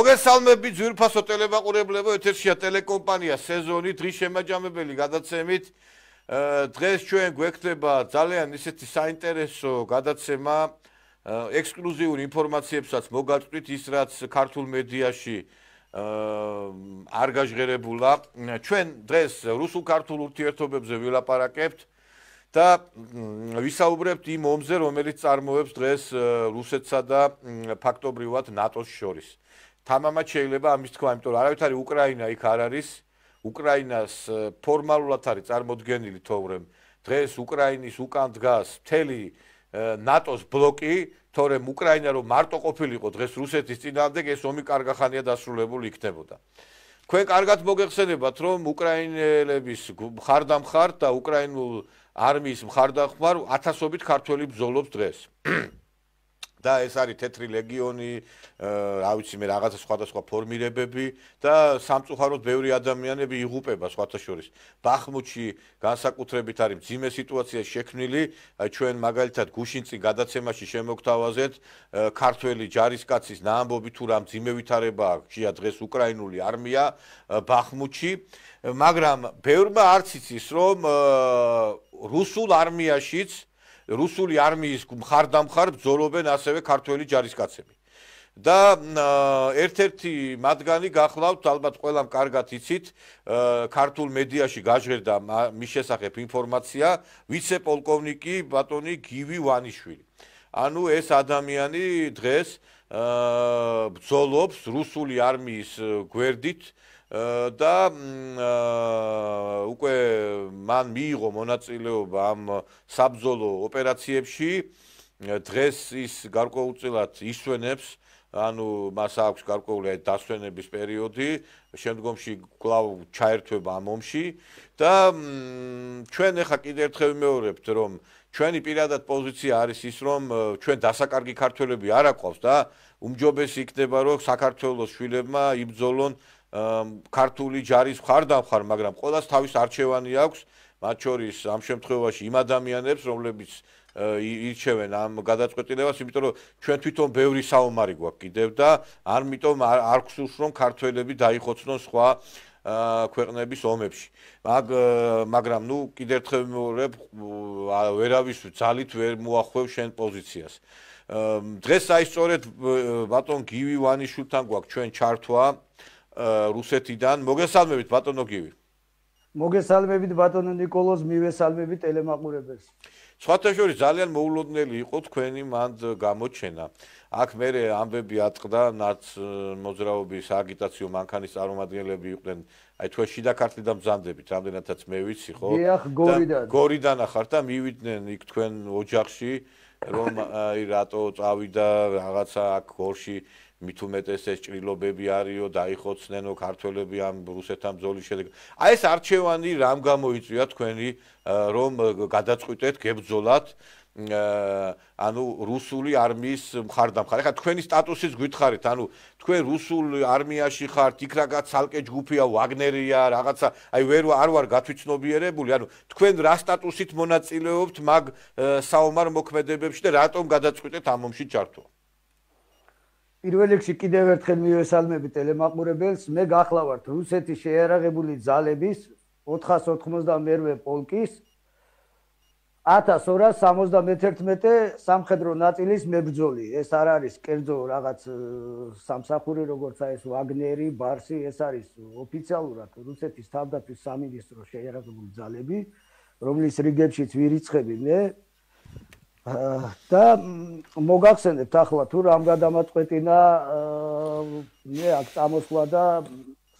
მოგესალმებით ძვირფასო ტელემაყურებლებო, ეთერშია ტელეკომპანია სეზონი დღის შემაჯამებელი გადაცემით. დღეს ჩვენ გვექნება ძალიან ისეთი საინტერესო გადაცემა, ექსკლუზიური ინფორმაციებსაც მოგაწვით ის რაც ქართულ მედიაში არ გაჟღერებულა. ჩვენ დღეს რუსულ-ქართულ ურთიერთობებზე ვილაპარაკებთ და ვისაუბრებთ იმ ომზე, რომელიც წარმოებს დღეს რუსეთსა და ფაქტობრივად ნატოს შორის. თამამად შეიძლება ამის თქვა, იმიტომ რომ არავითარი უკრაინა იქ არ არის. უკრაინას ფორმალურად არის წარმოდგენილი, თორემ დღეს უკრაინის უკან დგას მთელი ნატოს ბლოკი, თორემ უკრაინა რომ მარტო ყოფილიყო დღეს რუსეთის წინააღმდეგ, ეს ომი კარგახანია დასრულებული იქნებოდა. თქვენ კარგად მოგეხსენებათ, რომ უკრაინელების მხარდამხარ და უკრაინულ არმიის მხარდამხარ ათასობით ქართველი ბრძოლობს დღეს. და ეს არის თეთრი ლეგიონი, რა ვიცი მე რაღაცა სხვადასხვა ფორმირებები და სამწუხაროდ ბევრი ადამიანები იღუპება სხვათა შორის. ბახმუთში განსაკუთრებით არის მძიმე სიტუაცია შექმნილი, ჩვენ მაგალითად გუშინწინ გადაცემაში შემოგთავაზეთ ქართველი ჯარისკაცის ნაამბობი თუ რა მძიმე ვითარება აქვს დღეს უკრაინული არმია ბახმუთში, მაგრამ ბევრმა არც იცის რომ რუსულ არმიაშიც რუსული არმიის მხარდამხარ ბრძოლობენ ასევე ქართველი ჯარისკაცები. და ერთ-ერთი მათგანი გახლავთ, ალბათ ყველამ კარგად იცით, ქართულ მედიაში გაჟღერდა მის შესახებ ინფორმაცია, ვიცე-პოლკოვნიკი ბატონი გივი ვანიშვილი. ანუ ეს ადამიანი დღეს ბრძოლობს რუსული არმიის გვერდით და უკვე მან მიიღო მონაწილეობა ამ საბრძოლო ოპერაციებში. დღეს ის გარკვეულწილად ისვენებს, ანუ მას აქვს გარკვეული დასვენების პერიოდი, შემდგომში კვლავ ჩაერთვება ამ ომში და ჩვენ ახლა კიდევ ერთხელ ვიმეორებთ, რომ ჩვენი პირადად პოზიცია არის ის, რომ ჩვენ დასაკარგი ქართველები არ აყავს და უმჯობესი იქნება, რომ საქართველოს შვილებმა იბრძოლონ ქართული ჯარის მხარდამხარ, მაგრამ ყველას თავის არჩევანი აქვს, მათ შორის ამ შემთხვევაში იმ ადამიანებს, რომლებიც ირჩევენ ამ გადაწყვეტილებას, იმიტომ რომ ჩვენ თვითონ ბევრი საომარი გვაქვს კიდევ და ამიტომ არ გსურს რომ ქართველები დაიხოცნონ სხვა ქვეყნების ომებში. მაგრამ ნუ კიდევ ერთხელ ვიმეორებ, ვერავის ძალით ვერ მოახვევ შენ პოზიციას. დღეს აი სწორედ ბატონ გივი ვანიშვილთან გვაქვს ჩვენ ჩართვა რუსეთიდან. მოგესალმებით ბატონო გივი. მოგესალმებით ბატონო ნიკოლოზ, მივესალმებით ტელემაყურებელს. სხვათა შორის ძალიან მოულოდნელი იყო თქვენი მანდ გამოჩენა. აქ მე ამბები ატყდა ნაც მოძრაობის აგიტაციო მანქანის წარმომადგენლები იყვნენ, აი თქვენ შიდა ქართლიდან ბრძანდებით, რამდენადაც მე ვიცი, ხო? დიახ, გორიდან. გორიდან ახართ და მივიდნენ იქ თქვენ ოჯახში, რომ აი რატო წავიდა რაღაცა აქ გორში მით უმეტეს ეს ჭრილობები არისო, დაიხოცნენო ქართველები ამ რუსეთთან ბრძოლის შედეგად. აი ეს არჩევანი რამ გამოიწვია თქვენი, რომ გადაწყვიტეთ გებრძოლათ ანუ რუსული არმიის მხარდამხარ. ეხლა თქვენი სტატუსიც გითხარით, ანუ თქვენ რუსულ არმიაში ხართ, იქ რაღაც ცალკე ჯგუფია, ვაგნერია, რაღაცა, აი არ ვარ გათვითცნობიერებული, ანუ თქვენ რა სტატუსით მონაწილეობთ მაგ საომარ მოქმედებებში და რატომ გადაწყვიტეთ ამ ომში ჩართვა? პირველ რიგში კიდევ ერთხელ მივესალმებით ტელემაყურებელს. მე გახლავართ რუსეთის შეიარაღებული ძალების 492 პოლკის 1271 სამხედრო ნაწილის მებრძოლი. ეს არ არის კერძო რაღაც სამსახური, როგორც ეს ვაგნერი, ბარსი, ეს არის ოფიციალურად რუსეთის თავდაცვის სამინისტროს შეიარაღებული ძალები, რომლის რიგებშიც ვირიცხები მე. და მოგახსენებთ ახლა თუ რამ გადამაწყვეტინა მე აქ წამოსვლა და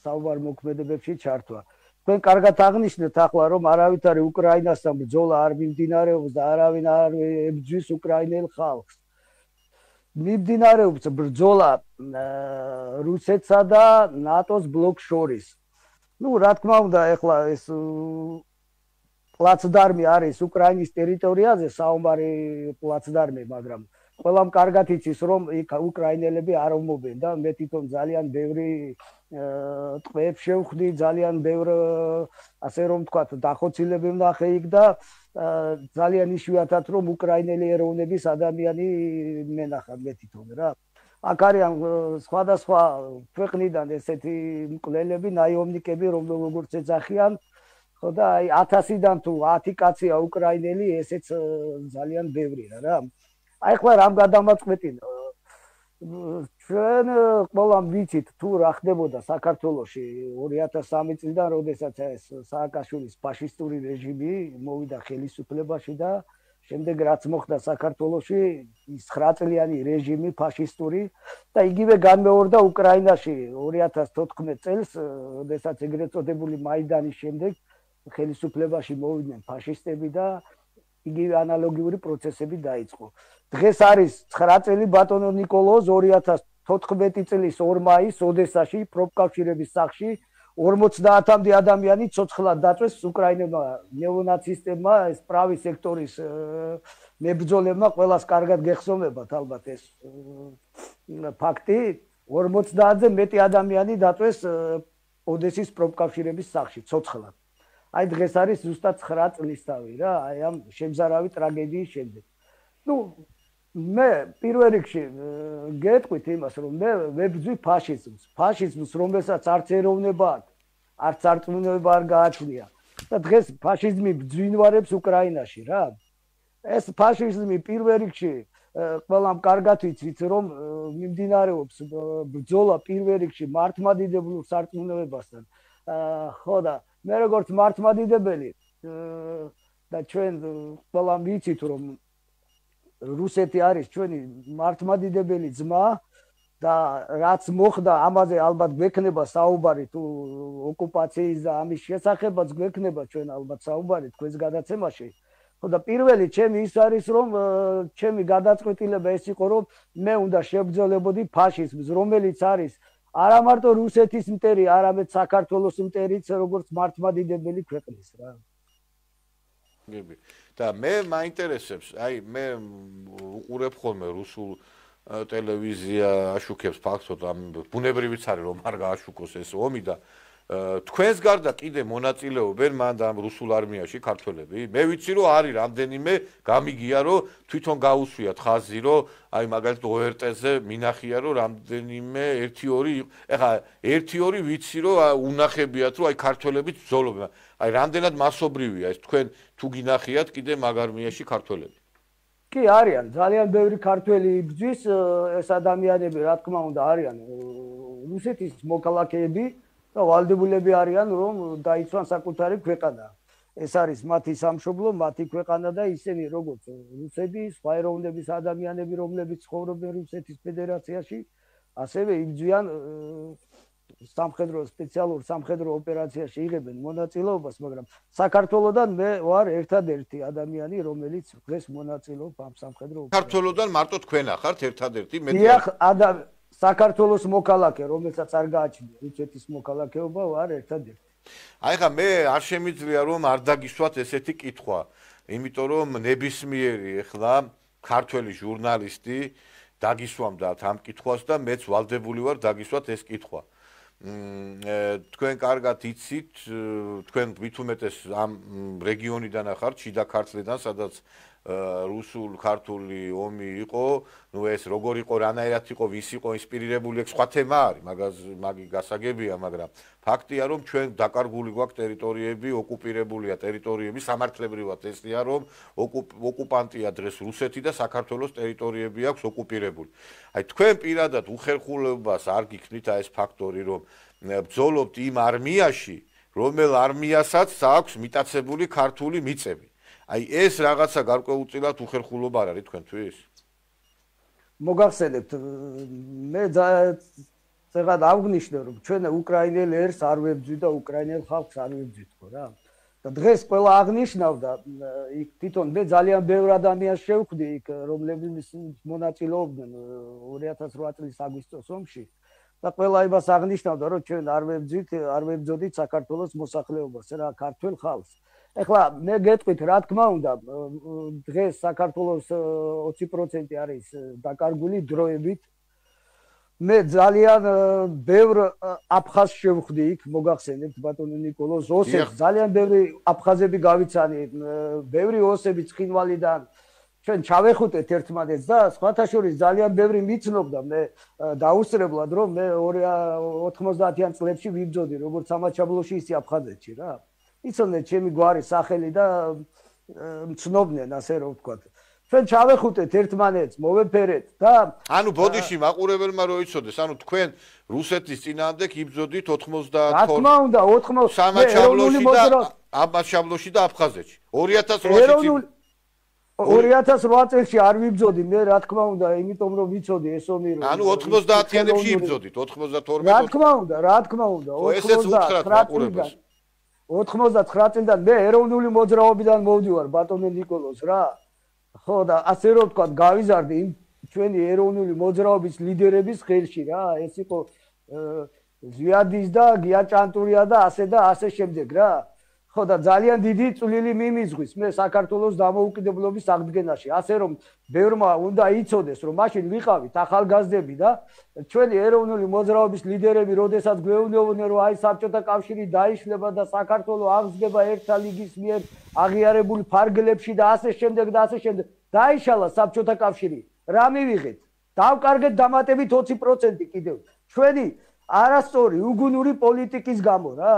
საუბარ მოქმედებებში ჩართვა. თქვენ კარგად აღნიშნეთ ახლა რომ არავითარი უკრაინასთან ბრძოლა არ მიმდინარეობს და არავინ არ ებრძვის უკრაინელ ხალხს. მიმდინარეობს ბრძოლა რუსეთსა და ნატოს ბლოკს შორის. ნუ რა თქმა უნდა ახლა ეს პლაცდარმი არის უკრაინის ტერიტორიაზე, საომარი პლაცდარმი, მაგრამ ყველამ კარგად იცის, რომ იქ უკრაინელები არ ომობენ და მე თვითონ ძალიან ბევრი ტყვეებს შევხვდი, ძალიან ბევრ ასე რომ ვთქვათ, დახოცილები ვნახე იქ და ძალიან იშვიათად რომ უკრაინელი ეროვნების ადამიანი მენახა მე თვითონ რა. აქ არიან სხვადასხვა ქვეყნიდან ესეთი მკვლელები, ნაიომნიკები, როგორც ეძახიან, ხო და აი 1000-დან თუ 10 კაცია უკრაინელი, ესეც ძალიან ბევრია რა. აი ხლა რამ გადამაწყვეტინა? ჩვენ ყველამ ვიცით თუ რა ხდებოდა საქართველოში 2003 წლიდან, როდესაც ეს სააკაშვილის ფაშისტური რეჟიმი მოვიდა ხელისუფლებაში და შემდეგ რაც მოხდა საქართველოში ის 9 წლიანი რეჟიმი ფაშისტური და იგივე განმეორდა უკრაინაში 2014 წელს, როდესაც ეგრეთ წოდებული მაიდანის შემდეგ ხელისუფლებაში მოვიდნენ ფაშისტები და იგივე ანალოგიური პროცესები დაიწყო. დღეს არის 9 წელი ბატონო ნიკოლოზ 2014 წლის 2 მაისს ოდესაში პროფკავშირების სახლში 50-მდე ადამიანი ცოცხლად დაწვეს უკრაინებმა ნეონაცისტებმა, ეს პრავი სექტორის მებრძოლებმა, ყველას კარგად გეხსოვებათ ალბათ ეს ფაქტი, 50-ზე მეტი ადამიანი დაწვეს ოდესის პროფკავშირების სახლში ცოცხლად. აი დღეს არის ზუსტად 9 წლისთავი რა, აი ამ შემზარავი ტრაგედიის შემდეგ. ნუ მე პირველ რიგში გეტყვით იმას, რომ მე ვებრძვი ფაშიზმს. ფაშიზმს, რომელსაც არც ეროვნება აქვს, არც არწმუნება არ გააჩნია. და დღეს ფაშიზმი ბძვინვარებს უკრაინაში რა. ეს ფაშიზმი პირველ რიგში ყველამ კარგად ვიცით, რომ მიმდინარეობს ბრძოლა პირველ რიგში მართლმადიდებლურ სარწმუნოებასთან. ხო და მე როგორც მართლმადიდებელი და ჩვენ ყველამ ვიცით, რომ რუსეთი არის ჩვენი მართლმადიდებელი ძმა და რაც მოხდა ამაზე ალბათ გვექნება საუბარი თუ ოკუპაციის და ამის შესახებაც გვექნება ჩვენ ალბათ საუბარი თქვენს გადაცემაში. ხო და პირველი ჩემი ის არის, რომ ჩემი გადაწყვეტილება ეს იყო, რომ მე უნდა შებრძოლებოდი ფაშიზმს, რომელიც არის არა მარტო რუსეთის მტერი, არამედ საქართველოს მტერიც, როგორც მართლმადიდებელი ქვეყნის რა. გები. და მე მაინტერესებს, აი მე უყურებ ხოლმე რუსულ ტელევიზია აშუქებს ფაქტობრივად ამ ბუნებრივიც არის რომ არ გააშუქოს ეს ომი და თქვენს გარდა კიდე მონაწილეობენ მან და ამ რუსულ არმიაში ქართველები? მე ვიცი რომ არის რამდენიმე გამიგია რომ თვითონ გაუსვიათ ხაზი რომ აი მაგალითად ORT-ზე მინახია რომ რამდენიმე 1-2 ეხლა 1-2 ვიცი რომ უნახებიათ რომ აი ქართველები ბრძოლობენ. აი რამდენად მასობრივია ეს თქვენ თუ გინახიათ კიდე მაგ არმიაში ქართველები? კი არიან, ძალიან ბევრი ქართველი იბრძვის, ეს ადამიანები რა თქმა უნდა არიან რუსეთის მოქალაქეები და ვალდებულები არიან რომ დაიცვან საკუთარი ქვეყანა. ეს არის მათი სამშობლო, მათი ქვეყანა და ისინი როგორც რუსები, სხვა ეროვნების ადამიანები, რომლებიც ცხოვრობენ რუსეთის ფედერაციაში, ასევე იბრძვიან სპეციალურ სამხედრო ოპერაციაში იღებენ მონაწილეობას, მაგრამ საქართველოსდან მე ვარ ერთადერთი ადამიანი, რომელიც დღეს მონაწილეობს ამ სამხედრო ოპერაციებში. საქართველოსდან მარტო თქვენ ახართ ერთადერთი მე საქართველოს მოქალაქე, რომელსაც არ გააჩნია რუსეთის მოქალაქეობა, ვარ ერთადერთი. აი ხა მე არ შემიძლია რომ არ დაგისვათ ესეთი კითხვა, იმიტომ რომ ნებისმიერი ეხლა ქართველი ჟურნალისტი დაგისვამდათ ამ კითხვას და მეც ვალდებული ვარ დაგისვათ ეს კითხვა. თქვენ კარგად იცით, თქვენ ვითუმეტეს ამ რეგიონიდან ახართ, შიდა ქართლიდან, სადაც რუსულ-ქართული ომი იყო, ნუ ეს როგორ იყო, რანაირად იყო, ვის იყო ინსპირირებული, სხვა თემა არის, მაგი გასაგებია, მაგრამ ფაქტია, რომ ჩვენ დაკარგული გვაქვს ტერიტორიები, ოკუპირებულია ტერიტორიები, სამართლებრივად ესია, რომ ოკუპანტია დღეს რუსეთი და საქართველოს ტერიტორიები აქვს ოკუპირებული. აი თქვენ პირადად უხერხულობას არ გიქნით აი ეს ფაქტორი, რომ ბრძოლობთ იმ არმიაში, რომელ არმიასაც აქვს მიტაცებული ქართული მიწები. აი ეს რაღაცა გარკვეულწილად უხერხულობა არ არის თქვენთვის? მოგახსენებთ, მე ზოგადად აღვნიშნე, რომ ჩვენ უკრაინელ ერს არ ვებძვი და უკრაინელ ხალხს არ ვებძვით ხო რა. და დღეს ყველა აღნიშნავდა, იქ თვითონ მე ძალიან ბევრ ადამიანს შევხვდი იქ, რომლებიც მონაწილეობდნენ 2008 წლის აგვისტოს ომში. და ყველა იმას აღნიშნავდა, რომ ჩვენ არ ვებძოდით საქართველოს მოსახლეობას, რა ქართველ ხალხს. ეხლა მე გეტყვით, რა თქმა უნდა, დღეს საქართველოს 20% არის დაკარგული დროებით. მე ძალიან ბევრ აფხაზს შევხვდი იქ, მოგახსენებთ ბატონო ნიკოლოზ, ოსებს, ძალიან ბევრი აფხაზები გავიცანი, ბევრი ოსები ცხინვალიდან ჩვენ ჩავეხუტეთ ერთმანეთს და სხვათა შორის ძალიან ბევრი მიცნობდა მე დაუსწრებლად რომ მე 90-იან წლებში ვიბრძოდი როგორც სამაჩაბლოში ისე აფხაზეთში რა. იცოდნენ ჩემი გვარის სახელი და მცნობდნენ ასე რომ ვთქვათ. ჩვენ ჩავეხუტეთ ერთმანეთს, მოვეფერეთ და ანუ ბოდიში მაყურებელმა რო იცოდეს, ანუ თქვენ რუსეთის წინააღმდეგ იბრძოდით 92 რა თქმა უნდა 80 სამაჩაბლოში და აბაშაბლოში და აფხაზეთში 2008 2008 წელს არ ვიბრძოდი მე რა თქმა უნდა იმიტომ რომ ვიცოდი ეს ომი რომ ანუ 90-იანებში იბრძოდით 92 რა თქმა უნდა 99 წლიდან მე ეროვნული მოძრაობიდან მოვდივარ ბატონო ნიკოლოზ რა ხო და ასე რომ ვთქვა გავიზარდი იმ ჩვენი ეროვნული მოძრაობის ლიდერების ხელში რა ეს იყო ზვიადის და გიაჭანტურია და ასე შემდეგ რა ხო და ძალიან დიდი წვლილი მიმიზღვის მე საქართველოს დამოუკიდებლობის აღდგენაში ასე რომ ბევრმა უნდა იცოდეს რომ მაშინ ვიყავით ახალგაზრდები და ჩვენი ეროვნული მოძრაობის ლიდერები როდესაც გვეუბნებოდნენ რომ აი საბჭოთა კავშირი დაიშლება და საქართველოს აღსგება ერთა ლიგის მიერ აღიარებული ფარგლებში და ასე შემდეგ დაიშალა საბჭოთა კავშირი რა მივიღეთ დავკარგეთ დამატებით 20% კიდევ ჩვენი არასწორი უგუნური პოლიტიკის გამო რა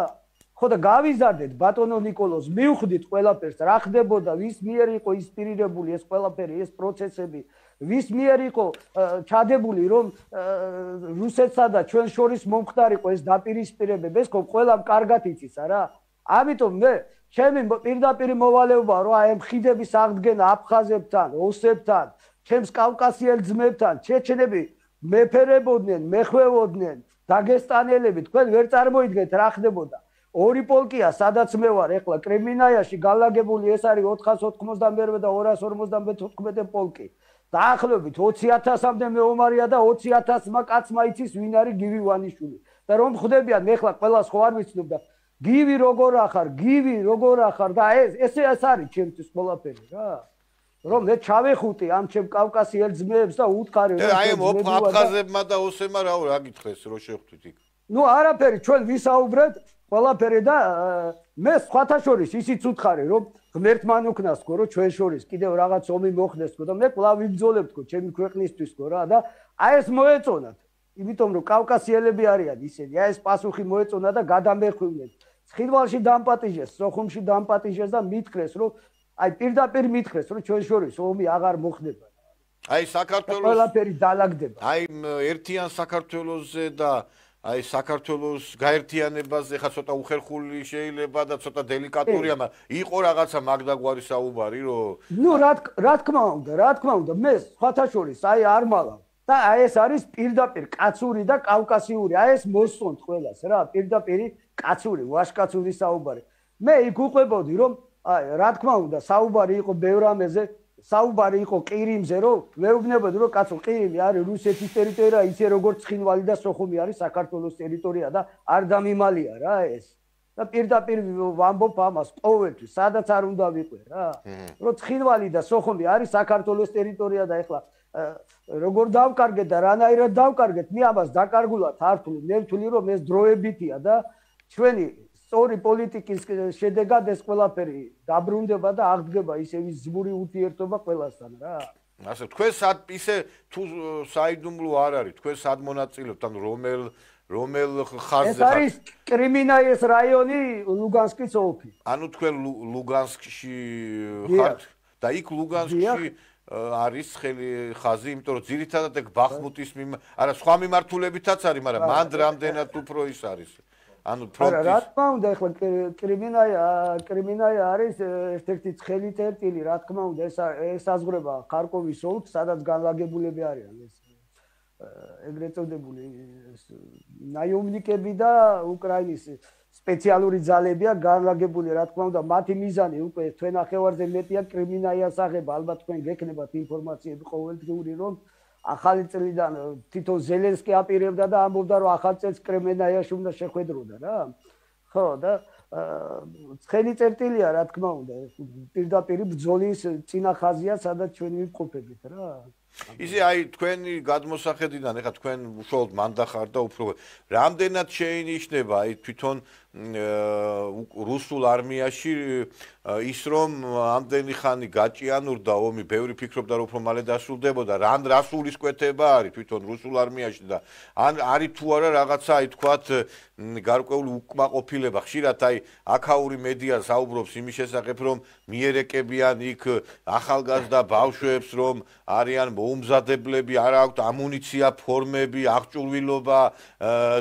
ხო და გავიზარდეთ ბატონო ნიკოლოზ მივხვდით ყველაფერს რა ხდებოდა ვის მიერ იყო ინსპირირებული ეს ყველაფერი ეს პროცესები ვის მიერ იყო ჩადებული რომ რუსეთსა და ჩვენ შორის მომხდარიყო ეს დაპირისპირებები ეს ხო ყველამ კარგად იცის არა ამიტომ მე ჩემი პირდაპირ მოვალეობაა რომ აი მხიდების აღდგენა აფხაზებთან ოსებთან ჩემს კავკასიელ ძმებთან ჩეჩნები მეფერებოდნენ მეხვევოდნენ დაგესტანელები თქვენ ვერ წარმოიდგენთ რა ხდებოდა ორი პოლკია სადაც მე ვარ ეხლა კრემინაიაში განლაგებული ეს არის 491 და 254 პოლკი დაახლოებით 20000-მდე მეომარია და 20000-მა კაცმა იცის ვინ არის გივი ვანიშვილი და რომ ხვდებიან ეხლა ყველას ხო არ ვიცნობ და გივი როგორ ახარ და ეს არის ჩემთვის ყველაფერი რა რომ მე ჩავეხუტი ამ ჩემ კავკასიელ ძმებს და უთხარი რომ აი აფხაზებმა და ოსებმა რა გითხრეს რო შეხვდით იქ ნუ არაფერი ჩვენ ვისაუბრეთ ყველაფერი და მე სხვათა შორის ისიც უთხარი რომ ღმერთმან უკნასკო რომ ჩვენ შორის კიდევ რაღაც ომი მოხდესკო და მე კვლავ ვიბრძოლებთკო ჩემი ქვეყნისთვისკო რა და აი ეს მოეწონათ იმიტომ რომ კავკასიელები არიან ისინი აი ეს პასუხი მოეწონა და გადამეხვივნეს ცხინვალში დამპატიჟეს სოხუმში დამპატიჟეს და მითხრეს რომ აი პირდაპირ მითხრეს რომ ჩვენ შორის ომი აღარ მოხდება აი საქართველოს ყველაფერი დაალაგდება აი ერთიან საქართველოსზე და აი საქართველოს გაერთიანებაზე ხა ცოტა უხერხული შეიძლება და ცოტა დელიკატურია, მაგრამ იყო რაღაცა მაგდაგვარი საუბარი, რომ ნუ რა თქმა უნდა, მე სხვათა შორის აი არ მალავ და აი ეს არის პირდაპირ კაცური და კავკასიური, აი ეს მოსწონთ ყველას რა, პირდაპირ კაცური, ვაშკაცური საუბარი. მე იქ უყვებოდი რომ აი რა თქმა უნდა, საუბარი იყო ბევრ ამაზე საუბარი იყო ყირიმზე, რომ მეუბნებოდი, რომ კაცო, ყირიმი არის რუსეთის ტერიტორია, ისე როგორც ცხინვალი და სოხუმი არის საქართველოს ტერიტორია და არ დამიმალია რა ეს. და პირდაპირ ვამბობ ამას ყოველთვის, სადაც არ უნდა ვიყვე რა. რომ ცხინვალი და სოხუმი არის საქართველოს ტერიტორია და ეხლა როგორ დავკარგეთ და რანაირად დავკარგეთ, მე ამას დაკარგულად არ ვთვლი, მე ვთვლი, რომ ეს დროებითია და ჩვენი სწორი პოლიტიკის შედეგად ეს ყველაფერი დაბრუნდება და აღდგება ისევ ზმური ურთიერთობა ყველასთან რა. ასე თქვენ ისე თუ საიდუმლო არ არის, თქვენ სად მონაწილეობთ, ანუ რომელ ხაზზე ეს არის კრიმინაის რაიონი, ლუგანსკის ოლქი. ანუ თქვენ ლუგანსკში ხართ და იქ ლუგანსკში არის ხელი ხაზი, იმიტომ რომ ძირითადად ეგ ბახმუტის არა სხვა მიმართულებითაც არის, მაგრამ მანდ რამდენად უფრო ის არის. ანუ პროფესია რა თქმა უნდა ეხლა კრიმინაია არის ერთ-ერთი ცხელი წერტილი რა თქმა უნდა ეს საზღვრება ხარკოვის ოლქს სადაც განლაგებულები არიან ეს ეგრეთ წოდებული ნაიომნიკები და უკრაინის სპეციალური ძალებია განლაგებული რა თქმა უნდა მათი მიზანი უკვე თქვენ ახევარზე მეტია კრიმინაიას აღება ალბათ თქვენ გექნებათ ინფორმაციები ყოველდღიური რომ ახალი წლიდან თვითონ ზელენსკი აპირებდა და ამბობდა რომ ახალ წელს კრიმინაიაში უნდა შეხვედროდა რა. ხო და ცხელი წერტილია რა თქმა უნდა პირდაპირ ბრძოლის წინა ხაზია სადაც ჩვენ ვიმყოფებით რა. ისე აი თქვენი გადმოსახედიდან ეხა თქვენ უშუალოდ მანდახარ და უფრო რამდენად შეინიშნება აი თვითონ რუსულ არმიაში ის რომ ამდენი ხანი გაჭიანურდა ომი, ბევრი ფიქრობდა რომ უფრო მალე დასრულდებოდა, რას სულისკვეთება არის თვითონ რუსულ არმიაში და ან არის თუ არა რაღაცა აი თქვათ გარკვეული უკმაყოფილება. ხშირად აი აქაური მედია საუბრობს იმის შესახებ, რომ მიერეკებიან იქ ახალგაზრდა ბავშვებს, რომ არიან მოუმზადებლები, არ აქვთ ამუნიცია, ფორმები, აღჭურვილობა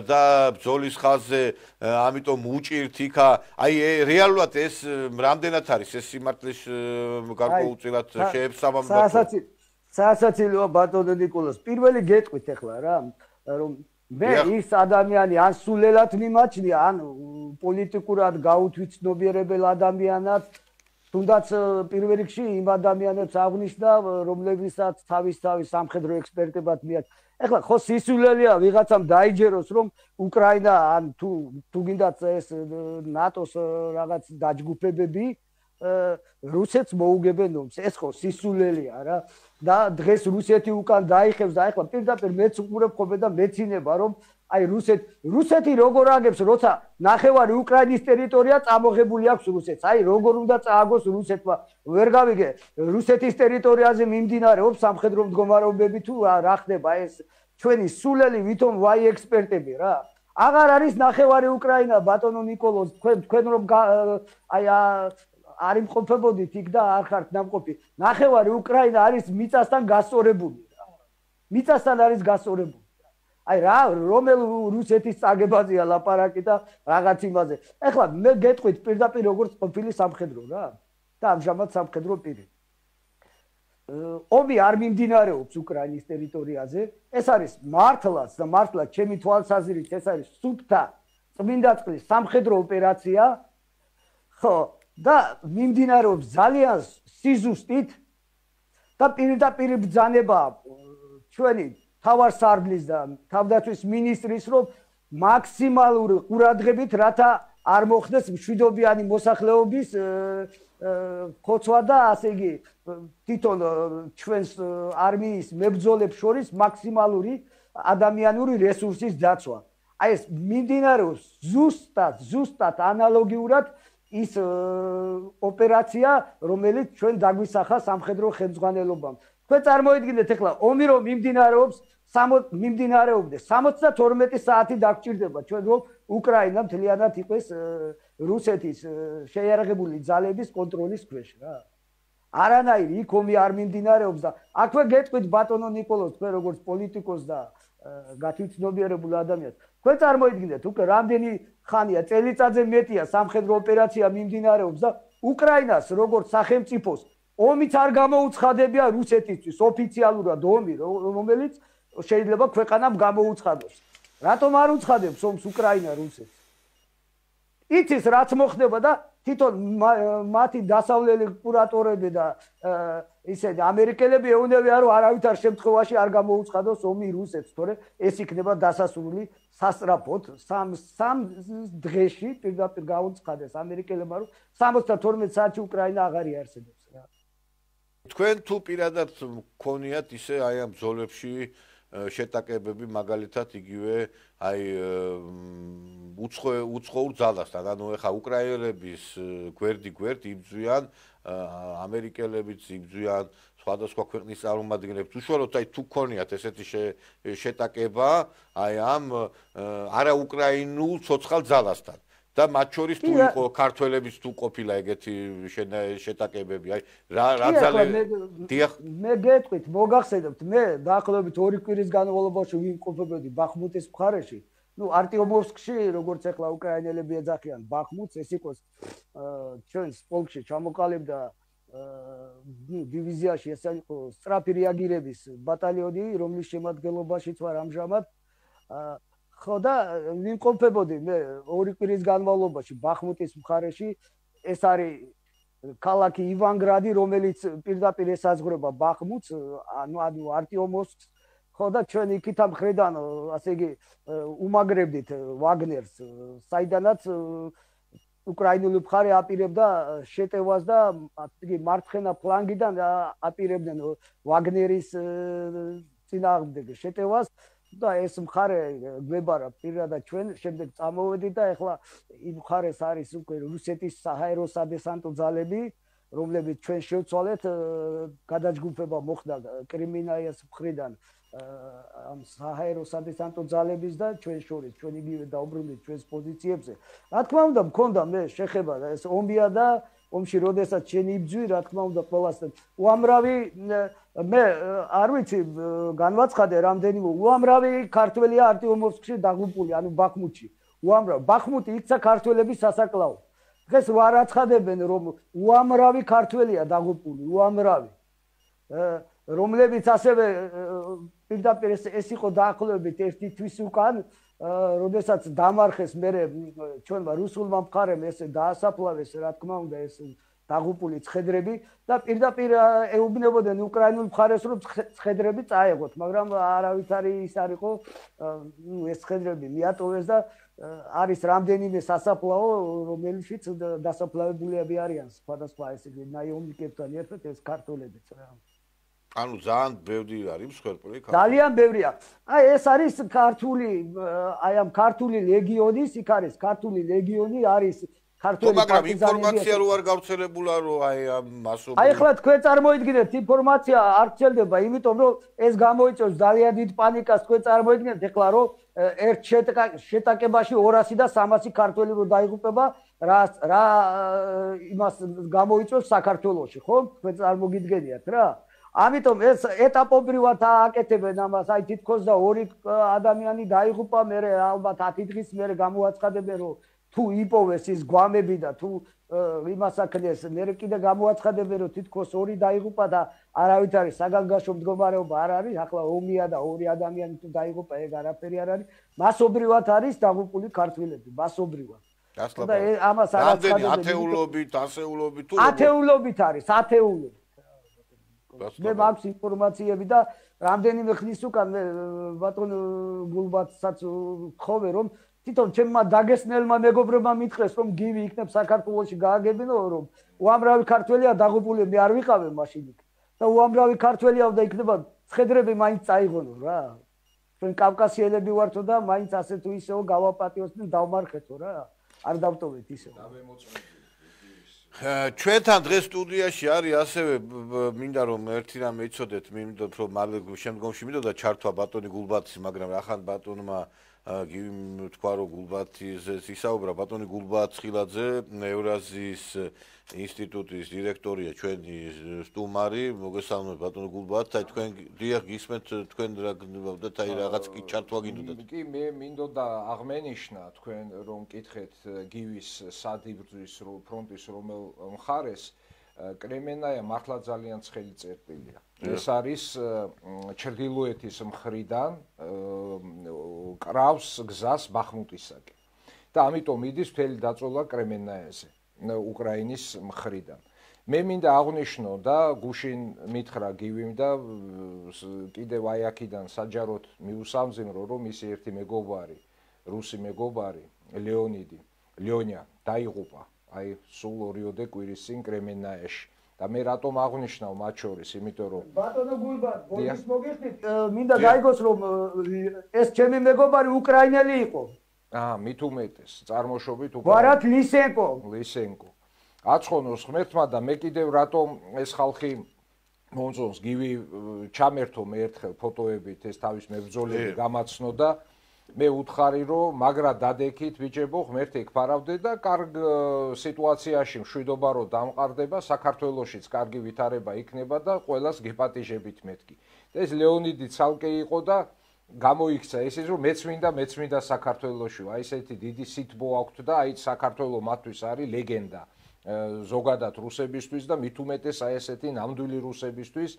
და ბრძოლის ხაზზე ამიტომ უჭირთ იქა. აი რეალურად ეს რამდენად არის ეს სიმართლის გარკვეულწილად შეებსამამდა? სასაცილოა ბატონო ნიკოლოზ. პირველი გეტყვით ახლა რა, რომ მე ის ადამიანი ან სულელად მიმაჩნია, ან პოლიტიკურად გაუთვითცნობიერებელ ადამიანად, თუნდაც პირველ რიგში იმ ადამიანებს აღნიშნა, რომლებსაც თავის სამხედრო ექსპერტებად მიაჩნია. ეხლა ხო სისულელია ვიღაცამ დაიჯეროს, რომ უკრაინა ან თუ გინდათ ეს ნატოს რაღაც დაჯგუფებები რუსეთს მოუგებენ ომს. ეს ხო სისულელია რა. და დღეს რუსეთი უკან დაიხევს და ეხლა პირდაპირ მეც უყურებ ხოლმე და მეცინება, რომ აი რუსეთი როგორ აგებს, როცა ნახევარი უკრაინის ტერიტორია წამოღებული აქვს რუსეთს. აი როგორ უნდა წააგოს რუსეთმა. ვერ გავიგე, რუსეთის ტერიტორიაზე მიმდინარეობს სამხედრო მდგომარეობები თუ რა ხდება ეს ჩვენი სულელი ვითომ ვაი ექსპერტები რა. აღარ არის ნახევარი უკრაინა ბატონო ნიკოლოზ, თქვენ რომ აი არ იმყოფებოდით იქ და არ ხართ ნამყოფი. ნახევარი უკრაინა არის მიწასთან გასწორებული რა. მიწასთან არის გასწორებული. აი რა რომელ რუსეთის წაგებაზეა ლაპარაკი და რაღაც იმაზე. ეხლა მე გეტყვით პირდაპირ როგორც ყოფილი სამხედრო რა და ამჟამად სამხედრო პირი. ომი არ მიმდინარეობს უკრაინის ტერიტორიაზე. ეს არის მართლაც ჩემი თვალსაზრისით ეს არის სუფთა წმინდა წყლის სამხედრო ოპერაცია. ხო და მიმდინარეობს ძალიან სიზუსტით და პირდაპირ ბრძანება ჩვენი თავარსარდლის და თავდაცვის მინისტრის, რომ მაქსიმალური ყურადღებით რათა არ მოხდეს მშვიდობიანი მოსახლეობის ხოცვა და ასე იგი თვითონ ჩვენს არმიის მებრძოლებს შორის მაქსიმალური ადამიანური რესურსის დაცვა. აი ეს მიმდინარეობს ზუსტად ანალოგიურად ის ოპერაცია, რომელიც ჩვენ დაგვისახა სამხედრო ხელმძღვანელობამ. თქვენ წარმოიდგინეთ ახლა ომი რომ მიმდინარეობდეს 72 საათი დაგჭირდება ჩვენ რომ უკრაინა მთლიანად იყოს რუსეთის შეიარაღებული ძალების კონტროლის ქვეშ რა. არანაირი იქ ომი არ მიმდინარეობს და აქვე გეტყვით ბატონო ნიკოლოზ, თქვენ როგორც პოლიტიკოს და გათვითცნობიერებულ ადამიანს, თქვენ წარმოიდგინეთ უკვე რამდენი ხანია, წელიწადზე მეტია სამხედრო ოპერაცია მიმდინარეობს და უკრაინას როგორც სახელმწიფოს ომიც არ გამოუცხადებია რუსეთისთვის ოფიციალურად ომი, რომელიც შეიძლება ქვეყანამ გამოუცხადოს. რატომ არ უცხადებს ომს უკრაინა რუსეთს? იცის რაც მოხდება და თვითონ მათი დასავლელი კურატორები და ისეთი ამერიკელები ეუნებიან, რომ არავითარ შემთხვევაში არ გამოუცხადოს ომი რუსეთს, თორე ეს იქნება დასასრული სასწრაფოდ სამ დღეში პირდაპირ გაუცხადეს ამერიკელებმა, რომ 72 საათში უკრაინა აღარ იარსებობს რა. თქვენ თუ პირადად მქონიათ ისე აი ამ ბრძოლებში შეტაკებები მაგალითად იგივე აი უცხოურ ძალასთან, ანუ ეხა უკრაინელების გვერდი იბრძვიან, ამერიკელებიც იბრძვიან, სხვადასხვა ქვეყნის წარმომადგენლებს. უშუალოდ აი თუ გქონიათ ესეთი შეტაკება აი ამ არაუკრაინულ ცოცხალ ძალასთან და მათ შორის თუ იყო ქართველების თუ ყოფილა ეგეთი შეტაკებები, აი რა მე გეტყვით, მოგახსენებთ, მე დაახლოებით 2 კვირის განმავლობაში ვიმყოფებოდი ბახმუტის მხარეში. არტიომოვსკში, როგორც ახლა უკრაინელები ეძახიან ბახმუტს, ეს იყოს ჩვენს პოლკში ჩამოყალიბდა დივიზიაში, ეს იყო სწრაფი რეაგირების ბატალიონი, რომლის შემადგენლობაშიც ვარ ამჟამად. ხო და ვიმყოფებოდი მე 2 კვირის განმავლობაში ბახმუტის მხარეში. ეს არის ქალაქი ივანგრადი, რომელიც პირდაპირ ესაზღვრება ბახმუტს, ანუ არტიომოვსკს. ხო და ჩვენ იქით ამ ხრიდან, ასე იგი, უმაგრებდით ვაგნერს, საიდანაც უკრაინული მხარე აპირებდა შეტევას და იგი მარცხენა ფლანგიდან აპირებდნენ ვაგნერის წინააღმდეგ შეტევას. და ეს მხარე გვებარა პირადად ჩვენ შემდეგ წამოვედით და ეხლა იმ მხარეს არის უკვე რუსეთის საჰაერო სადესანტო ძალები, რომლებიც ჩვენ შევცვალეთ, გადაჯგუფება მოხდა კრიმინაიას მხრიდან ამ საჰაერო სადესანტო ძალების და ჩვენ შორის ჩვენ იგივე დაუბრუნდით ჩვენს პოზიციებზე. რა თქმა უნდა, მქონდა მე შეხება ეს ომია და ომში როდესაც შენ იბძვი, რა თქმა უნდა, ყველასთან უამრავი მე არ ვიცი განვაცხადე რამდენიმე უამრავი ქართველია არტიომოვსკში დაღუპული, ანუ ბახმუტში. უამრავი ბახმუტი იქცა ქართველების სასაკლაო. დღეს ვარ აცხადებენ რომ უამრავი ქართველია დაღუპული, უამრავი. რომლებიც ასევე პირდაპირ ეს იყო დაახლოებით ერთი თვის უკან, როდესაც დამარხეს მე ჩვენმა რუსულმა მხარემ ესე დაასაფლავეს, რა თქმა უნდა, ეს დაღუპული ცხედრები და პირდაპირ ეუბნებოდნენ უკრაინულ მხარეს რომ ცხედრები წაეღოთ, მაგრამ არავითარი ის არ იყო, ეს ცხედრები მიატოვეს და არის რამდენიმე სასაფლაო, რომელშიც დასაფლავებულები არიან სხვადასხვა ესე ნაიომნიკებთან ერთად ეს ქართველებიც რა. ანუ ძალიან ბევრი არის მსხვერპლი ქართველი. ძალიან ბევრია. აი ეს არის ქართული, აი ამ ქართული ლეგიონის, იქ არის ქართული ლეგიონი, არის ქართული პარტიზანები. მაგრამ ინფორმაცია რო არ გავრცელებულა რო აი ამ მასობრივ. აი ახლა თქვენ წარმოიდგინეთ, ინფორმაცია არ ვრცელდება, იმიტომ რომ ეს გამოიწვევს ძალიან დიდ პანიკას, თქვენ წარმოიდგინეთ ახლა რომ ერთ შეტაკებაში 200 და 300 ქართველი რო დაიღუპება, რა იმას გამოიწვევს საქართველოში, ხო? თქვენ წარმოგიდგენიათ რა? ამიტომ ეს ეტაპობრივად აკეთებენ ამას, აი თითქოს და 2 ადამიანი დაიღუპა, მე ალბათ 10 დღის მერე გამოაცხადებენ რომ თუ იპოვეს ის გვამები და თუ იმას აქნეს, მე კიდე გამოაცხადებენ რომ თითქოს 2 დაიღუპა და არავით არის საგანგაშო მდგომარეობა არ არის, ახლა ომია და 2 ადამიანი თუ დაიღუპა, ეგ არაფერი არ არის, მასობრივად არის დაღუპული ქართველები, მასობრივად. და ამას არ აცხადებენ. ათეულობით, ასეულობით თუ ათეულობით არის, ათეულობით. მე მაქვს ინფორმაციები და რამდენიმე ხნის უკან მე ბატონ გულბათსაც ვთხოვე რომ თვითონ ჩემმა დაგესნელმა მეგობრებმა მითხრეს რომ გივი იქნებ საქართველოში გააგებინო რომ უამრავი ქართველია დაღუპული, მე არ ვიყავე მაშინ იქ და უამრავი ქართველია და იქნება ცხედრები მაინც წაიღონო რა. ჩვენ კავკასიელები ვართო და მაინც ასე თუ ისეო გავაპატიოსდნენ, დავმარხეთო რა. არ დავტოვეთ ისე. ჩვენთან დღეს სტუდიაში არის ასევე მინდა რომ ერთი რამე იცოდეთ, მინდა რომ მალე შემდგომში მინდოდა ჩართვა ბატონი გულბათის, მაგრამ ახან ბატონმა გივიმ თქვა რომ გულბათიზე ისაუბრა, ბატონი გულბათ ცხილაძე ევრაზიის ინსტიტუტის დირექტორია, ჩვენი სტუმარი, მოგესალმებით ბატონი გულბათ, აი თქვენ დიახ გისმენთ, თქვენ რა გნებავდათ, აი რაღაც კი ჩართვა გინდოდათ. კი მე მინდოდა აღმენიშნა თქვენ რომ კითხეთ გივის სადიბრძვის ფრონტის რომელ მხარეს კრემენაია მართლა ძალიან ცხელი წერტილია. ეს არის ჩრდილოეთის მხრიდან კრავს გზას ბახმუტისაკენ და ამიტომ იდის მთელი დაწოლა კრემენაიაზე უკრაინის მხრიდან. მე მინდა აღვნიშნო და გუშინ მითხრა გივიმ და კიდევ აი აქედან საჯაროდ მიუსამძიმრო რომ მისი ერთი მეგობარი, რუსი მეგობარი ლეონია დაიღუპა აი სულ 2 კვირის წინ კრემენაიაში. და მე რატომ აღვნიშნავ მათ შორის, იმიტომ რომ ბატონო გულბათ, ბოლოს მოგიხდით, მინდა გაიგოს რომ ეს ჩემი მეგობარი უკრაინელი იყო. მით უმეტეს, წარმოშობით ვარად ლისენკო. აცხონოს ღმერთმა და მე კიდევ რატომ ეს ხალხი მომწონს გივი ჩამერთო მე ერთხელ ფოტოებით ეს თავის მებრძოლები გამაცნო და მე უთხარი რომ მაგრა დადექით ბიჭებო ღმერთი ეკფარავდე და კარგ სიტუაციაში მშვიდობა რო დამყარდება საქართველოშიც კარგი ვითარება იქნება და ყველას გეპატიჟებით მეთქი. ეს ლეონიდი ცალკე იყო და გამოიქცა ისიც რომ მეც მინდა საქართველოში. აი ესეთი დიდი სიტბო აქვთ და აი საქართველო მათთვის არის ლეგენდა. ზოგადად რუსებისთვის და მით უმეტეს აი ესეთი ნამდვილი რუსებისთვის,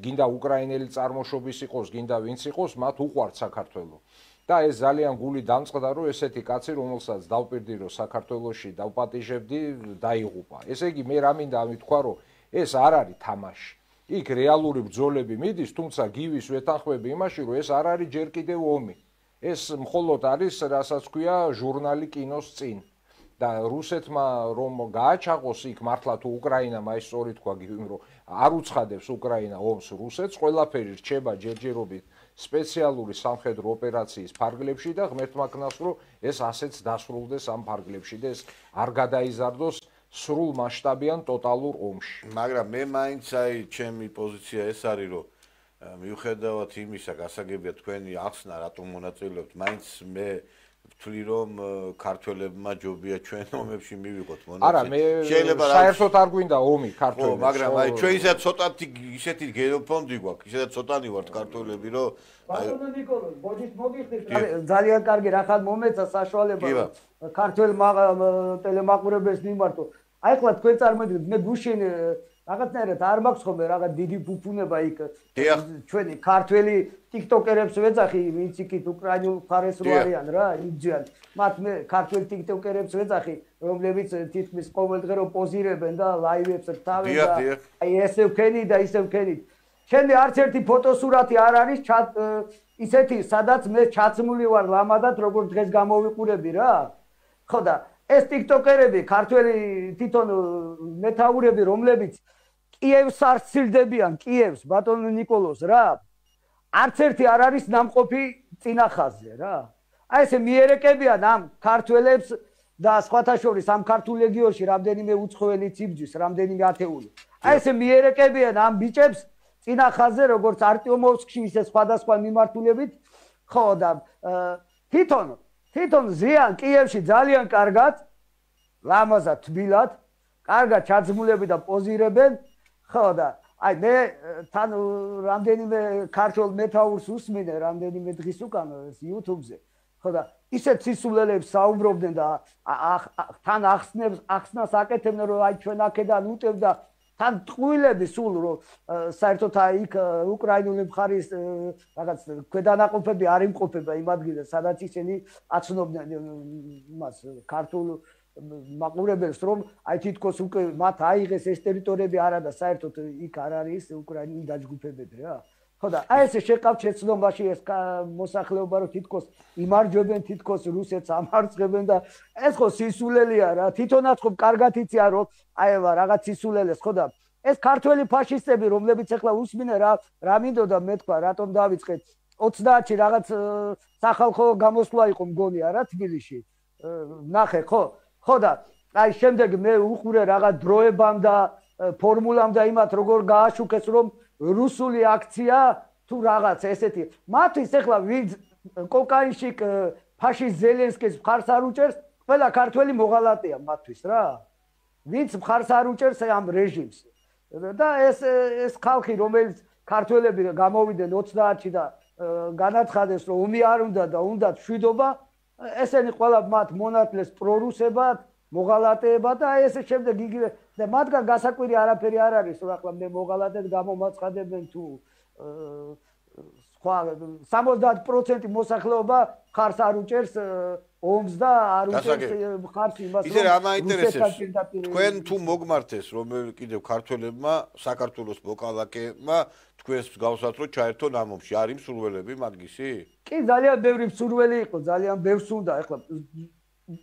გინდა უკრაინელი წარმოშობის იყოს, გინდა ვინც იყოს, მათ უყვართ საქართველო. და ეს ძალიან გული დამწყდა რომ ესეთი კაცი რომელსაც დავპირდი რომ საქართველოში დავპატიჟებდი დაიღუპა. ესე იგი მე რა მინდა ამით თქვა რომ ეს არ არის თამაში. იქ რეალური ბრძოლები მიდის, თუმცა გივის ვეთანხმები იმაში რომ ეს არ არის ჯერ კიდევ ომი. ეს მხოლოდ არის რასაც ქვია ჟურნალი კინოს წინ. და რუსეთმა რომ გააჩაღოს იქ მართლა თუ უკრაინამ აი სწორი თქვა გივიმ რომ არ უცხადებს უკრაინა ომს რუსეთს, ყველაფერი რჩება ჯერჯერობით სპეციალური სამხედრო ოპერაციის ფარგლებში და ღმერთმა ქნას რომ ეს ასეც დასრულდეს ამ ფარგლებში და ეს არ გადაიზარდოს სრულ მასშტაბიან ტოტალურ ომში. მაგრამ მე მაინც აი ჩემი პოზიცია ეს არის რომ მიუხედავად იმისა გასაგებია თქვენი ახსნა რატომ მონაწილეობთ მაინც მე ვთვლი რომ ქართველებმა ჯობია ჩვენ ომებში მივიღოთ მონაწილე. არა მე საერთოდ არ გვინდა ომი ქართველებს. ხო მაგრამ აი ჩვენ ისეთ ცოტათი ისეთი გენოფონდი გვაქვს ისედაც ცოტანი ვართ ქართველები რომ ბატონო ნიკოლოზ მოგიხდით ძალიან კარგი რახან მომეცა საშუალება ქართველ ტელემაყურებელს მიმართო. აი ხლა თქვენ წარმოიდგინეთ მე გუშინ რაღაცნაირად არ მაქვს ხოლმე რაღაც დიდი ფუფუნება იქ ჩვენი ქართველი ტიქტოკერებს ვეძახი ვინც იქით უკრაინულ მხარეს რო არიან რა იბძიან მათ მე ქართველი ტიქტოკერებს ვეძახი რომლებიც თითქმის ყოველდღე რო პოზირებენ და ლაივებს რთავენ და აი ესე ვქენი და ისე ვქენით ჩემი არც ერთი ფოტოსურათი არ არის ისეთი სადაც მე ჩაცმული ვარ ლამადად როგორც დღეს გამოვიყურები რა ხო და ეს ტიქტოკერები ქართველი თვითონ მეთაურები რომლებიც კიევს არ სცილდებიან კიევს ბატონო ნიკოლოზ რა არც ერთი არ არის ნამყოფი წინახაზზე რა აი ესე მიერეკებიან ამ ქართველებს და სხვათა შორის ამ ქართულ ლეგიონში რამდენიმე უცხოელი ციბჯის რამდენიმე ათეული აი ესე მიერეკებიან ამ ბიჭებს წინახაზზე როგორც არტიომოვსკში ისე სხვადასხვა მიმართულებით ხო და თვითონ ზიან კიევში ძალიან კარგად ლამაზად თბილად კარგად ჩაძმულები და პოზირებენ ხო და აი მე თან რამდენიმე ქართველ მეთაურს ვუსმინე რამდენიმე დღის უკან YouTube-ზე ხო და ისეთ სისულელებს საუბრობდნენ და თან ახსნას აკეთებდნენ რომ აი ჩვენ აქედან უტევ და თან ტყუილები სულ რომ საერთოდ აი იქ უკრაინული მხარის რაღაც ქვედანაყოფები არ იმყოფება იმ ადგილას სადაც ისინი აცნობდნენ იმას ქართულ მაყურებელს რომ აი თითქოს უკვე მათ აიღეს ეს ტერიტორიები არა და საერთოდ იქ არ არის უკრაინული დაჯგუფებები რა ხო და აი ესე შეყავთ შეცდომაში ეს მოსახლეობა რომ თითქოს იმარჯვებენ თითქოს რუსეთს ამარცხებენ და ეს ხო სისულელია რა თვითონაც ხო კარგად იციან რომ აევა რაღაც სისულელეს ხო და ეს ქართველი ფაშისტები რომლებიც ახლა უსმინე რა მინდოდა მე თქვა რატომ დავიწყეთ 30-ში რაღაც სახალხო გამოსვლა იყო მგონია რა თბილისში ნახე ხო და აი შემდეგ მე უყურე რაღაც დროებამ და ფორმულამ და იმათ როგორ გააშუქეს რომ რუსული აქცია თუ რაღაც ესეთი მათთვის ახლა ვინც კოკაინში ფაშისტ ზელენსკის მხარს არ უჭერს ყველა ქართველი მოღალატეა მათთვის რა ვინც მხარს არ უჭერს ამ რეჟიმს და ეს ხალხი რომელიც ქართველები გამოვიდნენ 30-ში და განაცხადეს რომ ომი არ უნდა და უნდათ შვიდობა ესენი ყველა მათ მონათლეს პრორუსებად მოღალატეებად და ესე შემდეგ იგივე და მათგან გასაკვირი არაფერი არ არის რომ ახლა მე მოღალატედ გამომაცხადებენ თუ სხვა 70% მოსახლეობა ხარს არ უჭერს ომს და არ უჭერს ხარს იმას ისე რა მაინტერესებს თქვენ თუ მოგმართეს რომ კიდევ ქართველებმა საქართველოს მოქალაქეებმა თქვენს მსგავსად რომ ჩაერთონ ამ ომში არის მსურველები მაგისი კი ძალიან ბევრი მსურველი იყო ძალიან ბევრს უნდა ახლა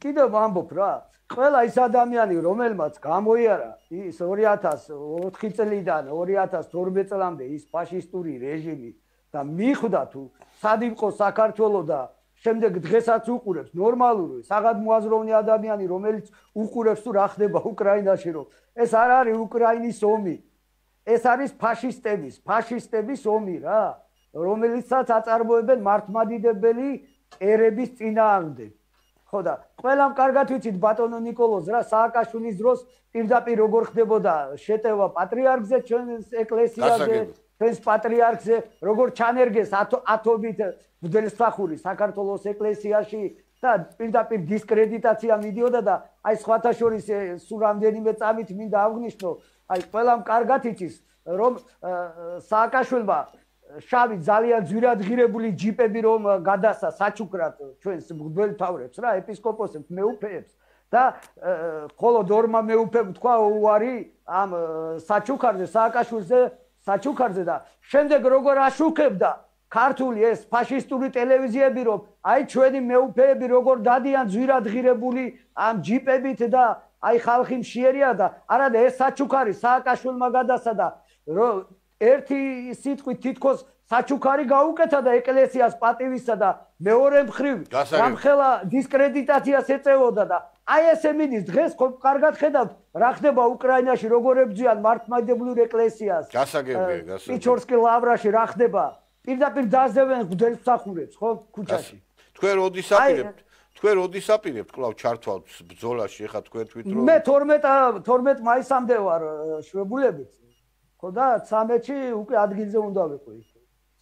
კიდევ ვამბობ რა ყველა ის ადამიანი რომელმაც გამოიარა ის 2004 წლიდან 2012 წლამდე ის ფაშისტური რეჟიმი და მიხვდა თუ სად იყო საქართველოს და შემდეგ დღესაც უყურებს ნორმალური საგადმოაზროვნე ადამიანი რომელიც უყურებს თუ რა ხდება უკრაინაში რომ ეს არ არის უკრაინის ომი ეს არის ფაშისტების ომი რა რომელიცაც აწარმოებენ მართლმადიდებელი ერების წინააღმდეგ ხო და ყველამ კარგად ვიცით ბატონო ნიკოლოზ რა სააკაშვილის დროს პირდაპირ როგორ ხდებოდა შეტევა პატრიარქზე ჩვენს ეკლესიაზე ჩვენს პატრიარქზე როგორ ჩანერგეს ათობით მღვდელსახური საქართველოს ეკლესიაში და პირდაპირ დისკრედიტაცია მიდიოდა და აი სხვათა შორის სულ რამდენიმე წამით მინდა აღვნიშნო აი ყველამ კარგად იცის რომ სააკაშვილმა შავი ძალიან ძვირადღირებული ჯიპები რომ გადასა საჩუქრად ჩვენს მღვდელმთავრებს რა ეპისკოპოსებს მეუფეებს და ხოლო დორმა მეუფემ თქვა უარი ამ საჩუქარზე სააკაშვილზე საჩუქარზე და შემდეგ როგორ აშუქებდა ქართული ეს ფაშისტური ტელევიზიები რომ აი ჩვენი მეუფეები როგორ დადიან ძვირადღირებული ამ ჯიპებით და აი ხალხი მშიერია და არადა ეს საჩუქარი სააკაშვილმა გადასა და ერთი სიტყვით თითქოს საჩუქარი გაუკეთა და ეკლესიას პატივისა და მეორე მხრივ რამხელა დისკრედიტაციას ეწეოდა და აი ესე მიდის დღეს ხო კარგად ხედავთ რა ხდება უკრაინაში როგორ ებძვიან მართლმადიდებლურ ეკლესიას გასაგებია პიჩორსკი ლავრაში რა ხდება პირდაპირ დაძევენ მღვდელმსახურებს ხო ქუჩაში თქვენ როდის აპირებთ კვლავ ჩართვალთ ბრძოლაში ეხა თქვენ თვით რომ მე 12 მაისამდე ვარ შვებულებით ხო და 13-ში უკვე ადგილზე უნდა ვიყო იქ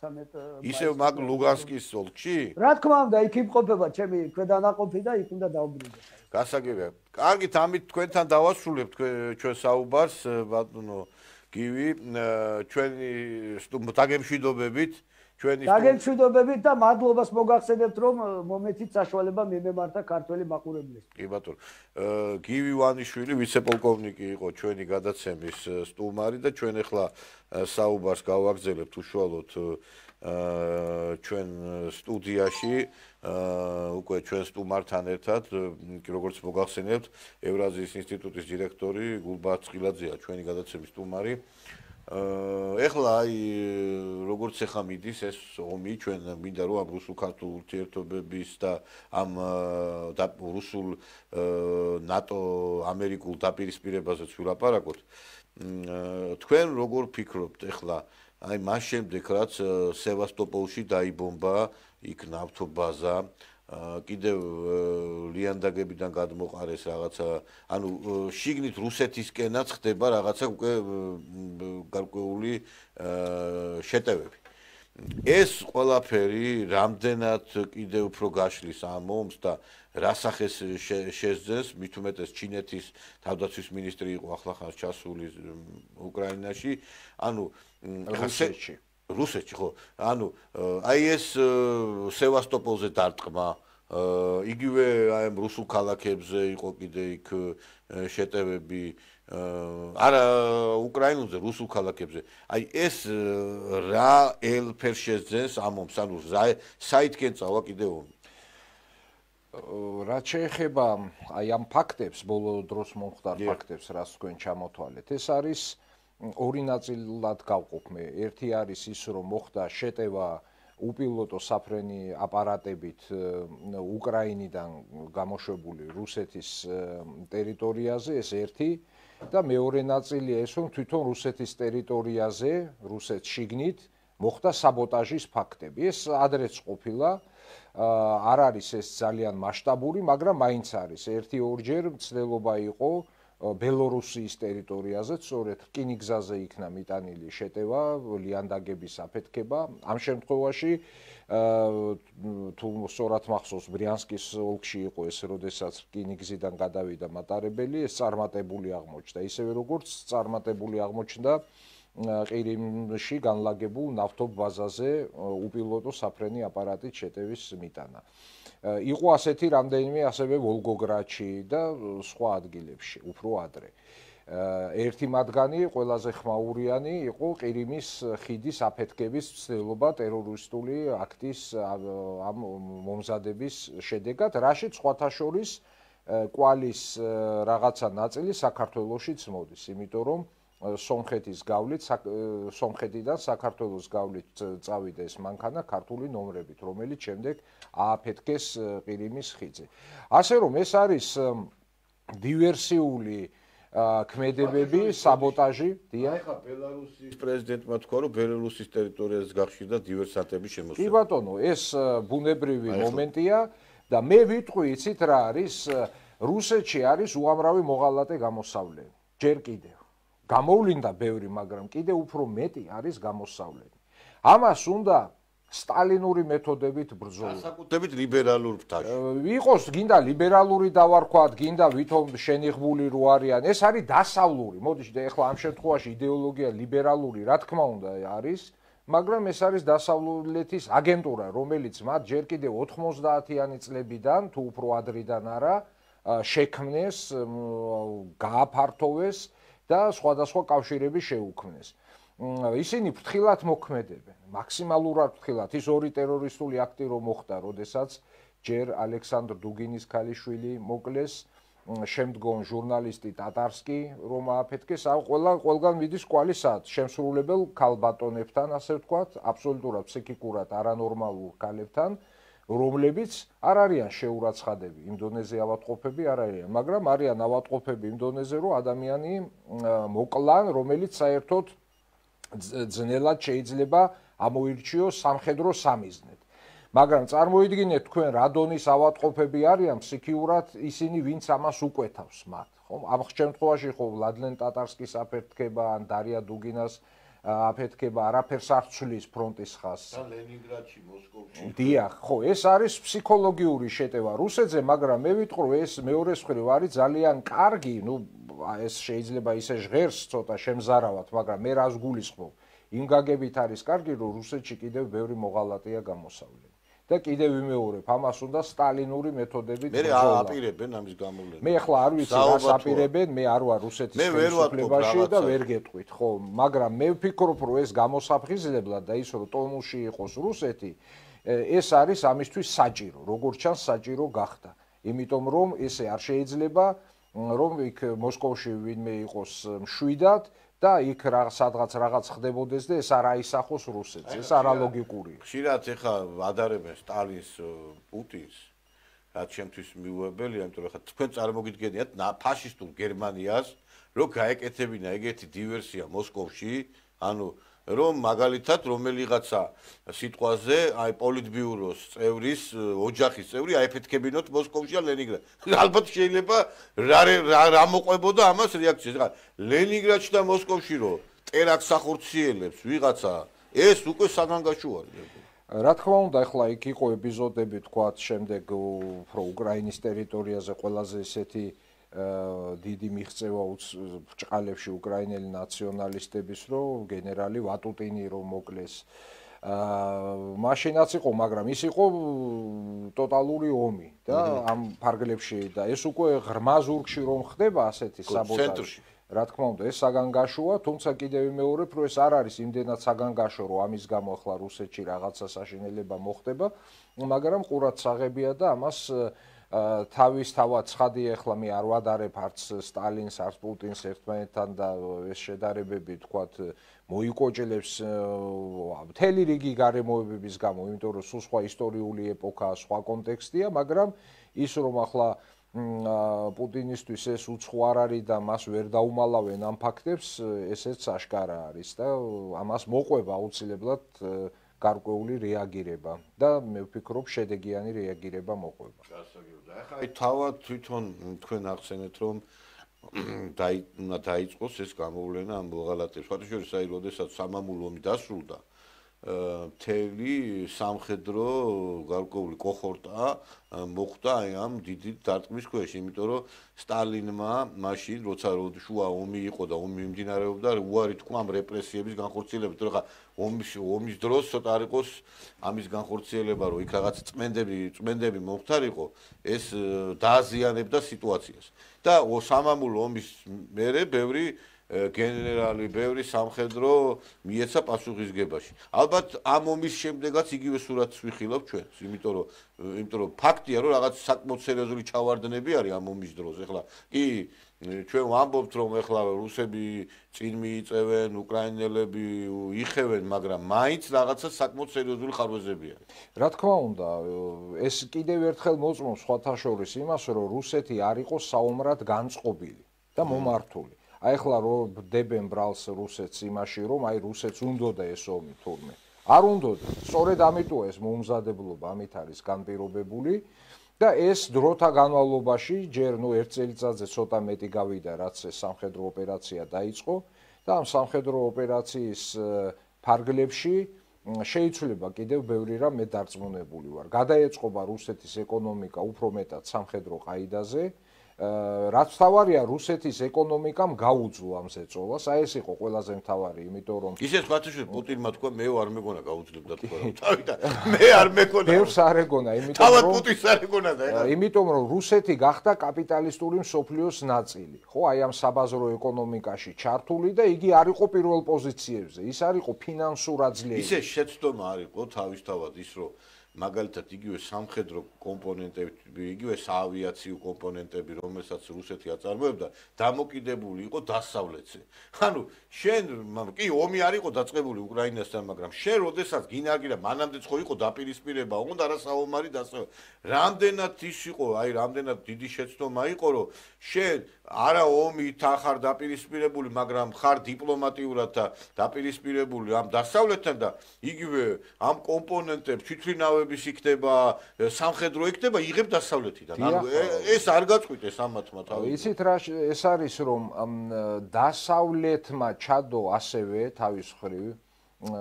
13 ისევ მაგ ლუგანსკის ოლქში რა თქმა უნდა იქ იმყოფება ჩემი ქვედანაყოფი და იქ უნდა დავბრუნდე გასაგებია კარგით ამით თქვენთან დავასრულებთ ჩვენ საუბარს ბატონო გივი ჩვენი დაგემშვიდობებით დაგემშვიდობებით და მადლობას მოგახსენებთ რომ მომეცით საშუალება მიმემართა ქართველი მაყურებლებს. კი ბატონო. გივი ვანიშვილი ვიცე-პოლკოვნიკი იყო ჩვენი გადაცემის სტუმარი და ჩვენ ახლა საუბარს გავაგრძელებთ უშუალოდ ჩვენ სტუდიაში უკვე ჩვენ სტუმართან ერთად როგორც მოგახსენებთ ევრაზიის ინსტიტუტის დირექტორი გულბაათ წყილაძეა ჩვენი გადაცემის სტუმარი. ეხლა აი როგორც ახლა მიდის ეს ომი ჩვენ მინდა რომ ამ რუსულ-ქართულ ურთიერთობების და ამ რუსულ ნატო ამერიკულ დაპირისპირებაზეც ვილაპარაკოთ თქვენ როგორ ფიქრობთ ეხლა აი მას შემდეგ რაც სევასტოპოლში დაიბომბა იქ ნავთობაზა კიდევ ლიანდაგებიდან გადმოყარეს რაღაცა ანუ შიგნით რუსეთისკენაც ხდება რაღაცა უკვე გარკვეული შეტევები ეს ყველაფერი რამდენად კიდევ უფრო გაშლის ამ ომს და რა სახეს შეძენს მით უმეტეს ჩინეთის თავდაცვის მინისტრი იყო ახლახანს ჩასული უკრაინაში ანუ რუსეთში ხო ანუ აი ეს სევასტოპოლზე დარტყმა იგივე აი ამ რუსულ ქალაქებზე იყო კიდე იქ შეტევები არა უკრაინულზე რუსულ ქალაქებზე აი ეს რა ელფერს შეძენს ამ ომს ანუ საითკენ წავა კიდე ომი რაც შეეხება აი ამ ფაქტებს ბოლო დროს მომხდარ ფაქტებს რაც თქვენ ჩამოთვალეთ ეს არის ორი ნაწილად გავყოფ მე. ერთი არის ის, რომ მოხდა შეტევა უპილოტო საფრენი აპარატებით უკრაინიდან გამოშვებული რუსეთის ტერიტორიაზე, ეს ერთი და მეორე ნაწილია ეს, რომ თვითონ რუსეთის ტერიტორიაზე, რუსეთს შიგნით მოხდა საბოტაჟის ფაქტები. ეს ადრეც ყოფილა, არ არის ეს ძალიან მასშტაბური, მაგრამ მაინც არის. ერთი-ორჯერ მცდელობა იყო ბელორუსიის ტერიტორიაზე, სწორედ რკინიგზაზე იქნა მიტანილი შეტევა, ლიანდაგების აფეთქება. ამ შემთხვევაში თუ სწორად მახსოვს, ბრიანსკის ოლქში იყო ეს, როდესაც რკინიგზიდან გადავიდა მატარებელი, ეს წარმატებული აღმოჩნდა. ისევე როგორც წარმატებული აღმოჩნდა ყირიმში განლაგებულ ნავთობაზაზე უპილოტო საფრენი აპარატით შეტევის მიტანა. იყო ასეთი რამდენიმე ასევე ვოლგოგრადში და სხვა ადგილებში, უფრო ადრე. ერთი მათგანი, ყველაზე ხმაურიანი იყო ყირიმის ხიდის აფეთქების მცდელობა ტერორისტული აქტის ამ მომზადების შედეგად, რაშიც სხვათა შორის კვალის რაღაცა ნაწილი საქართველოშიც მოდის, იმიტომ რომ სომხეთის გავლით, სომხეთიდან საქართველოს გავლით წავიდა ეს მანქანა ქართული ნომრებით, რომელიც შემდეგ ააფეთქეს ყირიმის ხიდზე. ასე რომ ეს არის დივერსიული ქმედებები, საბოტაჟი, დიახ. ახლა ბელარუსის პრეზიდენტმა თქვა, რომ ბელარუსის ტერიტორიაზე გახშირდა დივერსანტების შემოსევები. კი ბატონო, ეს ბუნებრივი მომენტია და მე ვიტყვი, იცით რა არის, რუსეთში არის უამრავი მოღალატე გამოსავლელი. ჯერ კიდევ გამოვლინდა ბევრი, მაგრამ კიდე უფრო მეტი არის გამოსავლელი. ამას უნდა სტალინური მეთოდებით ბრძოლა. განსაკუთრებით ლიბერალურ ფრთაში. იყოს გინდა ლიბერალური დავარქვათ, გინდა ვითომ შენიღბული რო არიან, ეს არის დასავლური. მოდიშ ეხლა ამ შემთხვევაში იდეოლოგია ლიბერალური, რა თქმა უნდა არის, მაგრამ ეს არის დასავლეთის აგენტურა, რომელიც მათ ჯერ კიდევ 90-იანი წლებიდან თუ უფრო ადრიდან არა, შექმნეს, გააფართოვეს და სხვადასხვა კავშირები შეუქმნეს. ისინი ფრთხილად მოქმედებენ, მაქსიმალურად ფრთხილად. ის ორი ტერორისტული აქტი რომ მოხდა, როდესაც ჯერ ალექსანდრ დუგინის ქალიშვილი მოკლეს შემდგომ ჟურნალისტი ტატარსკი რომ ააფეთქეს, ყველგან მიდის კვალი სად შემსრულებელ ქალბატონებთან, ასე ვთქვათ, აბსოლუტურად ფსიქიკურად არანორმალურ ქალებთან, რომლებიც არ არიან შეურაცხადები იმ დონეზე ავადმყოფები არ არიან, მაგრამ არიან ავადმყოფები იმ დონეზე, რომ ადამიანი მოკლან, რომელიც საერთოდ ძნელად შეიძლება ამოირჩიოს სამხედრო სამიზნედ. მაგრამ წარმოიდგინეთ თქვენ რა დონის ავადმყოფები არიან ფსიქიურად ისინი, ვინც ამას უკვეთავს მათ, ხო? ამ შემთხვევაში ხო ვლადლენ ტატარსკის აფეთქება ან დარია დუგინას აფეთქება არაფერს არ ცვლის ფრონტის ხაზს. და ლენინგრადში, მოსკოვში. დიახ, ხო, ეს არის ფსიქოლოგიური შეტევა რუსეთზე, მაგრამ მე ვიტყვი, რომ ეს მეორეს მხრივ არის ძალიან კარგი, ეს შეიძლება ისე ჟღერს ცოტა შემზარავად, მაგრამ მე რას გულისხმობ? იმ გაგებით არის კარგი, რომ რუსეთში კიდევ ბევრი მოღალატეა გამოსავლელი. და კიდევ ვიმეორებ, ამას უნდა სტალინური მეთოდებით ბრძოლა. მე აპირებენ ამის გამოვლენა. მე ახლა არ ვიცი რას აპირებენ, მე არ ვარ რუსეთის ხელისუფლებაში და ვერ გეტყვით, ხო, მაგრამ მე ვფიქრობ, რომ ეს გამოსაფხიზლებლად და ის რომ ტონუსში იყოს რუსეთი, ეს არის ამისთვის საჭირო, როგორც ჩანს საჭირო გახდა. იმიტომ რომ ესე არ შეიძლება რომ იქ მოსკოვში ვინმე იყოს მშვიდად და იქ სადღაც რაღაც ხდებოდეს და ეს არ აისახოს რუსეთს, ეს არალოგიკურია. ხშირად ეხა ადარებენ სტალინს, პუტინს, რაც შემთთვის მიუღებელია, იმიტომ რომ ხა თქვენ წარმოგიდგენიათ ფაშისტურ გერმანიას, რომ გაეკეთებინა ეგეთი დივერსია მოსკოვში, ანუ რომ მაგალითად რომელიღაცა სიტყვაზე აი პოლიტბიუროს წევრის ოჯახის წევრი აიფეთქებინოთ მოსკოვში ან ლენინგრადში. ალბათ შეიძლება რა მოყვებოდა ამას რეაქცია. ხა ლენინგრადში და მოსკოვში რო ტერაქტს ახორციელებს ვიღაცა, ეს უკვე საგანგაშო არის. რა თქმა უნდა, ახლა იქ იყო ეპიზოდები, თქვათ, შემდეგ უფრო უკრაინის ტერიტორიაზე ყველაზე ისეთი დიდი მიღწევა ბრჭყალებში უკრაინელი ნაციონალისტების, რომ გენერალი ვატუტინი რომ მოკლეს. მაშინაც იყო, მაგრამ ის იყო ტოტალური ომი და ამ ფარგლებში და ეს უკვე ღრმა ზურგში რომ ხდება ასეთი საბოტაჟი. რა თქმა უნდა, ეს საგანგაშოა, თუმცა კიდევ ვიმეორებ, რომ ეს არ არის იმდენად საგანგაშო, რომ ამის გამო ახლა რუსეთში რაღაცა საშინელება მოხდება, მაგრამ ყურადსაღებია და ამას თავისთავად ცხადია, ახლა მე არ ვადარებ არც სტალინს, არც პუტინს ერთმანეთთან და ეს შედარებები, თქვათ, მოიკოჭლებს მთელი რიგი გარემოებების გამო, იმიტომ რომ სულ სხვა ისტორიული ეპოქაა, სხვა კონტექსტია, მაგრამ ის რომ ახლა პუტინისთვის ეს უცხო არ არის და მას ვერ დაუმალავენ ამ ფაქტებს, ესეც აშკარა არის და ამას მოყვება აუცილებლად გარკვეული რეაგირება და მე ვფიქრობ შედეგიანი რეაგირება მოყვება. ახლა აი თავად თვითონ თქვენ ახსენეთ რომ უნდა დაიწყოს ეს გამოვლენა ამ მოღალატეებს. ფაქტობრივად აი როდესაც სამამულო ომი დასრულდა, მთელი სამხედრო გარკვეული კოჰორტა მოხვდა აი ამ დიდი დარტყმის ქვეშ, იმიტომ რომ სტალინმა მაშინ როცა შუა ომი იყო და ომი მიმდინარეობდა, უარი თქვა ამ რეპრესიების განხორციელებას, რომ ხა ომის დროს ცოტა არ იყოს ამის განხორციელება, რომ იქ რაღაც წმენდები მომხდარიყო, ეს დააზიანებდა სიტუაციას. და სამამულო ომის მერე ბევრი გენერალი, ბევრი სამხედრო მიეცა პასუხისგებაში. ალბათ ამ ომის შემდეგაც იგივე სურათს ვიხილავ ჩვენ, იმიტომ რომ ფაქტია, რომ რაღაც საკმაოდ სერიოზული ჩავარდნები არის ამ ომის დროს. ეხლა კი ჩვენ ვამბობთ, რომ ეხლა რუსები წინ მიიწევენ, უკრაინელები იხევენ, მაგრამ მაინც რაღაცა საკმაოდ სერიოზული ხარვეზები არის. რა თქმა უნდა, ეს კიდევ ერთხელ მოწმობს სხვათა შორის იმას, რომ რუსეთი არ იყოს საომრად განწყობილი და მომართული. აი ახლა რომ დებენ ბრალს რუსეთს იმაში, რომ აი რუსეთს უნდოდა ეს ომი თურმე. არ უნდოდა. სწორედ ამიტოა ეს მომზადებლობა ამით არის განპირობებული და ეს დროთა განმავლობაში ჯერ ერთ წელიწადზე ცოტა მეტი გავიდა, რაც ეს სამხედრო ოპერაცია დაიწყო და ამ სამხედრო ოპერაციის ფარგლებში შეიცვლება კიდევ ბევრი რამ მე დარწმუნებული ვარ. გადაეწყობა რუსეთის ეკონომიკა უფრო მეტად სამხედრო ყაიდაზე. რაც თავარია რუსეთის ეკონომიკამ გაუძლო ამ ზეწოლას, აი ეს იყო ყველაზე მთავარი, იმიტომ რომ ისე სხვათაშორის პუტინმა თქვა მე არ მეგონა გაუძლებდა თქვა რომ თავიდან მე არ მეგონა ბევრს არ ეგონა, იმიტომ რომ თავად პუტინს არ ეგონა და ეხლა იმიტომ რომ რუსეთი გახდა კაპიტალისტური მსოფლიოს ნაწილი, ხო, აი ამ საბაზრო ეკონომიკაში ჩართული და იგი არ იყო პირველ პოზიციებზე, ის არ იყო ფინანსურად ძლიერი. ისე შეცდომა არ იყო თავისთავად ის რომ მაგალითად იგივე სამხედრო კომპონენტები, იგივე საავიაციო კომპონენტები, რომელსაც რუსეთი აწარმოებდა, დამოკიდებული იყო დასავლეთზე. ანუ შენ კი ომი არ იყო დაწყებული უკრაინასთან, მაგრამ შენ როდესაც გინარგირა მანამდეც ხო იყო დაპირისპირება, უნდა რა საომარი დასავლეთ. რამდენად ის იყო, აი რამდენად დიდი შეცდომა იყო, რომ შენ არა ომით ახარ დაპირისპირებული, მაგრამ ხარ დიპლომატიურად დაპირისპირებული ამ დასავლეთთან და იგივე ამ კომპონენტებს თვითმფრინავების იქნება, სამხედრო იქნება, იღებ დასავლეთიდან. ანუ ეს არ გაწყვიტეს ამათმა თავი. იცით რა ეს არის რომ დასავლეთმა ჩადო ასევე თავის მხრივ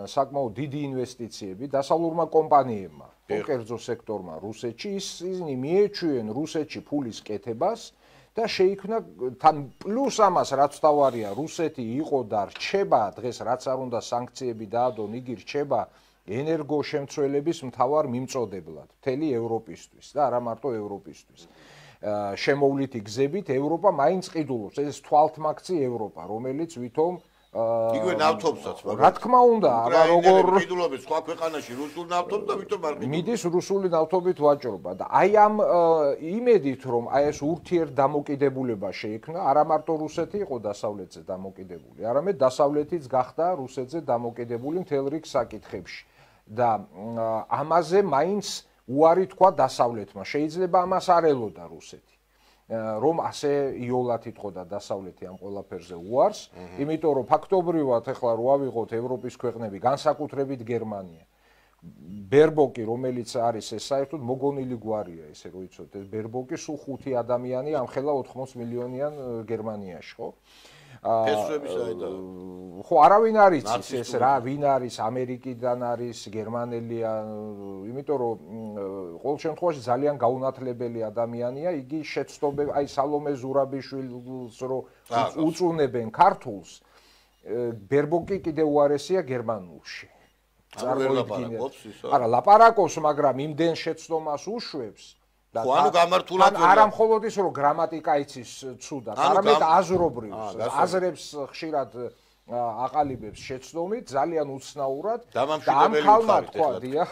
საკმაოდ დიდი ინვესტიციები დასავლურმა კომპანიებმა, კერძო სექტორმა რუსეთში, ისინი მიეჩვიენ რუსეთში ფულის კეთებას და შეიქმნა თან პლუს ამას რაც თავარია რუსეთი იყო და რჩება დღეს რაც არ უნდა სანქციები დაადონ იგი რჩება ენერგოშემცველების მთავარ მიმწოდებლად მთელი ევროპისთვის და არა მარტო ევროპისთვის შემოვლითი გზებით ევროპა მაინც ყიდულობს ეს თვალთმაქცი ევროპა რომელიც ვითომ იგივე ნავთობსაც რა თქმა უნდა აბა როგორ ყიდულობს სხვა ქვეყანაში რუსულ ნავთობს და ვითომ არ ყიდულობს მიდის რუსული ნავთობით ვაჭრობა და აი ამ იმედით რომ აი ეს ურთიერთდამოკიდებულება შეიქმნა არა მარტო რუსეთი იყო დასავლეთზე დამოკიდებული არამედ დასავლეთიც გახდა რუსეთზე დამოკიდებული მთელ რიგ საკითხებში და ამაზე მაინც უარი თქვა დასავლეთმა შეიძლება ამას არ ელოდა რუსეთი რომ ასე იოლად იტყოდა დასავლეთი ამ ყველაფერზე უარს, იმიტომ რომ ფაქტობრივად ახლა რო ავიღოთ ევროპის ქვეყნები, განსაკუთრებით გერმანია. ბერბოკი, რომელიც არის ეს საერთოდ მოგონილი გვარია, ესე რომ იცოდეთ, ეს ბერბოკი სულ 5 ადამიანი ამხელა 80 მილიონიან გერმანიაში, ხო? ფესვების საერთოდ ხო არავინ არ იცის ეს რა ვინ არის ამერიკიდან არის გერმანელია იმიტომ რომ ყოველ შემთხვევაში ძალიან გაუნათლებელი ადამიანია იგი შეცდომები აი სალომე ზურაბიშვილს რო უწუნებენ ქართულს ბერბოკი კიდე უარესია გერმანულში არა ლაპარაკობს მაგრამ იმდენ შეცდომას უშვებს ხო ანუ გამართულად არა მხოლოდ ის რომ გრამატიკა იცის ცუდად, არამედ აზრობრივს, აზრებს ხშირად აყალიბებს შეცდომით, ძალიან უცნაურად და ამ ხალხმა თქვა, დიახ,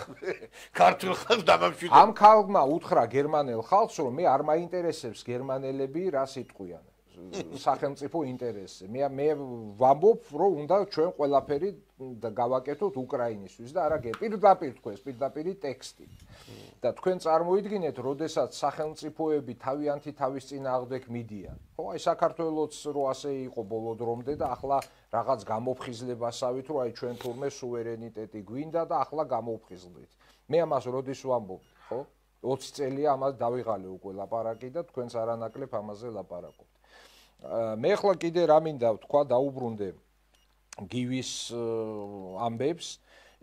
ქართულ ხალხს დამამშვიდებელი. ამ ხალხმა უთხრა გერმანელ ხალხს, რომ მე არ მაინტერესებს გერმანელები რა სიტყვიან. სახელმწიფო ინტერესზე. მე ვამბობ, რომ უნდა ჩვენ ყველაფერი გავაკეთოთ უკრაინისთვის და არა პირდაპირ თქვენს პირდაპირი ტექსტი. და თქვენ წარმოიდგინეთ, როდესაც სახელმწიფოები თავიანთი თავის წინააღმდეგ მიდიან. ხო, აი საქართველოც რო ასე იყო ბოლო დრომდე და ახლა რაღაც გამოფხიზლებასავით, რომ აი ჩვენ თურმე სუვერენიტეტი გვინდა და ახლა გამოვხიზლდით. მე ამას როდის ვამბობ, ხო? 20 წელია ამას დავიღალე უკვე ლაპარაკი და თქვენს არანაკლებ ამაზე ლაპარაკობთ. მე ახლა კიდე რა მინდა ვთქვა დაუბრუნდე გივის ამბებს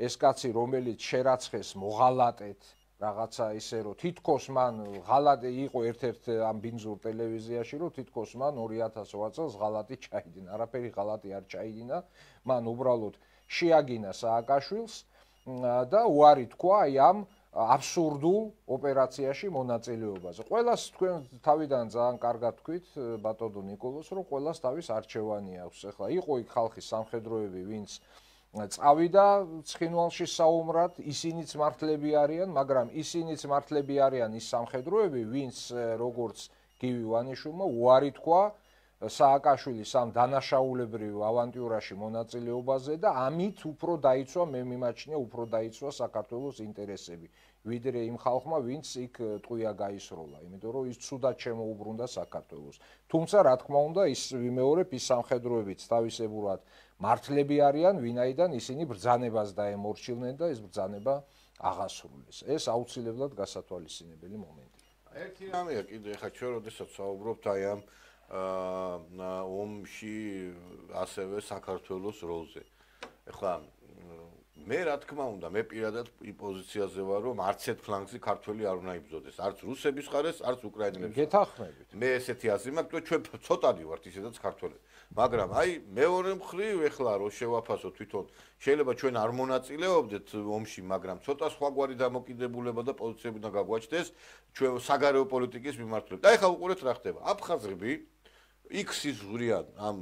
ეს კაცი რომელიც შერაცხეს მოღალატეთ რაღაცა ისე რომ თითქოს მან ღალატი იყო ერთ-ერთ ამ ბინძურ ტელევიზიაში რომ თითქოს მან 2008 წელს ღალატი ჩაიდინა არაფერი ღალატი არ ჩაიდინა მან უბრალოდ შეაგინა სააკაშვილს და უარი თქვა აი ამ აბსურდულ ოპერაციაში მონაწილეობაზე. ყველას თქვენ თავიდან ძალიან კარგად თქვით ბატონო ნიკოლოს, რომ ყველას თავის არჩევანი აქვს. ეხლა იყო იქ ხალხის სამხედროები, ვინც წავიდა ცხინვალში საომრად, ისინიც მართლები არიან, მაგრამ ისინიც მართლები არიან ის სამხედროები, ვინც როგორც გივი ვანიშვილმა უარი თქვა სააკაშვილის ამ დანაშაულებრივ ავანტიურაში მონაწილეობაზე და ამით უფრო დაიცვა მე მიმაჩნია უფრო დაიცვა საქართველოს ინტერესები ვიდრე იმ ხალხმა ვინც იქ ტყვია გაისროლა იმიტომ რომ ის ცუდად შემოუბრუნდა საქართველოს თუმცა რა თქმა უნდა ის ვიმეორებ ის სამხედროებიც თავისებურად მართლები არიან ვინაიდან ისინი ბრძანებას დაემორჩილნენ და ეს ბრძანება აღასრულეს ეს აუცილებლად გასათვალისწინებელი მომენტია ერთი რამეა კიდე ხა ჩვენ როდესაც საუბრობთ აი ამ ომში ასევე საქართველოს როლზე. ეხლა მე რა თქმა უნდა, მე პირადად პოზიციაზე ვარ, რომ არც ერთ ფლანგზე ქართველი არ უნდა იბრძოდეს, არც რუსების ხარეს, არც უკრაინელების. გეთანხმებით. მე ესეთი აზრი მაქვს, რომ ჩვენ ცოტადი ვართ ისედაც ქართველები. მაგრამ აი მეორე მხრივ ეხლა რო შევაფასოთ თვითონ, შეიძლება ჩვენ არ მონაწილეობდეთ ომში, მაგრამ ცოტა სხვაგვარი დამოკიდებულება და პოზიციები უნდა გაგვაჩნდეს ჩვენ საგარეო პოლიტიკის მიმართულებით. აი ხა უყურეთ რა ხდება. აფხაზები X-ის ზღვრიან ამ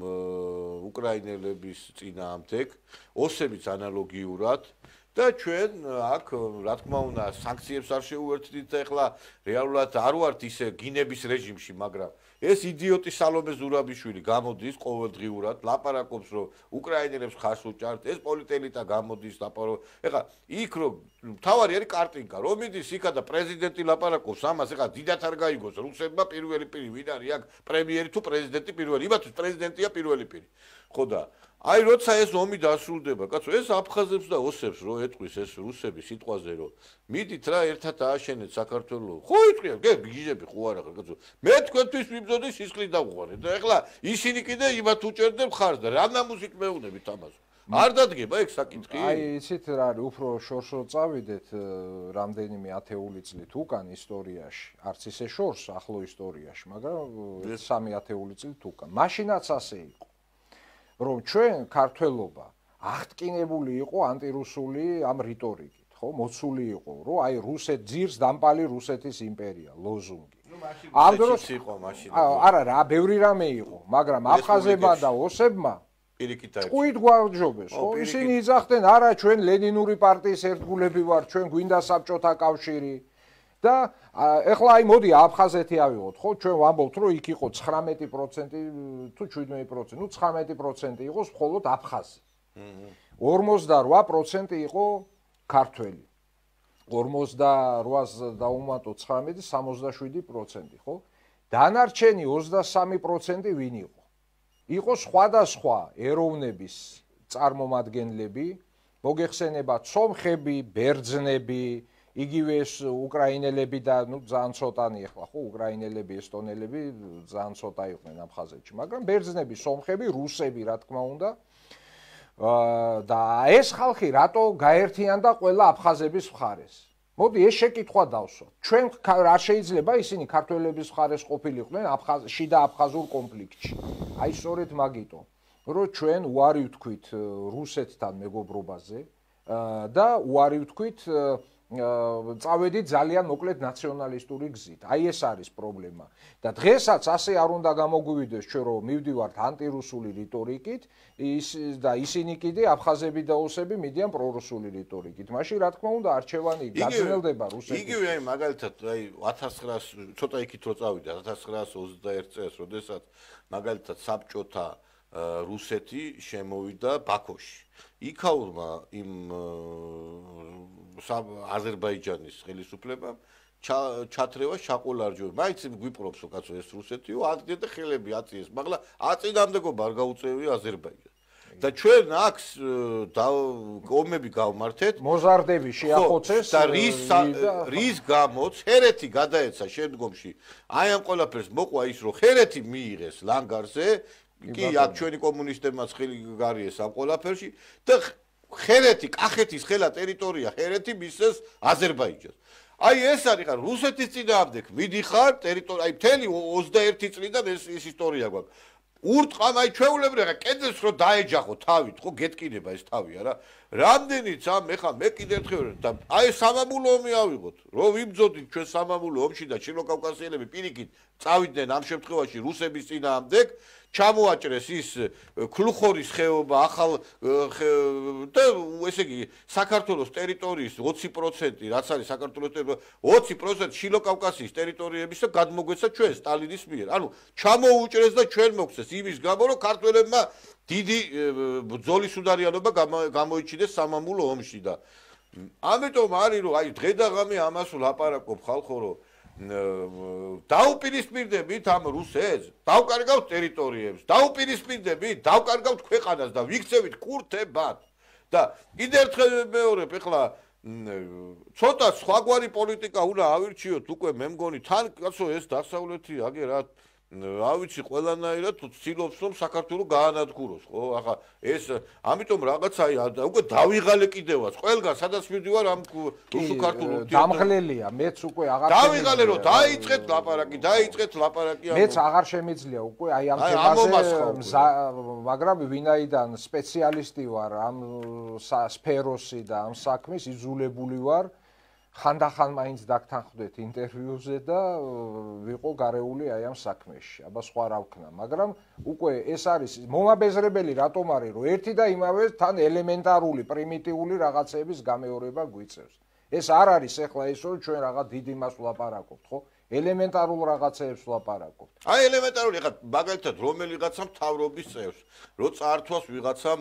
უკრაინელების წინააღმდეგ, ოსებიც ანალოგიურად და ჩვენ აქ რა თქმა უნდა სანქციებს არ შეუერთდით და ეხლა რეალურად არ ვართ ისე გინების რეჟიმში, მაგრამ ეს იდიოტი სალომე ზურაბიშვილი გამოდის ყოველდღიურად, ლაპარაკობს რომ უკრაინელებს ხარს უჭართ, ეს პოლიტელიტა გამოდის ლაპარაკობს. ეხლა იქ რომ თავარი არის კარტინკა, რომ მიდის იქა და პრეზიდენტი ლაპარაკობს ამას, ეხლა დიდათ არ გაიგოს რუსებმა პირველი პირი ვინ არის აქ პრემიერი თუ პრეზიდენტი პირველი, იმათთვის პრეზიდენტია პირველი პირი. ხო და აი როცა ეს ომი დასრულდება, კაცო, ეს აფხაზებს და ოსებს რო ეტყვის ეს რუსები სიტყვაზე რომ მიდით რა ერთად ააშენეთ საქართველოს. ხო იტყვია, გიჟები ხო არა ხარ, კაცო. მე თქვენთვის ვიბრძოდი სისხლით დავუყარეთ და ეხლა ისინი კიდე იმათ უჭერდნენ ხარს და რა ნამუსით მეუნებით ამას. არ დადგება ეგ საკითხი? აი იცით რა არის, უფრო შორს რო წავიდეთ რამდენიმე ათეული წლით უკან ისტორიაში, არც ისე შორს ახლო ისტორიაში, მაგრამ 3 ათეული წლით უკან. მაშინაც ასე იყო. რომ ჩვენ ქართველობა აღტკინებული იყო ანტირუსული ამ რიტორიკით, ხო, მოცული იყო, რომ აი რუსეთ ძირს დამპალი რუსეთის იმპერია, ლოზუნგი. ამ დროს იყო მაშინ. არა რა, ბევრი რამე იყო, მაგრამ აფხაზებმა და ოსებმა პირიქით წუით გვარჯობეს, ხო, ისინი იძახდნენ, არა, ჩვენ ლენინური პარტიის ერთგულები ვართ, ჩვენ გვინდა საბჭოთა კავშირი. და ეხლა აი მოდი აფხაზეთი ავიღოთ, ხო, ჩვენ ვამბობთ, რომ იქ იყო 19% თუ 17%, ну 19% იყოს მხოლოდ აფხაზი. 48% იყო ქართველი. 48-ს დაუმატოთ 19, 67%, ხო? დანარჩენი 23% ვინ იყო? იყო სხვადასხვა ეროვნების წარმომადგენლები, მოგეხსენებათ სომხები, ბერძნები, იგივე ეს უკრაინელები და ნუ ძალიან ცოტანი ახლა ხო უკრაინელები, ესტონელები ძალიან ცოტა იყვნენ აფხაზეთში, მაგრამ ბერძნები, სომხები, რუსები რა თქმა უნდა. და ეს ხალხი რატო გაერთიანდა ყველა აფხაზების მხარეს? მოდი ეს შეკითხვა დავსვათ. ჩვენ რა შეიძლება ისინი ქართველების მხარეს ყოფილიყვნენ შიდა აფხაზურ კონფლიქტში. აი სწორედ მაგიტო, რომ ჩვენ უარი ვთქვით რუსეთთან მეგობრობაზე და უარი ვთქვით წავედით ძალიან მოკლედ ნაციონალისტური გზით. აი ეს არის პრობლემა. და დღესაც ასე არ უნდა გამოგვივიდეს ჩვენ რომ მივდივართ ანტირუსული რიტორიკით, და ისინი კიდე აფხაზები და ოსები მიდიან პრორუსული რიტორიკით. მაშინ რა თქმა უნდა არჩევანი გაგრძელდება რუსეთში. იგივე აი მაგალითად აი 1900 ცოტა იქით რო წავიდა 1921 წელს, როდესაც მაგალითად საბჭოთა რუსეთი შემოვიდა ბაქოში. იქაურმა იმ აზერბაიჯანის ხელისუფლებამ ჩათრევა შაყოლარჯოები. მაინც გვიპრობს კაცო ეს რუსეთიო, ადგენდა ხელები აწიეს, მაგრამ აწინამდეგობა არ გაუწევია აზერბაიჯანს. და ჩვენ აქ ომები გავმართეთ, მოზარდები შეახოცეს და რის გამოც ჰერეთი გადაეცა შემდგომში. აი ამ ყველაფერს მოყვა ის, რომ ჰერეთი მიიღეს ლანგარზე, კი აქ ჩვენი კომუნისტებმაც ხელი გარიეს ამ ყველაფერში და ჰერეთი, კახეთის ხელა ტერიტორია ჰერეთი მისცეს აზერბაიჯანს. აი ეს არის ხარ რუსეთის წინააღმდეგ მიდიხარ ტერიტორია, აი მთელი 21 წლიდან ეს ისტორია გვაქვს. ურტყამ აი ჩვეულებრივ ხა კედელს რო დაეჯახო თავით, ხო გეტკინება ეს თავია რა. რამდენიც ამ ეხა მე კიდე ერთხელ და აი სამამულო ომი ავიღოთ. რო ვიბრძოდით ჩვენ სამამულო ომში და ჩილოკავკასიელები პირიქით წავიდნენ ამ შემთხვევაში რუსების წინააღმდეგ, ჩამოაჭრეს ის ქლუხორის ხეობა, ახალ და ესე იგი საქართველოს ტერიტორიის 20%, რაც არის საქართველოს ტერიტორია, 20% ჩილოკავკასიის ტერიტორიების და გადმოგვეცა ჩვენ სტალინის მიერ. ანუ ჩამოუჭრეს და ჩვენ მოგცეს იმის გამო, რომ ქართველებმა დიდი ბრძოლის უდარიანობა გამოიჩინეს სამამულო ომში და ამიტომ არის რომ აი დღე და ღამე ამას ვლაპარაკობ ხალხო, რომ დაუპირისპირდებით ამ რუსეთს, დავკარგავთ ტერიტორიებს, დაუპირისპირდებით, დავკარგავთ ქვეყანას და ვიქცევით კურთებად. და კიდე ერთხელ მეორებ, ეხლა ცოტა სხვაგვარი პოლიტიკა უნდა ავირჩიოთ უკვე მე მგონი თან კაცო ეს დასავლეთი აგერად რა ვიცი ყველანაირად ცდილობს რომ საქართველოს გაანადგუროს, ხო? ახლა ეს ამიტომ რაღაცა უკვე დავიღალე კიდევაც. ყველგან სადაც მივდივარ ამ რუსულ-ქართულ დამღლელია, მეც უკვე აღარ დავიღალე რომ დაიწყეთ ლაპარაკი მეც აღარ შემიძლია უკვე აი ამ თემაზე, მაგრამ ვინაიდან სპეციალისტი ვარ ამ სფეროსი და ამ საქმის, იძულებული ვარ ხანდახან მაინც დაგთანხმდეთ ინტერვიუზე და ვიყო გარეული აი ამ საქმეში. აბა სხვა რა ვქნა, მაგრამ უკვე ეს არის მომაბეზრებელი რატომ არის, რომ ერთი და იმავე თან ელემენტარული, პრიმიტიული რაღაცების გამეორება გვიწევს. ეს არ არის ახლა ის რომ ჩვენ რაღაც დიდ იმას ვლაპარაკობთ, ხო? ელემენტარულ რაღაცებს ვლაპარაკობთ. აი ელემენტარული ხა მაგალითად რომელიღაცა მთავრობის წევს, რო წაართვას ვიღაცამ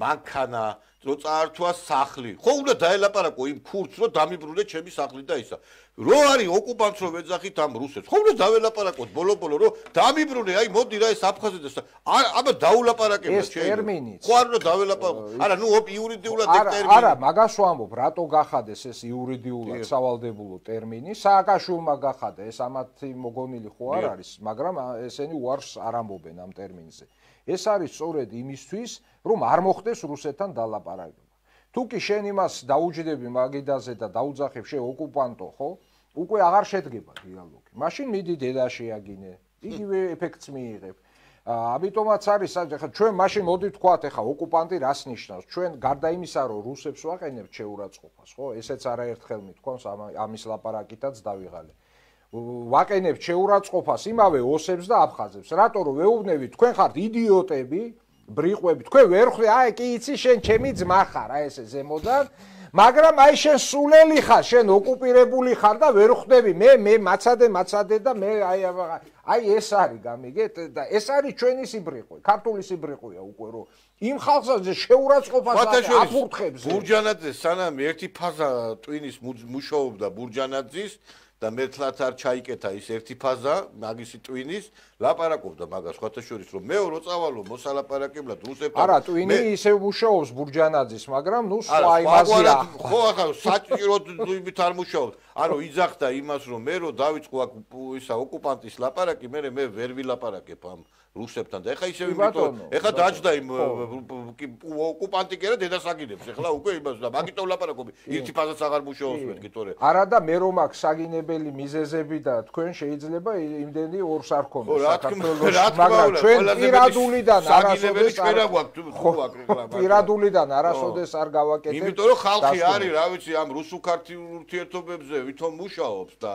მანქანა, რო წაართვას სახლი. ხო უნდა დაელაპარაკო იმ ქურთს, რომ დამიბრუნე ჩემი სახლი და ისა. რო არის ოკუპანტს რო ვეძახით ამ რუსებს. ხო უნდა დაველაპარაკოთ ბოლო-ბოლო რომ დამიბრუნე, აი მოდი რა ეს აფხაზეთს. აბა დაულაპარაკებთ ეს ტერმინიც. ხო არ უნდა დაველაპარაკო. არა, ნუ იურიდიულად ეგ ტერმინი. არა, მაგას ვამბობ, რატო გახადეს ეს იურიდიულად სავალდებულო ტერმინი? სააკაშვილმა გახადა, ეს ამათი მოგონილი ხო არ არის, მაგრამ ესენი უარს არ ამბობენ ამ ტერმინზე. ეს არის სწორედ იმისთვის, რომ არ მოხდეს რუსეთთან დალაპარაკება. თუ კი შენ იმას დაუჯდები მაგიდაზე და დაუძახებ შე ოკუპანტო, ხო? უკვე აღარ შედგება დიალოგი. მაშინ მიდი დედაში აგინე. იგივე ეფექტს მიიღებ. ამიტომაც არის, ახლა ჩვენ მაშინ მოდი ვთქვათ, ახლა ოკუპანტი რას ნიშნავს? ჩვენ გარდა იმისა, რომ რუსებს ვაყენებთ შეურაცხყოფას, ხო? ესეც არაერთხელ მithქვამს ამის ლაპარაკითაც დავიღალე. ვაყენებთ შეურაცხყოფას იმავე ოსებს და აფხაზებს. რატო რომ ვეუბნებით, თქვენ ხართ იდიოტები, ბრიყვები, თქვენ ვერ ხვდე, აი კი იცი შენ ჩემი ძმა ხარ, აი ესე ზემოდან, მაგრამ აი შენ სულელი ხარ, შენ ოკუპირებული ხარ და ვერ ხვდები, მე მაცადე და მე აი ეს არის გამიგეთ და ეს არის ჩვენი სიბრიყვე, ქართული სიბრიყვეა უკვე რომ იმ ხალხზე შეურაცხყოფას აფურთხებს. ბურჯანაძე სანამ ერთი ფაზა ტვინის მუშაობდა ბურჯანაძის და მეთლათ არ ჩაიკეთა ის ერთი ფაზა მაგისი ტვინის ლაპარაკობდა მაგას ხათაშორის რომ მე რო წავალო მოსალაპარაკებლად რუსებთან არა ტვინი ისე მუშაობს ბურჯანაძის მაგრამ ნუ სხვა იმაზეა ხო ახლა საჭიროდ იმით არ მუშაობს ანუ იძახდა იმას რომ მე რო დავიწყო აქ ისა ოკუპანტის ლაპარაკი მე ვერ ვილაპარაკებ ამ რუსებთან და ეხა ისე იმიტომ ეხა დაჭდა იმ ოკუპანტი კი არა დედასაგინებს ეხლა უკვე იმას და მაგიტომ ლაპარაკობი ერთი ფაზაც აღარ მუშაობს მეთქი თორე არა და მე რომ აქ საგინებელი მიზეზები და თქვენ შეიძლება იმდენი ორს არ ქონდეს საქართველოს მაგრამ ჩვენ პირადულიდან არასოდეს არ გავაკეთებთ იმიტომ რომ ხალხი არის რა ვიცი ამ რუსულ-ქართულ ურთიერთობებზე ვითომ მუშაობს და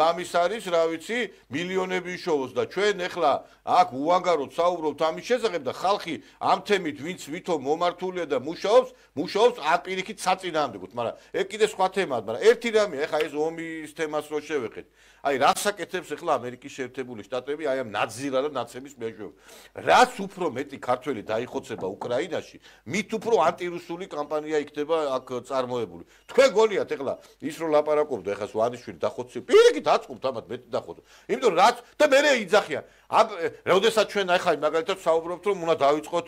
ლამის არის რა ვიცი მილიონები იშოვოს და ჩვენ ეხლა აქ უანგაროდ საუბრობთ ამის შესახებ და ხალხი ამ თემით ვინც ვითომ მომართულია და მუშაობს ამ პირიქით საწინააღმდეგოდ მაგრამ ეგ კიდე სხვა თემაა მაგრამ ერთი რამე ეხლა ეს ომის თემას რო შევეხეთ აი რას აკეთებს ეხლა ამერიკის შეერთებული შტატები აი ამ ნაძირა და ნაცების მეშვეობით რაც უფრო მეტი ქართველი დაიხოცება უკრაინაში მით უფრო ანტირუსული კამპანია იქნება აქ წარმოებული თქვენ გონიათ ეხლა ის რო ლაპარაკობდა ეხლა ვანიშვილი დახოცი პირიქით აწყობთ ამათ მეტი დახოცო იმიტომ რაც და მე იძახიან როდესაც ჩვენ ახლა მაგალითად საუბრობთ რომ უნდა დავიწყოთ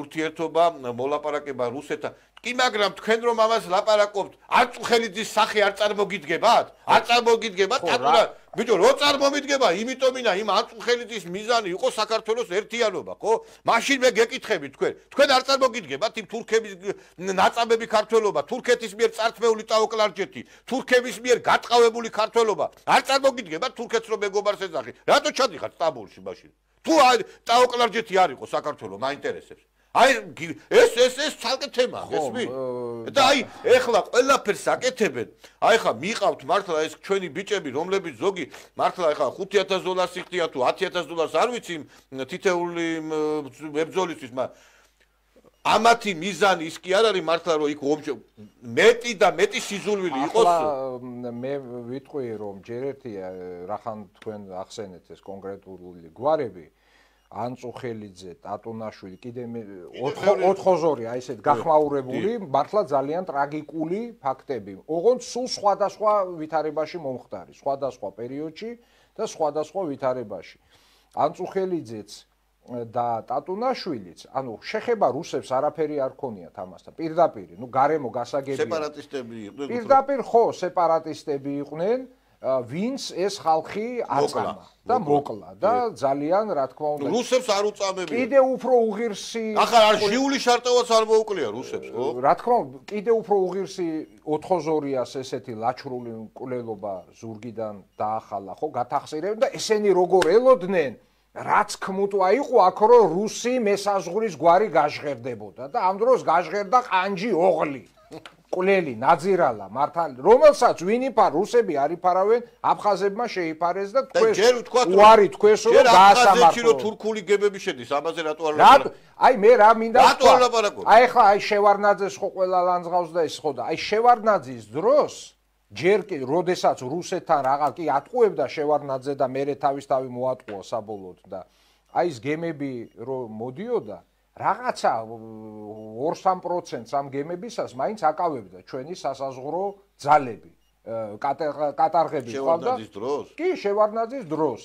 ურთიერთობა მოლაპარაკება რუსეთთან კი მაგრამ თქვენ რომ ამას ლაპარაკობთ არწუხელიძის სახე არ წარმოგიდგებათ არ წარმოგიდგებათ აკურა ბიჭო რო წარმომიდგება იმიტომინა იმ არწუხელიძის მიზანი იყო საქართველოს ერთიანობა ხო მაშინ მე გეკითხები თქვენ არ წარმოგიდგებათ იმ თურქების ნაწამები ქართველობა თურქეთის მიერ წართმეული ტაოკლარჯეთი თურქების მიერ გატყავებული ქართველობა არ წარმოგიდგებათ თურქეთს რომ მეგობარს ეძახი რატო ჩადიხართ სტამბოლში მაშინ თუ ტაოკლარჯეთი არ იყო საქართველოს მაინტერესებს აი ეს ცალკე თემაა გესმი და აი ეხლა ყველაფერს აკეთებენ აი ხა მიყავთ მართლა ეს ჩვენი ბიჭები რომლებიც ზოგი მართლა ეხლა $5000 იხდია თუ $10000 არ ვიცი თითეული მებრძოლისთვის მაგრამ ამათი მიზანი ის კი არ არის მართლა რომ იქ მეტი და მეტი სიზულვილი იყოს მე ვიტყვი რომ ჯერ ერთია რახან თქვენ ახსენეთ ეს კონკრეტული გვარები ანწუხელიძე, ტატუნაშვილი, კიდე 4-2 აი ესეთ გახმაურებული, მართლა ძალიან ტრაგიკული ფაქტები. ოღონდ სულ სხვადასხვა ვითარებაში მომხდარი, სხვადასხვა პერიოდში და სხვადასხვა ვითარებაში. ანწუხელიძეც და ტატუნაშვილიც, ანუ შეხება რუსებს არაფერი არ ქონიათ ამასთან. პირდაპირ, ნუ გარემო გასაგებია. სეპარატისტები იყვნენ. პირდაპირ ხო, სეპარატისტები იყვნენ. ვინც ეს ხალხი აწამა და მოკლა და ძალიან რა თქმა უნდა რუსებს არ უწამებია კიდე უფრო უღირსი ახლა არ ჟიული შარტოვაც არ მოუკლია რუსებს ხო რა თქმა უნდა კიდე უფრო უღირსი 4-2-ას ესეთი ლაჩრული მკვლელობა ზურგიდან დაახალა ხო გათახსირებენ და ესენი როგორ ელოდნენ რაც ქმუტვა იყო აქ რომ რუსი მესაზღურის გვარი გაჟღერდებოდა და ამ დროს გაჟღერდა ყანჯი ოღლი კვლელი ნაძირალა მართალი რომელსაც ვინ იფარ რუსები არ იფარავენ აფხაზებმა შეიფარეს და თქვენ უარი თქვენს რომ გაასამართლო რომ თურქული გემები შედის ამაზე რატო არ ლაპარაკობ აი მე რა მინდა აი ხა აი შევარნაძეს ხო ყველა ლანძღავს და ეს ხო და აი შევარნაძის დროს ჯერ კი როდესაც რუსეთთან რაღაც კი ატყუებდა შევარნაძე და მერე თავისთავი მოატყუა საბოლოოდ და აი ეს გემები რომ მოდიოდა რაღაცა 2-3% ამ გემებისას მაინც აკავებდა ჩვენი სასაზღვრო ძალები კატარღები ყავდა კი შევარნაძის დროს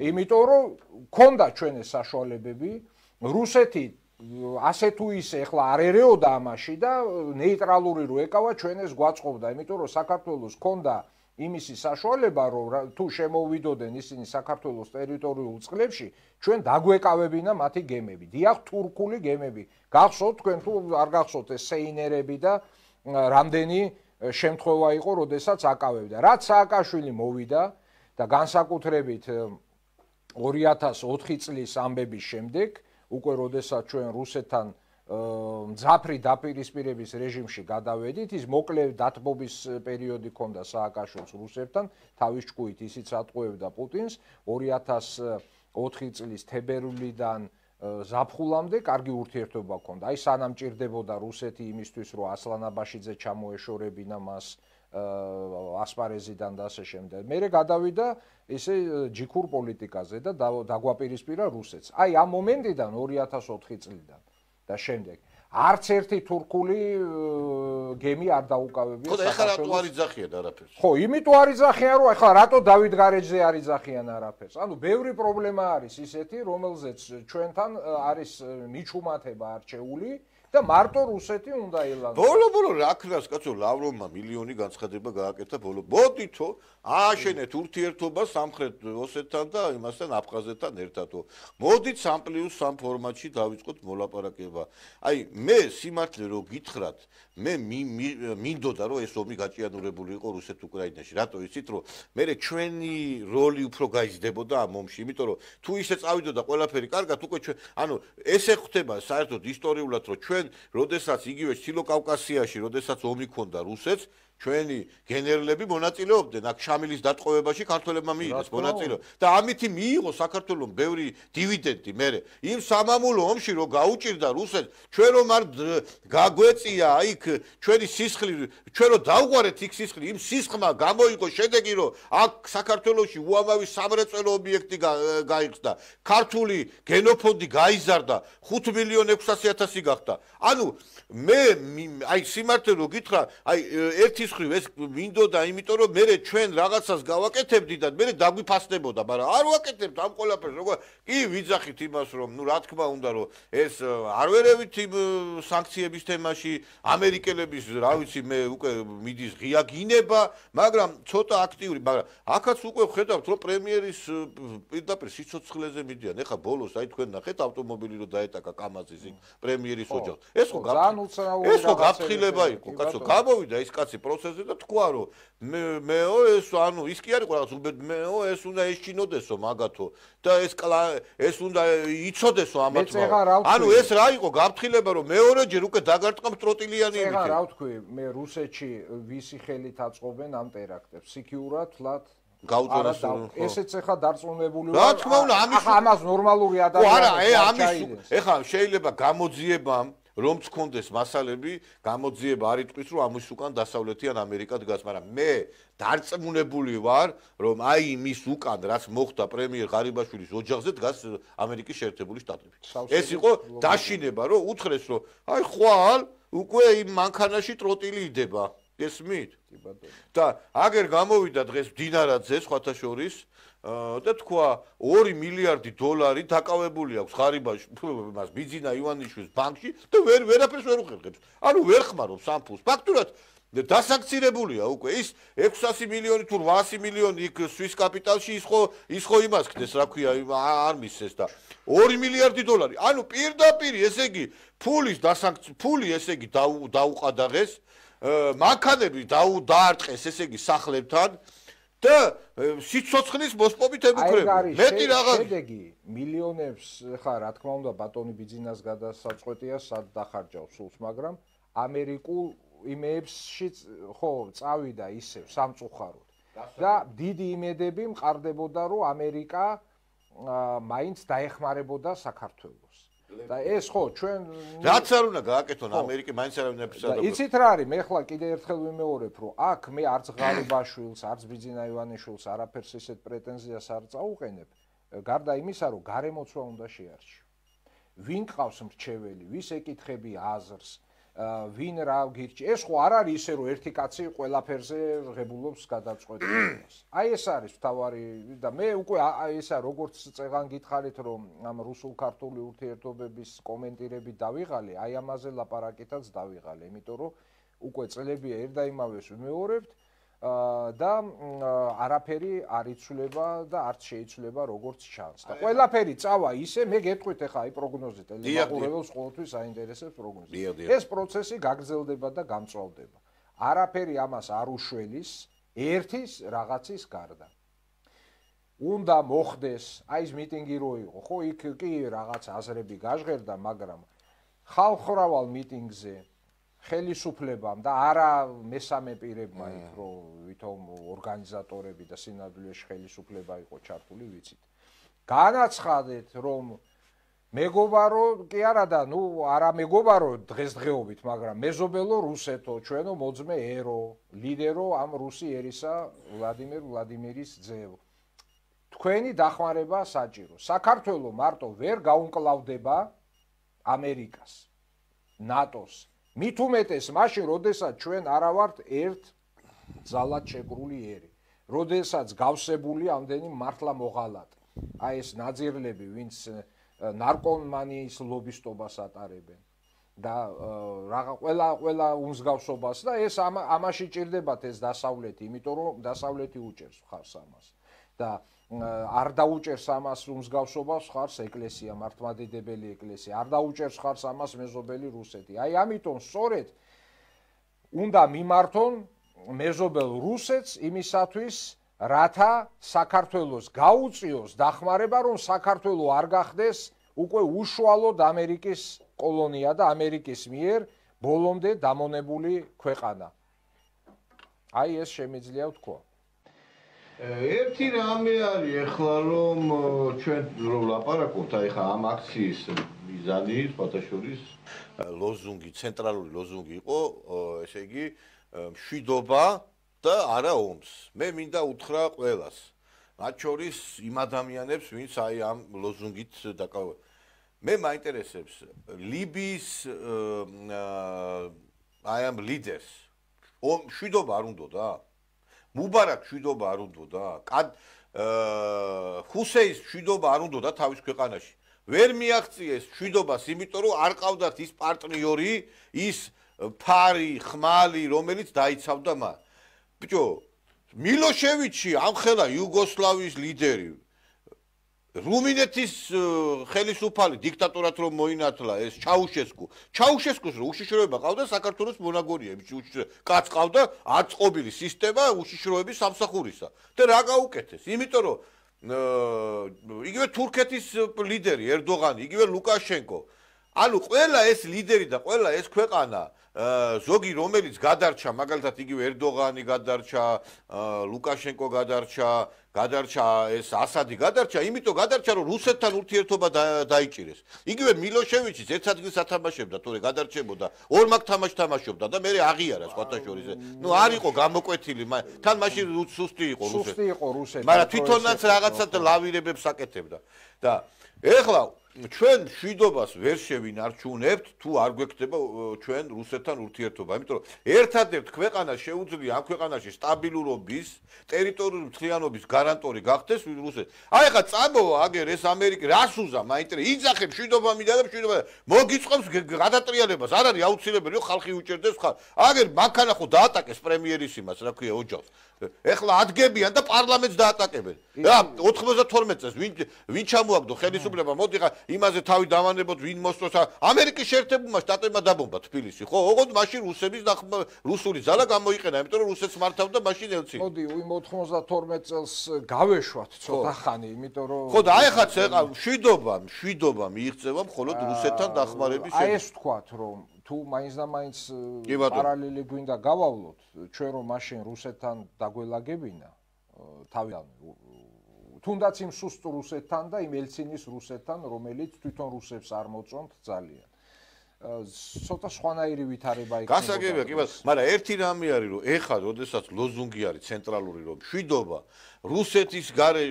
იმიტომ რომ ქონდა ჩვენი საშუალებები რუსეთი ასე თუ ისე ახლა არ ერეოდა ამაში და ნეიტრალური რო ეკავა ჩვენეს გვაწყობდა იმიტომ რომ საქართველოს ქონდა იმისი საშუალება რომ თუ შემოვიდოდნენ ისინი საქართველოს ტერიტორიულ წყლებში ჩვენ დაგვეკავებინა მათი გემები დიახ თურქული გემები გახსოვთ თქვენ თუ არ გახსოვთ ეს სეინერები და რამდენი შემთხვევა იყო როდესაც აკავებდა რაც სააკაშვილი მოვიდა და განსაკუთრებით 2004 წლის ამბების შემდეგ უკვე როდესაც ჩვენ რუსეთთან მძაფრი დაპირისპირების რეჟიმში გადავედით ის მოკლე დათბობის პერიოდი ქონდა სააკაშვილს რუსებთან თავის ჭკუით ისიც ატყუებდა პუტინს 2004 წლის თებერვლიდან ზაფხულამდე კარგი ურთიერთობა ქონდა აი სანამ ჭირდებოდა რუსეთი იმისთვის რომ ასლანაბაშიძე ჩამოეშორებინა მას ასპარეზიდან და ასე შემდეგ მერე გადავიდა ესე ჯიქურ პოლიტიკაზე და დაგვაპირისპირა რუსეთს აი ამ მომენტიდან 2004 წლიდან და შემდეგ არც ერთი თურქული გემი არ დაუკავებია საქართველოს. ხო, ეხლა რატო არ იძახიან არაფერს? ხო, იმიტომ არ იძახიან, რომ ეხლა რატო დავით გარეჯზე არ იძახიან არაფერს. ანუ ბევრი პრობლემა არის ისეთი, რომელზეც ჩვენთან არის მიჩუმათება არჩეული და მარტო რუსეთი უნდა ელანდოს. ბოლო რა ქნას კაცო ლავროვმა მილიონი განცხადება გააკეთა ბოლო. მოდითო ააშენეთ ურთიერთობა სამხრეთ ოსეთთან და იმასთან აფხაზეთთან ერთადო. მოდით 3+3 ფორმატში დავიწყოთ მოლაპარაკება. აი მე სიმართლე რო გითხრათ, მე მინდოდა რომ ეს ომი გაჭიანურებული იყო რუსეთ-უკრაინაში. რატო იცით რომ მე ჩვენი როლი უფრო გაიზრდებოდა ამ ომში, იმიტომ რომ თუ ისე წავიდოდა ყველაფერი კარგად, უკვე ჩვენ ანუ ესე ხდება საერთოდ ისტორიულად რომ ჩვენ როდესაც იგივე ჩილო კავკასიაში, როდესაც ომი ქონდა რუსეთს ჩვენი გენერლები მონაწილეობდნენ აქ შამილის დატყვევებაში ქართველებმა მიიღეს მონაწილეობა და ამით მიიღო საქართველოს ბევრი დივიდენდი მე იმ სამამულო ომში რომ გაუჭირდა რუსეთს ჩვენ რომ არ გაგვეწია იქ ჩვენი სისხლი ჩვენ რომ დავღვარეთ იქ სისხლი იმ სისხლმა გამოიღო შედეგი რომ აქ საქართველოში უამრავი სამრეწველო ობიექტი გაიხსნა ქართული გენოფონდი გაიზარდა 5.600.000 გახდა ანუ მე აი სიმართლე რო გითხრა აი ერთი ხრივ ეს მინდოდა იმიტომ რომ მე ჩვენ რაღაცას გავაკეთებდი და მე დაგვიფასდებოდა მაგრამ არ ვაკეთებთ ამ ყველაფერს როგორ კი ვიძახით იმას რომ ნუ რა თქმა უნდა რომ ეს არ ვერევით იმ სანქციების თემაში ამერიკელების რა ვიცი მე უკვე მიდის ღია გინება მაგრამ ცოტა აქტიური მაგრამ აქაც უკვე ვხედავთ რომ პრემიერის პირდაპირ სიცოცხლეზე მიდიან ეხა ბოლოს აი თქვენ ნახეთ ავტომობილი რომ დაეტაკა კამაზის იქ პრემიერის ოჯახს ეს ხო გაფრთხილება იყო კაცო გამოვიდა ის კაცი პროცესზე და თქვა რომ მეო ეს ანუ ის კი არ იყო რაღაც უბედ მეო ეს უნდა ეშინოდესო მაგათო და ეს უნდა იცოდესო ამათმა ანუ ეს რა იყო გაფრთხილება რომ მეორეჯერ უკვე დაგარტყამ ტროტილიანი იმით ეხლა რა ვთქვი მე რუსეთში ვისი ხელით აწყობენ ამ ტერაქტებს სიქიურად თლათ გაუწონეს ესეც ახლა დარწმუნებული რა თქმა უნდა ამას ნორმალური ადამიანები ამის ეხლა შეიძლება გამოძიებამ რომ თქონდეს მასალები გამოძიება არ იტყვის რომ ამის უკან დასავლეთიან ამერიკა დგას მაგრამ მე დარწმუნებული ვარ რომ აი იმის უკან რაც მოხდა პრემიერ ღარიბაშვილის ოჯახზე დგას ამერიკის შეერთებული შტატები ეს იყო დაშინება რომ უთხრეს რომ აი ხვალ უკვე იმ მანქანაში ტროტილი იდება ესმით და აგერ გამოვიდა დღეს დინარაძე სხვათა შორის და თქვა 2 მილიარდი დოლარი დაკავებული აქვს ღარიბაში მას ბიძინა ივანიშვილის ბანკში და ვერაფერს ვერ უხერხებს ანუ ვერ ხმარობს ამ ფულს ფაქტურად დასანქცირებულია უკვე ის 600 მილიონი თუ 800 მილიონი იქ სვის კაპიტალში ის ხო იმას ხდეს რა ქვია არ მისცეს და 2 მილიარდი დოლარი ანუ პირდაპირ ესე იგი ფული ესე იგი დაუყადაღეს მანქანები დაარტყეს ესე იგი სახლებთან და სიცოცხლის მოსპობით ემუქრებიან. მეტი რაღაც შედეგი მილიონებს ხა რა თქმა უნდა ბატონი ბიძინას გადასაწყვეტია სად დახარჯავს სულს, მაგრამ ამერიკულ იმეებშიც ხო წავიდა ისევ სამწუხაროდ. და დიდი იმედები მყარდებოდა რომ ამერიკა მაინც დაეხმარებოდა საქართველოს. და ეს ხო ჩვენ რაც არ უნდა გააკეთონ ამერიკა მაინც არ უნდა ეფსადო. იცით რა არის მე ხლა კიდე ერთხელ ვიმეორებ რომ აქ მე არც ღალიბაშვილს არც ბიძინა ივანიშვილს არაფერს ისეთ პრეტენზიას არ წაუყენებ გარდა იმისა რომ გარემოცვა უნდა შეარჩიო. ვინ ყავს მრჩეველი, ვის ეკითხები აზრს, ვინ რა გირჩი. ეს ხო არ არის ისე რომ ერთი კაცი ყველაფერზე ღებულობს გადაწყვეტილებას. აი ეს არის თავარი და მე უკვე ესა როგორც წეგან გითხარით რომ ამ რუსულ-ქართული ურთიერთობების კომენტირები დავიღალე, აი ამაზე ლაპარაკითაც დავიღალე, იმიტომ რომ უკვე წლებია ერთ და იმავეს ვიმეორებთ და არაფერი არ იცვლება და არც შეიცვლება როგორც ჩანს. და ყველაფერი წავა ისე, მე გეტყვით ახლა აი პროგნოზი ტელემაყურებელს ყოველთვის აინტერესებს პროგნოზი. ეს პროცესი გაგრძელდება და გამწვავდება. არაფერი ამას არ უშველის ერთის რაღაცის გარდა. უნდა მოხდეს, აი ეს მიტინგი რო იყო, ხო იქ კი რაღაც აზრები გაჟღერდა, მაგრამ ხალხმრავალ მიტინგზე ხელისუფლებამ და არა მესამე პირებმა იქ რომ ვითომ ორგანიზატორები და სინამდვილეში ხელისუფლება იყო ჩართული ვიცით. განაცხადეთ რომ მეგობარო კი არა და ნუ არა მეგობარო დღესდღეობით, მაგრამ მეზობელო რუსეთო, ჩვენო მოძმე ერო, ლიდერო ამ რუსი ერისა ვლადიმერ ვლადიმირის ძევ. თქვენი დახმარება საჭირო. საქართველოს მარტო ვერ გაუმკლავდება ამერიკას, ნატოს. მით უმეტეს მაშინ, როდესაც ჩვენ არა ვართ ერთ ძალად შეკრული ერი, როდესაც გავსებული ამდენი მართლა მოღალატე. აი ეს ნაძირლები, ვინც ნარკომანიის ლობისტობას ატარებენ და რაღა ყველა უმსგავსობას და ეს ამაში ჭირდებათ ეს დასავლეთი, იმიტომ რომ დასავლეთი უჭერს ხარს ამას. და არ დაუჭერს ამას უმსგავსობას ხარს ეკლესია, მართლმადიდებელი ეკლესია, არ დაუჭერს ხარს ამას მეზობელი რუსეთი. აი ამიტომ სწორედ უნდა მიმართონ მეზობელ რუსეთს იმისათვის, რათა საქართველოს გაუწიოს დახმარება, რომ საქართველო არ გახდეს უკვე უშუალოდ ამერიკის კოლონია და ამერიკის მიერ ბოლომდე დამონებული ქვეყანა. აი ეს შემიძლია ვთქვა. ერთი რამე არის ახლა რომ ჩვენ რო ვლაპარაკობთ აი ხა ამ აქციის მიზანი ფათაშორის ლოზუნგი, ცენტრალური ლოზუნგი იყო, ესე იგი მშვიდობა და არა ომს. მე მინდა უთხრა ყველას. მათ შორის იმ ადამიანებს, ვინც აი ამ ლოზუნგით დაკავებულნი. მე მაინტერესებს ლიბიის აი ამ ლიდერს. მშვიდობა არ უნდოდა? მუბარაკ მშვიდობა არ უნდოდა? ჰუსეის მშვიდობა არ უნდოდა თავის ქვეყანაში? ვერ მიაღწიეს მშვიდობას, იმიტომ რომ არ ყავდათ ის პარტნიორი, ის ფარი, ხმალი, რომელიც დაიცავდა მათ. ბიჭო, მილოშევიჩი ამხელა იუგოსლავიის ლიდერი. რუმინეთის ხელისუფალი დიქტატორად რომ მოინათლა ეს ჩაუშესკუ. ჩაუშესკუს რო უშიშროება ყავდა საქართველოს მონაგონიები, კაც ყავდა აწყობილი სისტემა უშიშროების სამსახურისა. და რა გაუკეთეს? იმიტომ რომ იგივე თურქეთის ლიდერი ერდოღანი, იგივე ლუკაშენკო. ანუ ყველა ეს ლიდერი და ყველა ეს ქვეყანა ზოგი რომელიც გადარჩა, მაგალითად იგივე ერდოღანი გადარჩა, ლუკაშენკო გადარჩა ეს ასადი გადარჩა, იმიტომ გადარჩა რომ რუსეთთან ურთიერთობა დაიჭირეს. იგივე მილოშევიჩიც ერთ ადგილს ათამაშებდა, თორე გადარჩებოდა, ორ მაგ თამაშს თამაშობდა და მე აღიარა სხვათა შორის. ნუ არ იყო გამოკვეთილი, თან მაშინ სუსტი იყო რუსეთი. მაგრამ თვითონაც რაღაცა ლავირებებს აკეთებდა. და ეხლა ჩვენ მშვიდობას ვერ შევინარჩუნებთ თუ არ გვექნება ჩვენ რუსეთთან ურთიერთობა, იმიტომ რომ ერთადერთ ქვეყანას შეუძლია ამ ქვეყანაში სტაბილურობის, ტერიტორიული მთლიანობის გარანტორი გახდეს რუსეთი. აი ხა წამოვა აგერ ეს ამერიკა რას უზა, მაინტერესებს, იძახე მშვიდობა მინდა და მშვიდობა მოგიწყობს გადატრიალებას, არ არის აუცილებელი რომ ხალხი უჭერდეს ხალხ. აგერ მანქანა ხო დაატაკეს პრემიერის იმას, რა ქვია, ოჯახს. ეხლა ადგებიან და პარლამენტს დაატაკებენ. რა 92 წელს ვინ ჩამოაგდო ხელისუფლება, მოდი ხა იმაზე თავი დავანებოთ ვინ მოსწოს ამერიკის შეერთებულმა შტატებმა დაბომბა თბილისი ხო ოღონდ მაშინ რუსების რუსული ძალა გამოიყენა იმიტომ რომ რუსეთს მართავდა მაშინ ელცი მოდი იმ 92 წელს გავეშვათ ცოტა ხანი იმიტომ რომ ხო და აი ხაც მშვიდობა მიიღწევა მხოლოდ რუსეთთან დახმარების აი ეს ვთქვათ რომ თუ მაინც და მაინც პარალელი გვინდა გავავლოთ ჩვენ რომ მაშინ რუსეთთან დაგველაგებინა თავიდან თუნდაც იმ სუსტ რუსეთთან და იმ ელცინის რუსეთთან რომელიც თვითონ რუსებს არ მოწონთ ძალიან ცოტა სხვანაირი ვითარება იქნება გასაგებია კი მაგრამ ერთი რამე არის რომ ეხლა როდესაც ლოზუნგი არის ცენტრალური რომ მშვიდობა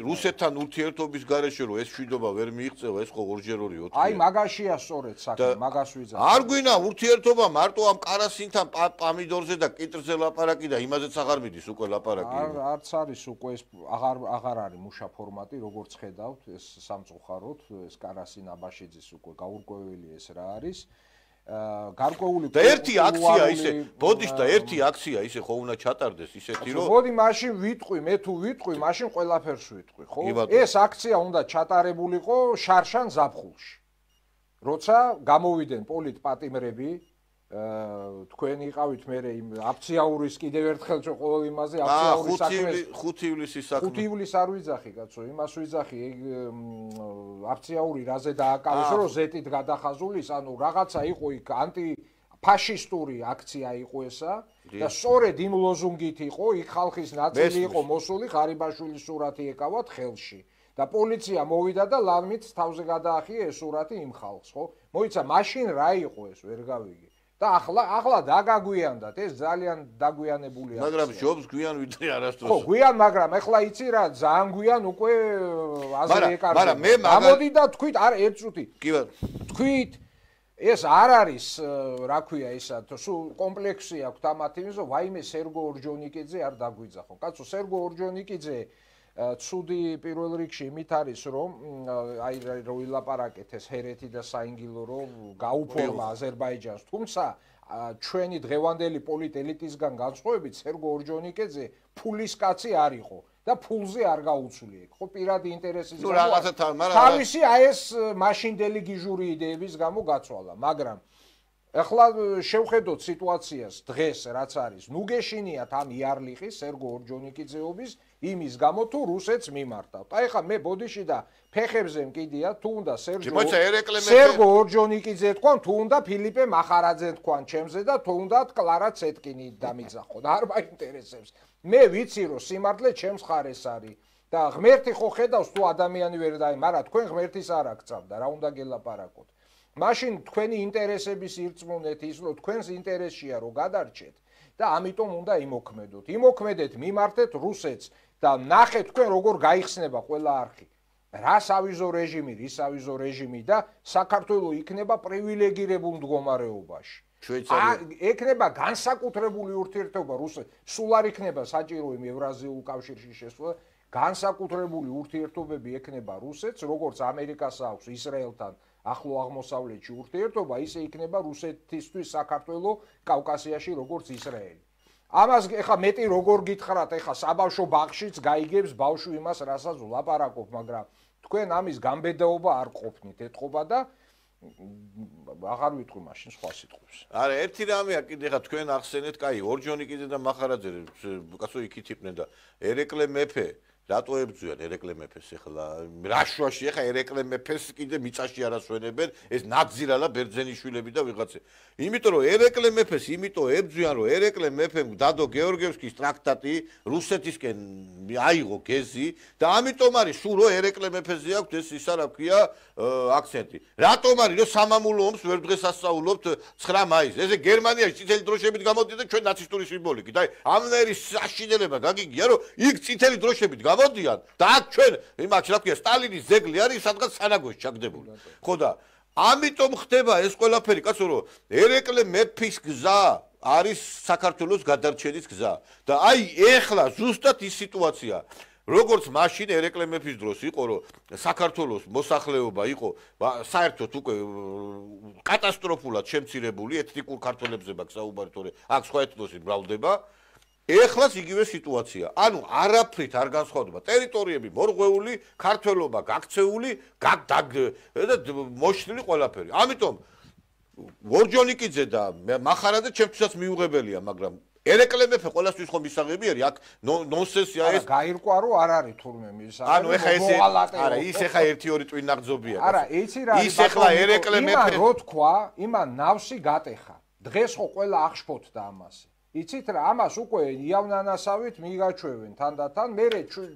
რუსეთთან ურთიერთობის გარეშე რომ ეს მშვიდობა ვერ მიიღწევა ეს ხო ორჯერ 2 4 აი მაგაშია სწორედ საქმე მაგას ვიძახ არ გვინა ურთიერთობა მარტო ამ კარასინთან პამიდორზე და კიტრზე ლაპარაკი და იმაზეც აღარ მიდის უკვე ლაპარაკი არც არის უკვე ეს აღარ არის მუშა ფორმატი როგორც ხედავთ ეს სამწუხაროდ ეს კარასინ აბაშიძის უკვე გაურკვეველი ეს რა არის გარკვეული და ერთი აქცია ისე ბოდიშ და ერთი აქცია ისე ხო უნდა ჩატარდეს ისეთი რომ მოდი მაშინ ვიტყვი მე თუ ვიტყვი მაშინ ყველაფერს ვიტყვი ხო ეს აქცია უნდა ჩატარებულიყო შარშან ზაფხულში როცა გამოვიდნენ პოლიტპატიმრები თქვენ იყავით მე იმ აფციაურის კიდევ ერთხელ ჩვენ ყოველ იმაზე აფციაურის საქმეს 5 ივლისის საქმე 5 ივლისს არ ვიძახი კაცო იმას ვიძახი აფციაური რაზე დააკავეს რომ ზეტით გადახაზულის ანუ რაღაცა იყო იქ ანტიფაშისტური აქცია იყო ესა და სწორედ იმ ლოზუნგით იყო იქ ხალხის ნაწილი იყო მოსული ღარიბაშვილის სურათი ეკავათ ხელში და პოლიცია მოვიდა და ლამით თავზე გადაახია ეს სურათი იმ ხალხს ხო მოიცა მაშინ რა იყო ეს ვერ გავიგე და ახლა დაგაგვიანდათ ეს ძალიან დაგვიანებულია მაგრამ ჯობს გვიან ვიდრე არასდროს ხო გვიან მაგრამ ახლა იცი რა ძალიან გვიან უკვე აზრი ეკარგება მაგრამ მე გამოდი და თქვით არ ერთ წუთი კი ბატონო თქვით ეს არ არის რა ქვია ისა სულ კომპლექსი აქვს ამათ იმის რომ ვაიმე სერგო ორჯონიკიძე არ დაგვიძახო კაცო სერგო ორჯონიკიძე ცუდი პირველ რიგში იმით არის რომ აი რო ილაპარაკეთ ეს ჰერეთი და საინგილო რომ გაუფორმა აზერბაიჯანს თუმცა ჩვენი დღევანდელი პოლიტელიტისგან განსხვავებით სერგო ორჯონიკიძე ფულის კაცი არ იყო და ფულზე არ გაუცვლი ეგ ხო პირადი ინტერესის ნუ რაღაცა თავისი აი ეს მაშინდელი გიჟური იდეების გამო გაცვალა მაგრამ ახლა შევხედოთ სიტუაციას დღეს რაც არის ნუგეშინიათ ამ იარლიხის სერგო ორჯონიკიძეობის იმის გამო თუ რუსეთს მიმართავთ აი ხა მე ბოდიში და ფეხებზე მკიდია თუ უნდა სერგო ორჯონიკიძე თქვან თუ უნდა ფილიპე მახარაძე თქვან ჩემზე და თუ უნდა კლარა ცეტკინი დამიძახო და არ მაინტერესებს მე ვიცი რომ სიმართლე ჩემს ხარეს არის და ღმერთი ხო ხედავს თუ ადამიანი ვერ დაი მაგრამ თქვენ ღმერთის არ აქცავდა რა უნდა გელაპარაკოთ მაშინ თქვენი ინტერესების ირწმუნეთ ის რომ თქვენს ინტერესშია რომ გადარჩეთ და ამიტომ უნდა იმოქმედოთ იმოქმედეთ მიმართეთ რუსეთს და ნახეთ თქვენ როგორ გაიხსნება ყველა არხი რა სავიზო რეჟიმი რის სავიზო რეჟიმი და საქართველოს იქნება პრივილეგირებულ მდგომარეობაში ეკნება განსაკუთრებული ურთიერთობა რუსეთს სულ არ იქნება საჭირო იმ ევრაზიულ კავშირში შესვლა განსაკუთრებული ურთიერთობები ეკნება რუსეთს როგორც ამერიკას აქვს ისრაელთან ახლო აღმოსავლეთში ურთიერთობა ისე იქნება რუსეთისთვის საქართველოს კავკასიაში როგორც ისრაელი ამას ეხა მეტი როგორ გითხრათ ეხა საბავშვო ბაღშიც გაიგებს ბავშვი იმას რასაც ვლაპარაკობ მაგრამ თქვენ ამის გამბედაობა არ ყოფნით ეთყობა და აღარ ვიტყვი მაშინ სხვა სიტყვებს არა ერთი რამეა კიდე ხა თქვენ ახსენეთ კაი ორჯონიკიძე და მახარაძე კაცო იქით იყვნენ და ერეკლე მეფე რატო ებძვიან ერეკლე მეფეს ეხლა რაშვაში ეხა ერეკლე მეფეს კიდე მიწაში არასვენებენ ეს ნაძირალა ბერძენიშვილები და ვიღაცა იმიტომ რომ ერეკლე მეფეს იმიტომ ებძვიან რომ ერეკლე მეფემ დადო გეორგიევსკის ტრაქტატი რუსეთისკენ აიღო გეზი და ამიტომ არის სულ რომ ერეკლე მეფეზე აქვს ეს ისა რა ქვია აქცენტი რატომ არის რომ სამამულო ომს ვერ დღესასწაულობთ 9 მაისს ესე გერმანიაში წითელი დროშებით გამოდიოდა ჩვენ ნაცისტური სიმბოლიკით აი ამნაირი საშინელება გაგიგია რომ იქ წითელი დროშებით გამოდიან და აქ ჩვენ იმათ რა ქვია სტალინის ზეგლი არის სადღაც სანაგოში ჩაგდებული ხო და ამიტომ ხდება ეს ყველაფერი კაცო რომ ერეკლე მეფის გზა არის საქართველოს გადარჩენის გზა და აი ეხლა ზუსტად ის სიტუაცია როგორც მაშინ ერეკლე მეფის დროს იყო რომ საქართველოს მოსახლეობა იყო საერთოდ უკვე კატასტროფულად შემცირებული ეთნიკურ ქართველებზე მაქვს საუბარი თორე აქ სხვა ეთნოსი მრავლდება ეხლაც იგივე სიტუაცია. ანუ არაფრით არ განსხვავდება. ტერიტორიები მორღვეული, ქართველობა გაქცეული, მოშლილი ყველაფერი. ამიტომ ვორჯონიკიძე და მახარაძე ჩემთვისაც მიუღებელია, მაგრამ ერეკლე მეფე ყველასთვის ხომ მისაღები არის, აქ ნონსენსია ეს. გაირკვა რომ არ არის თურმე მისაღები. ანუ ეხა ეს არა, ის ეხა 1-2 ტვინი ნაღძობია. არა, იცი რა არის. ის ეხლა ერეკლე მეფე რო თქვა, იმან ნავსი გატეხა. დღეს ხო ყველა აღშფოთდა ამას. იცით რა, ამას უკვე იავნანასავით მიგაჩვევენ თანდათან. მე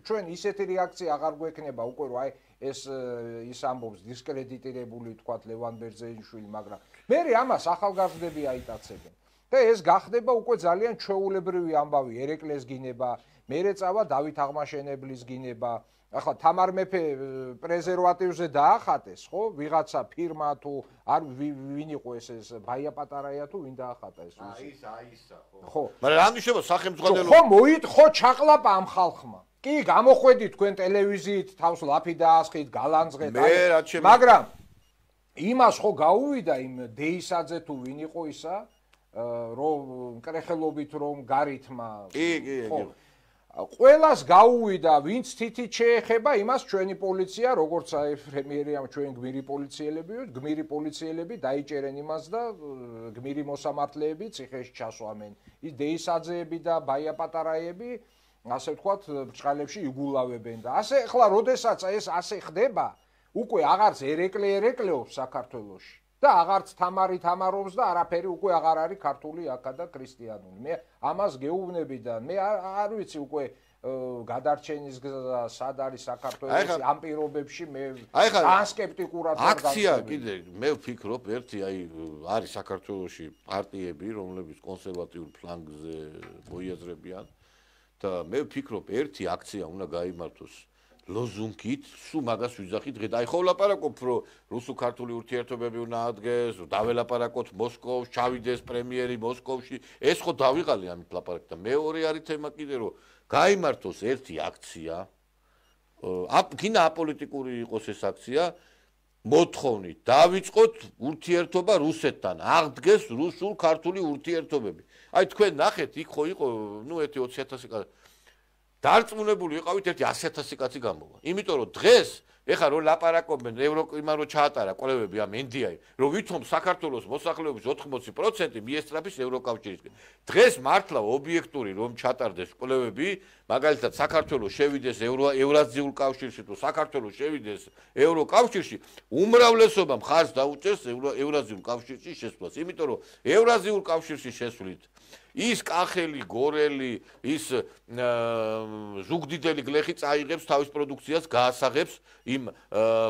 ჩვენ ისეთი რეაქცია აღარ გვექნება უკვე რომ აი ის ამბობს დისკრედიტირებული თქვა ლევან ბერძენიშვილი, მაგრამ მე ამას ახალგაზრდები აიტაცებენ. და ეს გახდება უკვე ძალიან ჩვეულებრივი ამბავი, ერეკლეს გინება, მერე წავა დავით აღმაშენებლის გინება. ახლა თამარ მეფე პრეზერვატივზე დაახატეს, ხო? ვიღაცა ფირმა თუ არ ვინ იყო ეს ბაია პატარაია თუ ვინ დაახატა ეს? აისა, ხო. მაგრამ რა ნიშნება სახელმწიფო? ხო, ხო ჩაყლაპა ამ ხალხმა. კი, გამოხვედით თქვენ ტელევიზიით, თავს ლაფი დაასხით, გალანძღეთ, მაგრამ იმას ხო გაუვიდა იმ დეისაძე თუ ვინ იყო ისა? რომ კრეხელობით რომ გარითმა კი ყველას გაუვიდა ვინც თითით შეეხება იმას ჩვენი პოლიცია როგორც აი პრემიერი ამ ჩვენ გმირი პოლიციელები დაიჭერენ იმას და გმირი მოსამართლეები ციხეში ჩასვამენ ის დეისაძეები და ბაია პატარაიები ასე ვთქვათ ბრჭყალებში იგულავებენ და ასე ახლა როდესაც ეს ასე ხდება უკვე აღარც ერეკლეობს საქართველოში და აღარც თამარი თამარობს და არაფერი უკვე აღარ არის ქართული აქა და ქრისტიანული. მე ამას გეუბნები და მე არ ვიცი უკვე გადარჩენის გზა სად არის საქართველოს ამ პირობებში მე ძალიან სკეპტიკურად აქცია კიდე მე ვფიქრობ ერთი აი არის საქართველოში პარტიები რომლებიც კონსერვატიულ ფლანგზე მოიაზრებიან და მე ვფიქრობ ერთი აქცია უნდა გაიმართოს ლოზუნგით, სულ მაგას ვიძახით დღე და აი ხო ვლაპარაკობ რომ რუსულ-ქართული ურთიერთობები უნდა ადგეს, დაველაპარაკოთ მოსკოვში, ჩავიდეს პრემიერი მოსკოვში, ეს ხო დავიღალე ამით ლაპარაკ და მეორე არის თემა კიდე რომ გაიმართოს ერთი აქცია, გინდა აპოლიტიკური იყოს ეს აქცია, მოთხოვნით დავიწყოთ ურთიერთობა რუსეთთან, აღდგეს რუსულ-ქართული ურთიერთობები. აი თქვენ ნახეთ, იქ ხო იყო, ნუ ერთი 20,000 კაცი დარწმუნებული ვიყავით ერთი 100,000 კაცი გამოვა. იმიტომ რომ დღეს ეხლა რო ლაპარაკობენ ევროკიმან რო ჩაატარა კვლევები ამ ენდიაი, რომ ვითომ საქართველოს მოსახლეობის 80% მიესწრაფის ევროკავშირისკენ. დღეს მართლა ობიექტური რომ ჩატარდეს კვლევები, მაგალითად საქართველოს შევიდეს ევრაზიულ კავშირში თუ საქართველოს შევიდეს ევროკავშირში, უმრავლესობა მხარს დაუჭერს ევრაზიულ კავშირში შესვლას. იმიტომ რომ ევრაზიულ კავშირში შესვლით ის კახელი, გორელი, ის ზუგდიდელი გლეხი წაიღებს თავის პროდუქციას, გაასაღებს იმ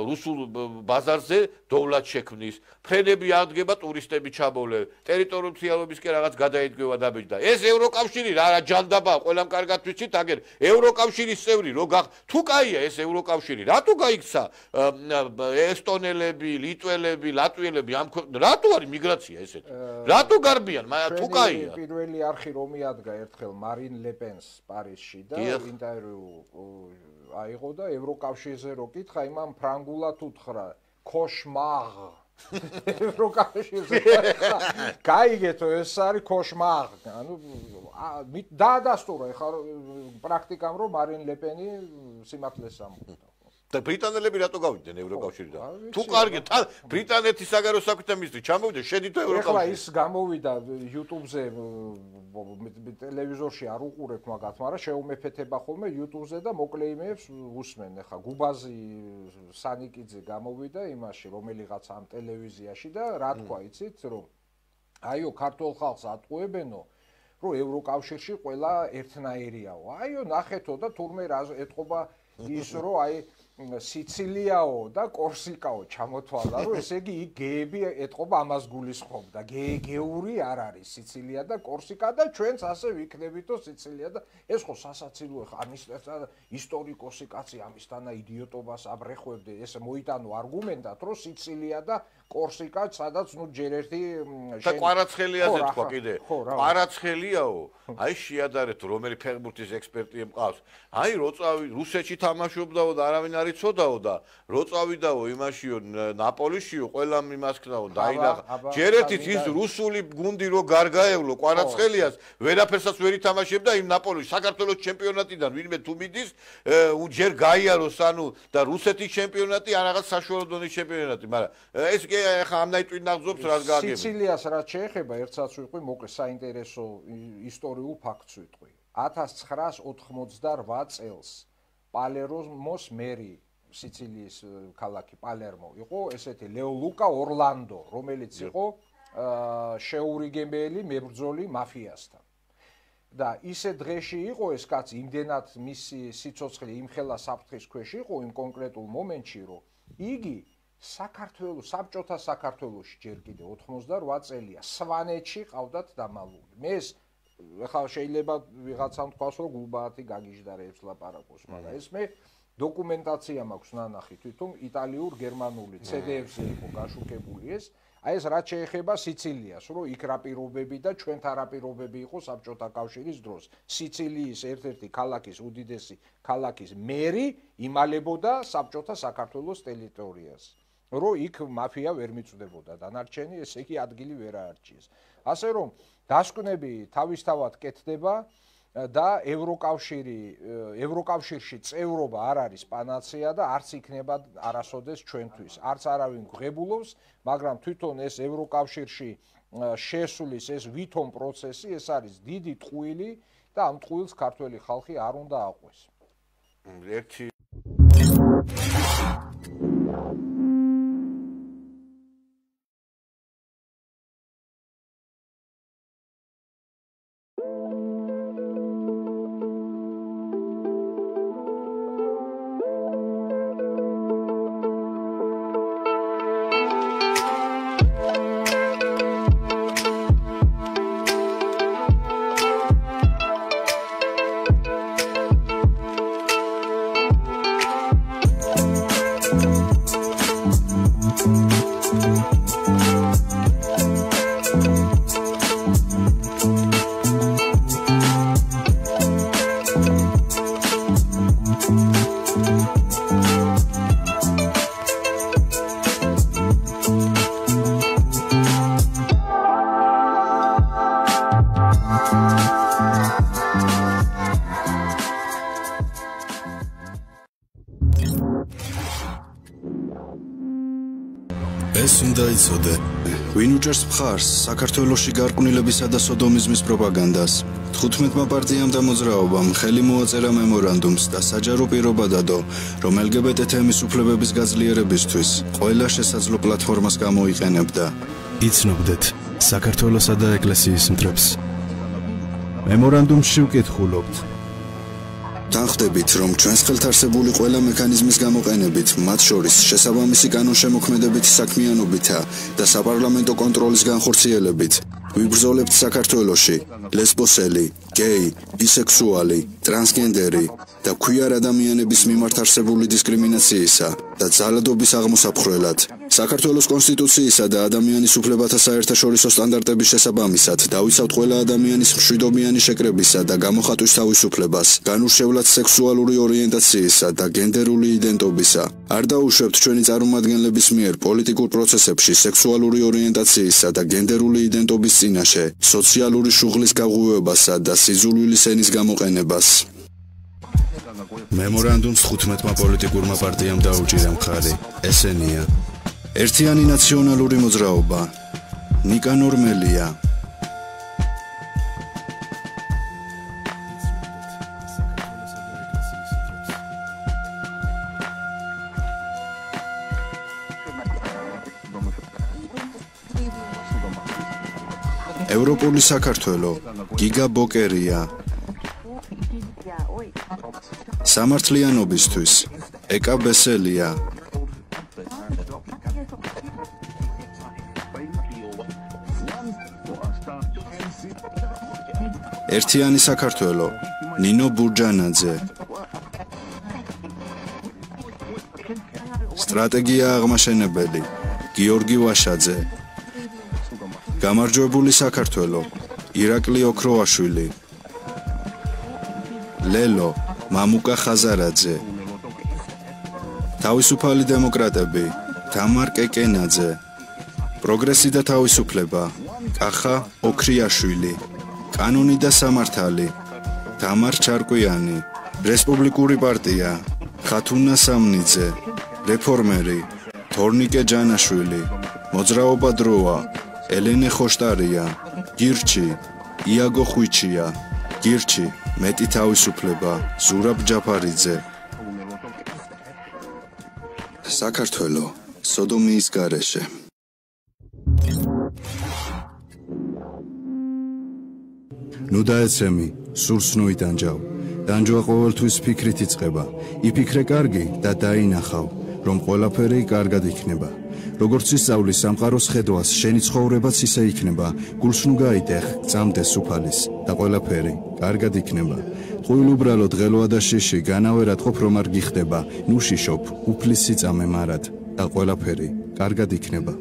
რუსულ ბაზარზე დოვლად შექმნის. ფრენები აღდგება, ტურისტები ჩაბოლე, ტერიტორიალობისკენ რაღაც გადაიდგება დაბეჭდა. და ეს ევროკავშირი რა ჯანდაბაა, ყველამ კარგად ვიცით, აგერ ევროკავშირის წევრი რო თუ კაია ეს ევროკავშირი, რატო გაიქცა ესტონელები, ლიტველები, ლატვიელები ამ რატო არის მიგრაცია ესეთი? რატო გარბიან? თუ კაია პირველი არხი რომ მიადგა ერთხელ მარინ ლეპენს პარიზში და ინტერვიუ აიღო და ევროკავშირზე რო კითხა იმან ფრანგულად უთხრა კოშმარ ევროკავშირზე გაიგეთო ეს არის კოშმარ ანუ დაადასტურა ეხლა პრაქტიკამ რომ მარინ ლეპენი სიმართლეს ამბობდა და ბრიტანელები რატო გავიდნენ ევროკავშირიდან? თუ კარგით, ბრიტანეთის საგარეო საქმეთა მინისტრი ჩამოვიდა, შედით ევროკავშირში. ეხლა ის გამოვიდა YouTube-ზე, ტელევიზორში არ უყურებ მაგათ, მაგრამ შეუმეფეთება ხოლმე YouTube-ზე და მოკლე იმეებს უსმენ. ეხლა გუბაზი სანიკიძე გამოვიდა იმაში, რომელიღაც ამ ტელევიზიაში და რა თქვა, იცით, რომ აიო, ქართულ ხალხს ატყუებენო, რომ ევროკავშირში ყველა ერთნაირიაო. აიო, ნახეთო და თურმე რა ეთყობა ის რომ აი სიცილიაო და კორსიკაო ჩამოთვალა რომ ესე იგი იქ გეები ეთყობა ამას გულისხმობდა გეური არ არის სიცილია და კორსიკა და ჩვენც ასე ვიქნებითო სიცილია და ეს ხო სასაცილოა ხა ამის ისტორიკოსი კაცი ამისთანა იდიოტობას აბრეხვებდა ეს მოიტანო არგუმენტად რომ სიცილია და კორსიკა, სადაც ჯერ ერთი და კვარაცხელიაზე თქვა კიდე. კვარაცხელიაო, აი შეადარეთ რომელი ფეხბურთის ექსპერტი მყავს. აი როწავი რუსეთში თამაშობდაო და არავინ არ იცოდაო და როწავიდაო იმაშიო ნაპოლიშიო ყველამ იმას ქნაო დაინახა. ჯერ ერთით ის რუსული გუნდი რო გარგაევლო კვარაცხელიას, ვერაფერსაც ვერ ითამაშებდა იმ ნაპოლის საქართველოს ჩემპიონატიდან ვინმე თუ მიდის, ჯერ გაიაროს ანუ და რუსეთის ჩემპიონატი ან რაღაც საშუალო დონის ჩემპიონატი, მაგრამ ეს კი ახლა ამნაირ ტვინაღზობს რას გააგებია. სიცილიას რაც შეეხება, ერთსაც ვიყვი, მოკლე საინტერესო ისტორიულ ფაქტს ვიტყვი. 1988 წელს პალერმოს მერი სიცილიის ქალაქი პალერმო იყო ესეთი ლეოლუკა ორლანდო, რომელიც იყო შეურიგებელი მებრძოლი მაფიასთან. და ისე დღეში იყო ეს კაცი, იმდენად მისი სიცოცხლე იმხელა საფრთხის ქვეშ იყო იმ კონკრეტულ მომენტში, რომ იგი საქართველოს საბჭოთა საქართველოში ჯერ კიდე 88 წელია სვანეთში ყავდათ დამალული. მე ეს ახლა შეიძლება ვიღაცამ თქვას რომ გულბაათი გაგიჟდარებს ლაპარაკობს, მაგრამ ეს მე დოკუმენტაცია მაქვს ნანახი თვითონ იტალიურ გერმანული CD-ებზე იყო გაშუქებული ეს. აი ეს რაც შეეხება სიცილიას, რომ იქ რა პირობები და ჩვენთან რა პირობები იყო საბჭოთა კავშირის დროს. სიცილიის ერთ-ერთი ქალაქის უდიდესი ქალაქის მერი იმალებოდა საბჭოთა საქართველოს ტერიტორიას. რომ იქ მაფია ვერ მიწვდებოდა დანარჩენი, ესე იგი ადგილი ვერ აარჩიეს. ასე რომ დასკვნები თავისთავად კეთდება და ევროკავშირში წევრობა არ არის პანაცეა და არც იქნება არასოდეს ჩვენთვის. არც არავინ გვღებულობს, მაგრამ თვითონ ეს ევროკავშირში შესulis ეს ვითომ პროცესი, ეს არის დიდი ტყუილი და ამ ტყუილს ქართველი ხალხი არ უნდა აყვეს. ერთი ეს უნდა იცოდე, ვინ უჭერს მხარს საქართველოში გარყვნილებისა და სოდომიზმის პროპაგანდას. 15-მა პარტიამ და მოძრაობამ ხელი მოაწერა მემორანდუმს და საჯარო პირობა დადო, რომ LGBT თემის უფლებების გაძლიერებისთვის ყველა შესაძლო პლატფორმას გამოიყენებდა. იცნობდეთ საქართველოსა და ეკლესიის მტრებს. მემორანდუმში ვკითხულობთ. თანხდებით, რომ ჩვენს ხელთ არსებული ყველა მექანიზმის გამოყენებით, მათ შორის შესაბამისი კანონშემოქმედებითი საქმიანობითა და საპარლამენტო კონტროლის განხორციელებით, ვიბრძოლებთ საქართველოში ლესბოსელი, გეი, ბისექსუალი, ტრანსგენდერი და ქვიარ ადამიანების მიმართ არსებული დისკრიმინაციისა და ძალადობის აღმოსაფხრელად. საქართველოს კონსტიტუციისა და ადამიანის უფლებათა საერთაშორისო სტანდარტების შესაბამისად დავიცავთ ყველა ადამიანის მშვიდობიანი შეკრებისა და გამოხატვის თავისუფლებას, განურჩევლად სექსუალური ორიენტაციისა და გენდერული იდენტობისა. არ დაუშვებთ ჩვენი წარმომადგენლების მიერ პოლიტიკურ პროცესებში სექსუალური ორიენტაციისა და გენდერული იდენტობის წინაშე, სოციალური შუღლის გაღვივებასა და სიძულვილის ენის გამოყენებას. მემორანდუმს 15-მა პოლიტიკურმა პარტიამ დაუჭირა მხარი. ესენია: ერთიანი ნაციონალური მოძრაობა, ნიკანორ მელია, ევროპული საქართველო, გიგა ბოკერია, სამართლიანობისთვის, ეკა ბესელია, ერთიანი საქართველო, ნინო ბურჯანაძე, სტრატეგია აღმაშენებელი, გიორგი ვაშაძე, გამარჯვებული საქართველო, ირაკლი ოქროაშვილი, ლელო, მამუკა ხაზარაძე, თავისუფალი დემოკრატები, თამარ კეკენაძე, პროგრესი და თავისუფლება, კახა ოქრიაშვილი, კანონი და სამართალი, თამარ ჩარკვიანი, რესპუბლიკური პარტია, ხათუნა სამნიძე, რეფორმერი, თორნიკე ჯანაშვილი, მოძრაობა დროა, ელენე ხოშტარია, გირჩი, იაგო ხვიჩია, გირჩი, მეტი თავისუფლება, ზურაბ ჯაფარიძე. საქართველო, სოდომიის გარეშე. ნუ დაეცემი, სურს ნუ იტანჯავ. დანჯვა ყოველთვის ფიქრით იწყება. იფიქრე კარგი და დაინახავ, რომ ყველაფერი კარგად იქნება. როგორც ისწავლის სამყაროს ხედვას, შენი ცხოვრებაც ისე იქნება. გულს ნუ გაიტეხ, წამდეს უფალის და ყველაფერი კარგად იქნება. ტყუილ უბრალოდ ღელვა და შიში, განავერად ყოფ რომ არ გიხდება. ნუ შიშობ, უფლის სიწამე მარად და ყველაფერი კარგად იქნება.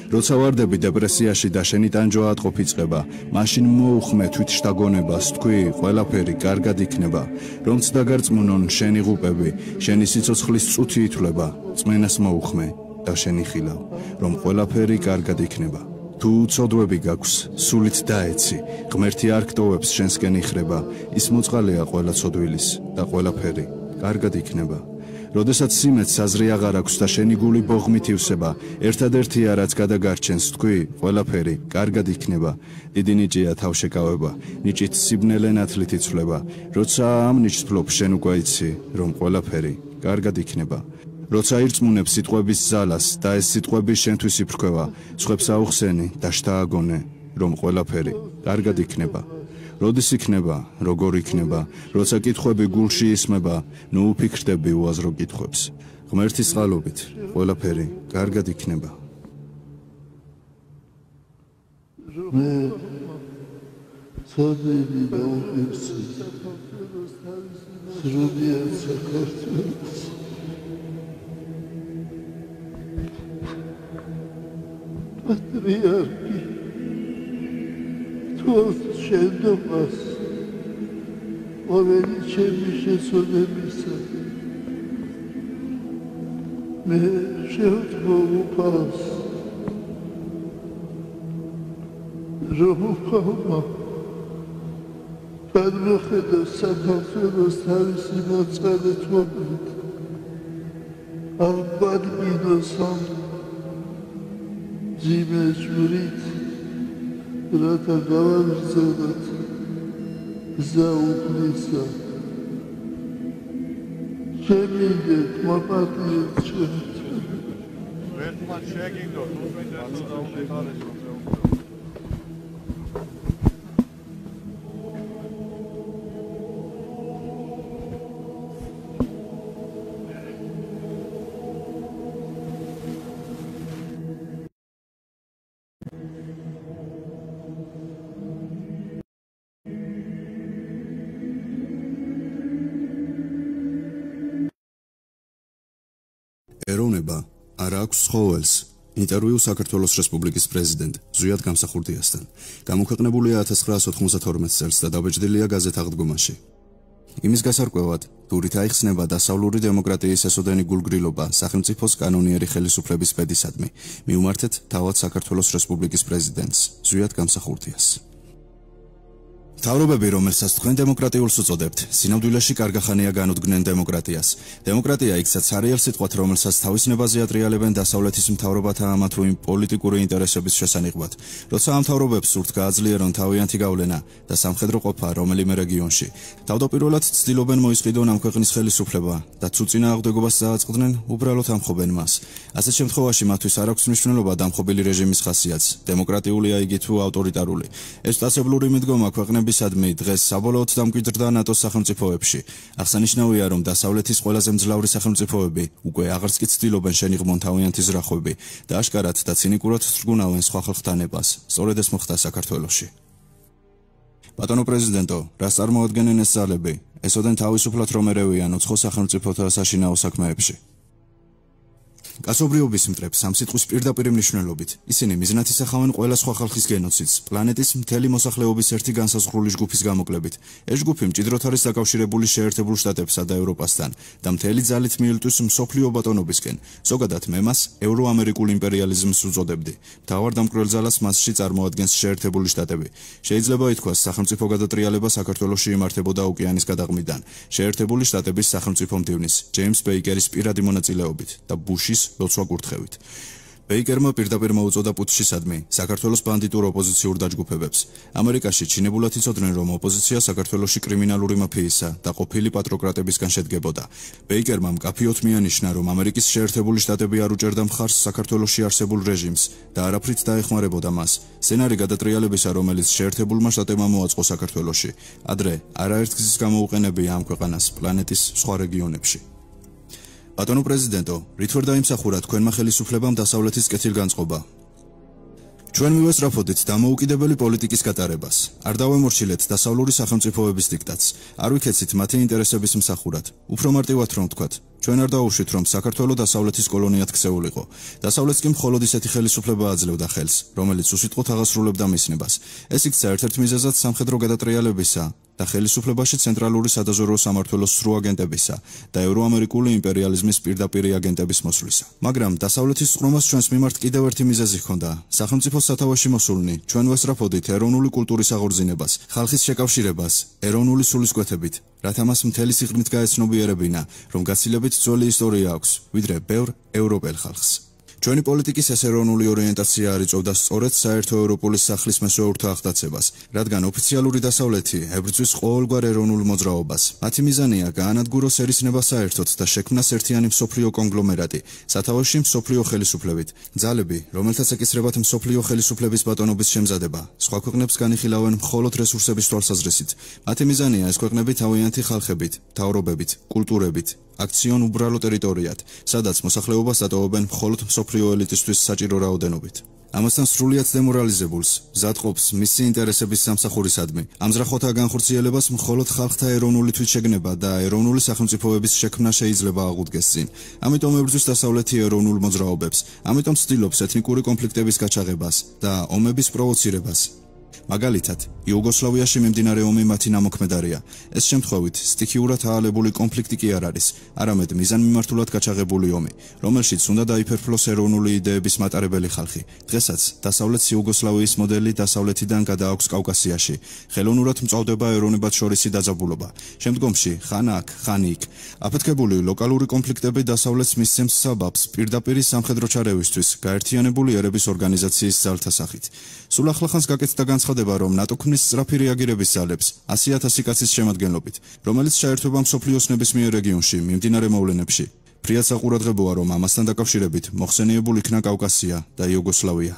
როცა ვარდები დეპრესიაში და შენი ტანჯვა ატყობ იწყება, მაშინ მოუხმე თვით შთაგონებას, თქვი, ყველაფერი კარგად იქნება. რომც დაგარწმუნონ შენი ღუპები, შენი სიცოცხლის წუთი ითვლება, წმენას მოუხმე და შენი ხილავ, რომ ყველაფერი კარგად იქნება. თუ უცოდვები გაქვს, სულით დაეცი, ღმერთი არ გტოვებს შენსკენ იხრება, ის მოწყალეა ყველა ცოდვილის და ყველაფერი კარგად იქნება. როდესაც სიმეც საზრი აღარ აქვს და შენი გული ბოღმით ივსება, ერთადერთია რაც გადაგარჩენს, თქვი, ყველაფერი კარგად იქნება. დიდი ნიჭია თავშეკავება, ნიჭით სიბნელე ნათლით იცვლება. როცა ამ ნიჭს ფლობ, შენ უკვე იცი, რომ ყველაფერი კარგად იქნება. როცა ირწმუნებ სიტყვების ძალას და ეს სიტყვები შენთვის იფრქვევა, სხვებს აუხსენი და შთააგონე, რომ ყველაფერი კარგად იქნება. როდის იქნება, როგორ იქნება, როცა კითხვები გულში ისმება, ნუ უფიქრდები უაზრო კითხვებს. ღმერთის წყალობით ყველაფერი კარგად იქნება. მე ცოდვები და უფიქრები სრულიად საქართველოს patriarchi თოს შენდობას ყოველი ჩემი შესოდებისა მე შევთხოვ უფალს რომ უფალმა გადმოხედა საქართველოს თავისი მოწყალეთ მოკლით არ ბადმინოს ამ ძიმე ჟურით რათა გავაგრძელოთ გზა უფლისა შემიგეთ მოპატიეთ ჩვენ ერთმან შეგინდოთ უბრალოდ დაუხარეს ეროვნება არ აქვს ცხოველს. ინტერვიუ საქართველოს რესპუბლიკის პრეზიდენტ ზვიად გამსახურდიასთან. გამოქვეყნებულია 1992 წელს და დაბეჭდილია გაზეთ აღდგომაში. იმის გასარკვევად, თურით აიხსნება დასავლური დემოკრატიის ესოდენი გულგრილობა სახელმწიფოს კანონიერი ხელისუფლების პედისადმი. მიუმართეთ თავად საქართველოს რესპუბლიკის პრეზიდენტს ზვიად გამსახურდიას. მთავრობები, რომელსაც თქვენ დემოკრატიულს უწოდებთ, სინამდვილეში კარგახანია განუდგნენ დემოკრატიას. დემოკრატია იქცაც არიელ სიტყვათ, რომელსაც თავის ნებაზე ატრიალებენ დასავლეთის მთავრობათა ამა თუ იმ პოლიტიკური ინტერესების შესანიღბად. როცა ამ მთავრობებს სურთ გააძლიერონ თავიანთი გავლენა და სამხედრო ყოფა რომელიმე რეგიონში, თავდაპირველად ცდილობენ მოისყიდონ ამ ქვეყნის ხელისუფლება და თუ წინააღმდეგობას წააწყდნენ, უბრალოდ ამხობენ მას. ასეთ შემთხვევაში მათთვის არ აქვს მნიშვნელობა დამხობილი რეჟიმის ხასიათს, დემოკრატიულია იგი თუ ავტორიტარული. ეს სტაცებლური მიდგომა ქვეყნების მისადმი დღეს საბოლოოდ დამკვიდრდა ნატოს სახელმწიფოებში. აღსანიშნავია, რომ დასავლეთის ყველაზე მძლავრი სახელმწიფოები უკვე აღარც კი ცდილობენ შენიღმონ თავიანთი ზრახვები და აშკარად და ცინიკურად თრგუნავენ სხვა ხალხთა ნებას. სწორედ ეს მოხდა საქართველოში. ბატონო პრეზიდენტო, რას წარმოადგენენ ეს ძალები? ესოდენ თავისუფლად რომ ერევიან უცხო სახელმწიფოთა საშინაო საქმეებში. კაცობრიობის მტრებს ამ სიტყვის პირდაპირ მნიშვნელობით. ისინი მიზნად ისახავენ ყველა სხვა ხალხის გენოციდს, პლანეტის მთელი მოსახლეობის ერთი განსაზღვრული ჯგუფის გამოკლებით. ეს ჯგუფი მჭიდროდ არის დაკავშირებული შეერთებულ შტატებსა და ევროპასთან და მთელი ძალით მიელტვის მსოფლიო ბატონობისკენ. ზოგადად მე მას ევროამერიკულ იმპერიალიზმს უწოდებდი. მთავარ დამკვირველ ძალას მასში წარმოადგენს შეერთებული შტატები. შეიძლება ითქვას, სახელმწიფო გადატრიალება საქართველოში იმართებოდა ოკეანის გადაღმიდან, შეერთებული შტატების სახელმწიფო მდივნის, ჯეიმს ბეიკერის პირადი მონაწილეობით და ბუშის ლოცვა კურთხევით. ბეიკერმა პირდაპირ მოუწოდა პუტჩისადმი საქართველოს ბანდიტურ ოპოზიციურ დაჯგუფებებს. ამერიკაში ჩინებულად იცოდნენ, რომ ოპოზიცია საქართველოში კრიმინალური მაფიისა და ყოფილი პატროკრატებისგან შედგებოდა. ბეიკერმა მკაფიოდ მიანიშნა, რომ ამერიკის შეერთებული შტატები არ უჭერდა მხარს საქართველოში არსებულ რეჟიმს და არაფრით დაეხმარებოდა მას. სცენარი გადატრიალებისა, რომელიც შეერთებულმა შტატებმა მოაწყო საქართველოში, ადრე არაერთ გზის გამოუყენებია ამ ქვეყანას პლანეტის სხვა რეგიონებში. ბატონო პრეზიდენტო, რით ვერ დაიმსახურა თქვენმა ხელისუფლებამ დასავლეთის კეთილგანწყობა? ჩვენ მივესწრაფოდით დამოუკიდებელი პოლიტიკის გატარებას. არ დავემორჩილეთ დასავლური სახელმწიფოების დიქტატს. არ ვიქეცით მათი ინტერესების მსახურად. უფრო მარტივად რომ ვთქვათ, ჩვენ არ დავუშვით, რომ საქართველო დასავლეთის კოლონიად ქცეულიყო. დასავლეთს კი მხოლოდ ისეთი ხელისუფლება აძლევდა ხელს, რომელიც უსიტყვოდ აღასრულებდა მისნებას. ეს იქცა ერთ-ერთ მიზეზად სამხედრო გადატრიალებისა და ხელისუფლებაში ცენტრალური სადაზვერვო სამმართველოს სრულ აგენტებისა და ევროამერიკული იმპერიალიზმის პირდაპირი აგენტების მოსვლისა. მაგრამ დასავლეთის წყრომას ჩვენს მიმართ კიდევ ერთი მიზეზი ჰქონდა. სახელმწიფოს სათავეში მოსულნი ჩვენ ვესწრაფოდით ეროვნული კულტურის აღორძინებას, ხალხის შეკავშირებას, ეროვნული სულისკვეთებით, რათა მას მთელი სიღრმით გაეცნობიერებინა, რომ გაცილებით ძველი ისტორია აქვს, ვიდრე ბევრ ევროპელ ხალხს. ჩვენი პოლიტიკის ეს ეროვნული ორიენტაცია არ იწვევდა სწორედ საერთო ევროპული სახლის მესვეურთა აღტაცებას, რადგან ოფიციალური დასავლეთი ებრძვის ყოველგვარ ეროვნულ მოძრაობას. მათი მიზანია გაანადგუროს ერისნება საერთოდ და შექმნას ერთიანი მსოფლიო კონგლომერატი, სათავეში მსოფლიო ხელისუფლებით. ძალები, რომელთაც ეკისრებათ მსოფლიო ხელისუფლების ბატონობის შემზადება, სხვა ქვეყნებს განიხილავენ მხოლოდ რესურსების თვალსაზრისით. მათი მიზანია ეს ქვეყნები თავიანთი ხალხებით, მთავრობებით, კულტურებით აქციონ უბრალო ტერიტორიად, სადაც მოსახლეობას დატოვებენ მხოლოდ მსოფლიო ელიტისთვის საჭირო რაოდენობით. ამასთან სრულიად დემორალიზებულს, მზადყოფს მისი ინტერესების სამსახურისადმი, ამზრახოთა განხორციელებას მხოლოდ ხალხთა ეროვნული თვითშეგნება და ეროვნული სახელმწიფოების შექმნა შეიძლება აღუდგეს წინ. ამიტომ ებრძვის დასავლეთი ეროვნულ მოძრაობებს, ამიტომ ცდილობს ეთნიკური კონფლიქტების გაჩაღებას და ომების პროვოცირებას. მაგალითად, იუგოსლავიაში მიმდინარე ომი მათი ნამოქმედარია. ეს შემთხვევით სტიქიურად აალებული კონფლიქტი კი არ არის, არამედ მიზანმიმართულად გაჩაღებული ომი, რომელშიც უნდა დაიფერფლოს ეროვნული იდეების მატარებელი ხალხი. დღესაც დასავლეთ იუგოსლავიის მოდელი დასავლეთიდან გადააქვს კავკასიაში. ხელოვნურად მწვავდება ეროვნებათშორისი დაძაბულობა. შემდგომში ხან აქ, ხან იქ. აფეთქებული ლოკალური კონფლიქტები დასავლეთს მისცემს საბაბს პირდაპირი სამხედრო ჩარევისთვის გაერთიანებული ერების ორგანიზაციის ძალთა სახით. სულ ახლახანს გაკეთდა განცხადება, რომ ნატო ქმნის სწრაფი რეაგირების ძალებს 100,000 კაცის შემადგენლობით, რომელიც ჩაერთვება მსოფლიოს ნებისმიერ რეგიონში მიმდინარე მოვლენებში. ფრიად საყურადღებოა, რომ ამასთან დაკავშირებით მოხსენიებულ იქნა კავკასია და იუგოსლავია.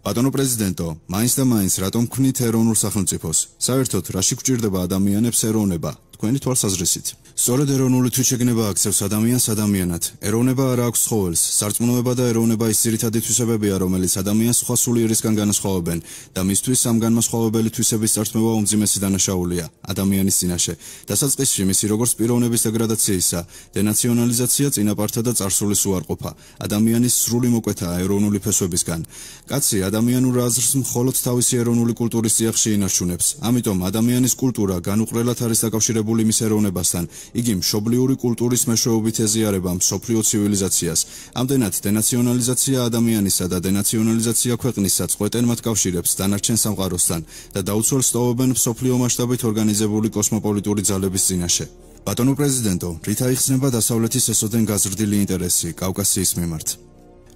ბატონო პრეზიდენტო, მაინც და მაინც რატომ ქმნით ეროვნულ სახელმწიფოს? საერთოდ რაში გვჭირდება ადამიანებს ეროვნება? თქვენი თვალსაზრისით. სწორედ ეროვნული თვითშეგნება აქცევს ადამიანს ადამიანად. ეროვნება არ აქვს ცხოველს. სარწმუნოება და ეროვნება ის ძირითადი თვისებებია, რომელიც ადამიანს სხვა სულიერისგან განასხვავებენ და მისთვის ამ განმასხვავებელი თვისების წარსწმევა უმძიმესი დანაშაულია ადამიანის წინაშე. დასაწყისში მისი როგორც პიროვნების დეგრადაციისა, დენაციონალიზაცია, წინაპართა და წარსულის უარყოფა, ადამიანის სრული მოკვეთა ეროვნული ფესვებისგან. კაცი ადამიანურ აზრს მხოლოდ თავისი ეროვნული კულტურის წიაღში ინარჩუნებს. ამიტომ ადამიანის კულტურა განუყრელად არის დაკავშირებული მის ეროვნებასთან. იგი მშობლიური კულტურის მეშვეობით ეზიარება მსოფლიო ცივილიზაციას. ამდენად დენაციონალიზაცია ადამიანისა და დენაციონალიზაცია ქვეყნისა წყვეტენ მათ კავშირებს დანარჩენ სამყაროსთან და დაუცველს ტოვებენ მსოფლიო მასშტაბით ორგანიზებული კოსმოპოლიტური ძალების წინაშე. ბატონო პრეზიდენტო, რით აიხსნება დასავლეთის ესოდენ გაზრდილი ინტერესი კავკასიის მიმართ?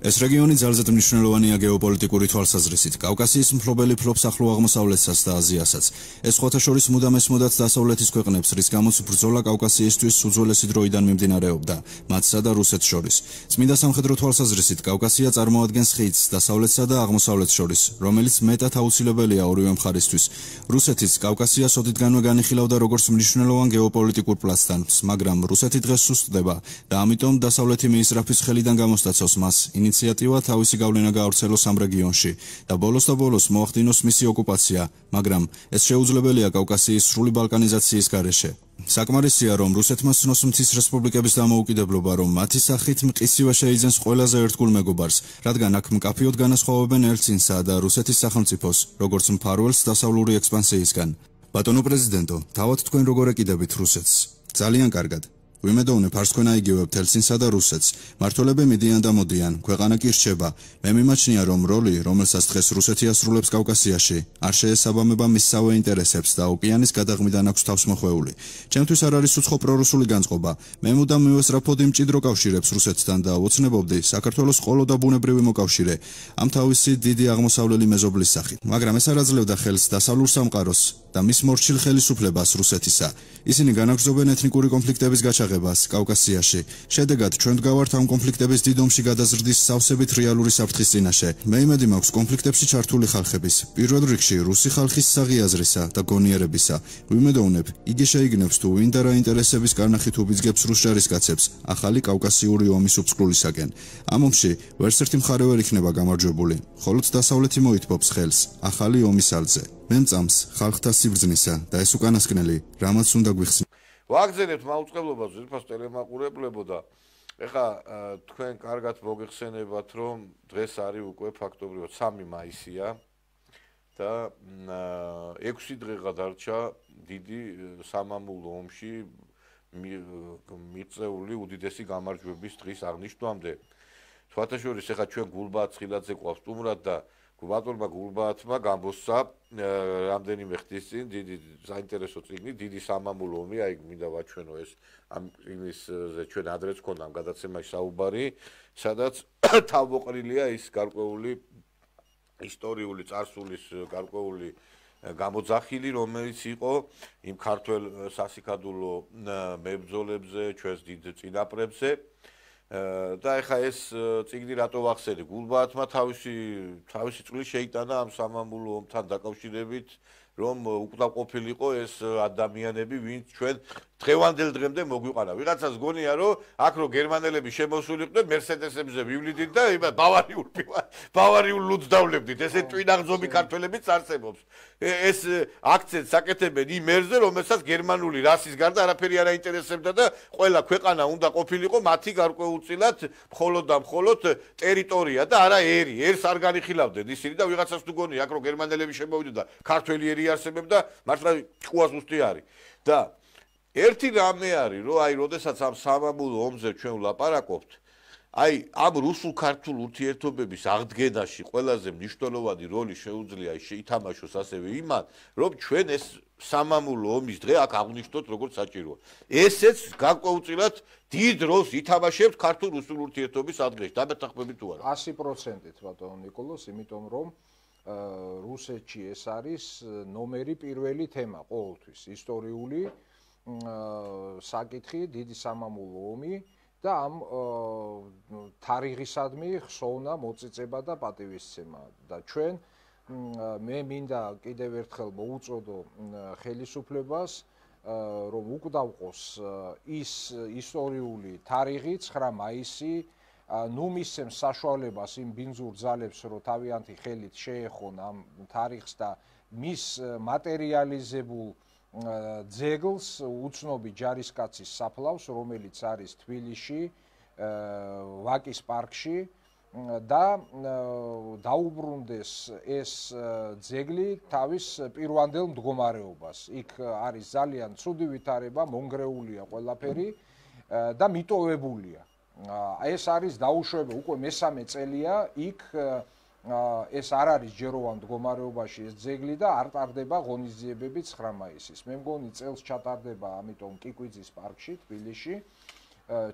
ეს რეგიონი ძალზედ მნიშვნელოვანია გეოპოლიტიკური თვალსაზრისით. კავკასიის მფლობელი ფლობს ახლო აღმოსავლეთსაც და აზიასაც. ეს სხვათა შორის მუდამ ესმოდათ დასავლეთის ქვეყნებს, რის გამოც ბრძოლა კავკასიისთვის უძველესი დროიდან მიმდინარეობდა, მათსა და რუსეთს შორის. წმინდა სამხედრო თვალსაზრისით კავკასია წარმოადგენს ხიდს დასავლეთსა და აღმოსავლეთს შორის, რომელიც მეტად აუცილებელია ორივე მხარისთვის. რუსეთის კავკასიას ოდითგანვე განიხილავდა როგორც მნიშვნელოვან გეოპოლიტიკურ პლაცდარმს, მაგრამ რუსეთი დღეს სუსტდება და ამიტომ დასავლეთი მიისრაფის ხელიდან გამოსტაცავს მას ინიციატივა თავისი გავლენა გაავრცელოს ამ რეგიონში და ბოლოს მოახდინოს მისი ოკუპაცია, მაგრამ ეს შეუძლებელია კავკასიის სრული ბალკანიზაციის გარეშე. საკმარისია, რომ რუსეთმა ცნოს მთის რესპუბლიკების დამოუკიდებლობა, რომ მათი სახით მყისივა შეიძენს ყველაზე ერთგულ მეგობარს, რადგან აქ მკაფიოდ განასხვავებენ ელცინსა და რუსეთის სახელმწიფოს, როგორც მფარველს დასავლური ექსპანსიისგან. ბატონო პრეზიდენტო, თავად თქვენ როგორ ეკიდებით რუსეთს? ძალიან კარგად. ვიმედოვნებ არც თქვენ აიგივებთ ელცინსა და რუსეთს. მმართველები მიდიან და მოდიან, ქვეყანა კი რჩება. მე მიმაჩნია, რომ როლი, რომელსაც დღეს რუსეთი ასრულებს კავკასიაში, არ შეესაბამება მისსავე ინტერესებს და ოკეანის გადაღმიდან აქვს თავს მოხვეული. ჩემთვის არ არის უცხო პრორუსული განწყობა. მე მუდამ მივესწრაფოდი მჭიდრო კავშირებს რუსეთთან და ოცნებობდი საქართველოს ყოლო და ბუნებრივი მოკავშირე, ამ თავისი დიდი აღმოსავლელი მეზობლის სახით. მაგრამ ეს არ აძლევდა ხელს დასავლურ სამყაროს და მის მორჩილ ხელისუფლებას რუსეთისა. ისინი განაგრძობენ ეთნიკური კონფლიქტების გაჩაღებას კავკასიაში. შედეგად ჩვენ ვდგავართ ამ კონფლიქტების დიდ ომში გადაზრდის სავსებით რეალური საფრთხის წინაშე. მე იმედი მაქვს კონფლიქტებში ჩართული ხალხების, პირველ რიგში რუსი ხალხის საღიაზრისა და გონიერებისა. ვიმედოვნებ, იგი შეიგნებს თუ ვინ და რა ინტერესების კარნახით უბიძგებს რუს ჯარისკაცებს ახალი კავკასიური ომის უფსკვლელისაკენ. ამ ომში ვერც ერთი მხარე ვერ იქნება გამარჯვებული, ხოლო დასავლეთი მოითბობს ხელს ახალი ომის ალზე. მე მწამს ხალხთა სიბრძნისა და ეს უკანასკნელი, რამაც უნდა გვიხსნით. ვაგზავნებთ მაუწყებლობას ზრფას ტელემაყურებლებო და ეხა თქვენ კარგად მოგეხსენებათ, რომ დღეს არის უკვე ფაქტობრივად 3 მაისია და 6 დღეღა დარჩა დიდი სამამულო ომში მიღწეული უდიდესი გამარჯვების დღის აღნიშვნამდე. სხვათაშორის ეხა ჩვენ გულბაათ ცხილაძე ყავს სტუმრად და ბატონმა გულბაათმა გამოსცა რამდენიმე ხნის წინ დიდი საინტერესო წიგნი, დიდი სამამულო ომი, აი მინდა ვაჩვენო ეს ამ წიგნისზე ჩვენ ადრეც ქონდა ამ გადაცემაში საუბარი, სადაც თავმოყრილია ის გარკვეული ისტორიული წარსულის გარკვეული გამოძახილი, რომელიც იყო იმ ქართველ სასიქადულო მებრძოლებზე, ჩვენს დიდ წინაპრებზე. და ეხა ეს წიგნი რატო ვახსენე? გულბაათმა თავისი წვლილი შეიტანა ამ სამამულო ომთან დაკავშირებით, რომ უკდავყოფილიყო ეს ადამიანები, ვინც ჩვენ დღევანდელ დღემდე მოგვიყარა. ვიღაცას გონია, რომ აქ რო გერმანელები შემოსულიყვნენ, მერსედესებზე ვივლიდით და ბავარიულ ლუდს დავლებდით. ესე ტვინაღზომი ქართველებიც არსებობს. ეს აქცენტს აკეთებენ იმ ერზე, რომელსაც გერმანული რასის გარდა არაფერი არ აინტერესებდა და ყველა ქვეყანა უნდა ყოფილიყო მათი გარკვეულწილად მხოლოდ და მხოლოდ ტერიტორია და არა ერი. ერს არ განიხილავდნენ ისინი და ვიღაცას თუ გონია, აქ რო გერმანელები შემოვიდნენ და ქართველი ერი არსებობდა, მართლა ჭკუას უსტი არის. და ერთი რამე არის, რომ აი, როდესაც ამ სამამულო ომზე ჩვენ ვლაპარაკობთ, აი, ამ რუსულ-ქართულ ურთიერთობების აღდგენაში ყველაზე მნიშვნელოვანი როლი შეუძლია ითამაშოს ასევე იმან, რომ ჩვენ ეს სამამულო ომის დღე აქ აღნიშნოთ როგორც საჭიროა. ესეც გარკვეულწილად დიდ როლს ითამაშებს ქართულ-რუსულ ურთიერთობის აღდგენაში. დამეთანხმებით თუ არა? 100%-ით ბატონო ნიკოლოზ, იმიტომ რომ რუსეთში ეს არის ნომერი პირველი თემა ყოველთვის, ისტორიული საკითხი, დიდი სამამულო ომი და ამ თარიღისადმი ხსოვნა, მოწიწება და პატივისცემა. და ჩვენ მე მინდა კიდევ ერთხელ მოუწოდო ხელისუფლებას, რომ უკდავყოს ის ისტორიული თარიღი 9 მაისი, ნუ მისცემს საშუალებას იმ ბინძურ ძალებს, რომ თავიანთი ხელით შეეხონ ამ თარიღს და მის მატერიალიზებულ ძეგლს უცნობი ჯარისკაცის საფლავს, რომელიც არის თბილისში, ვაკის პარკში და დაუბრუნდეს ეს ძეგლი თავის პირვანდელ მდგომარეობას. იქ არის ძალიან ცუდი ვითარება, მონგრეულია ყველაფერი და მიტოვებულია. ეს არის დაუშვება, უკვე მესამე წელია იქ ეს არ არის ჯეროვან მდგომარეობაში ეს ძეგლი და არ ტარდება ღონისძიებები 9 მაისის. მე მგონი წელს ჩატარდება, ამიტომ კიკვიძის პარკში, თბილისში,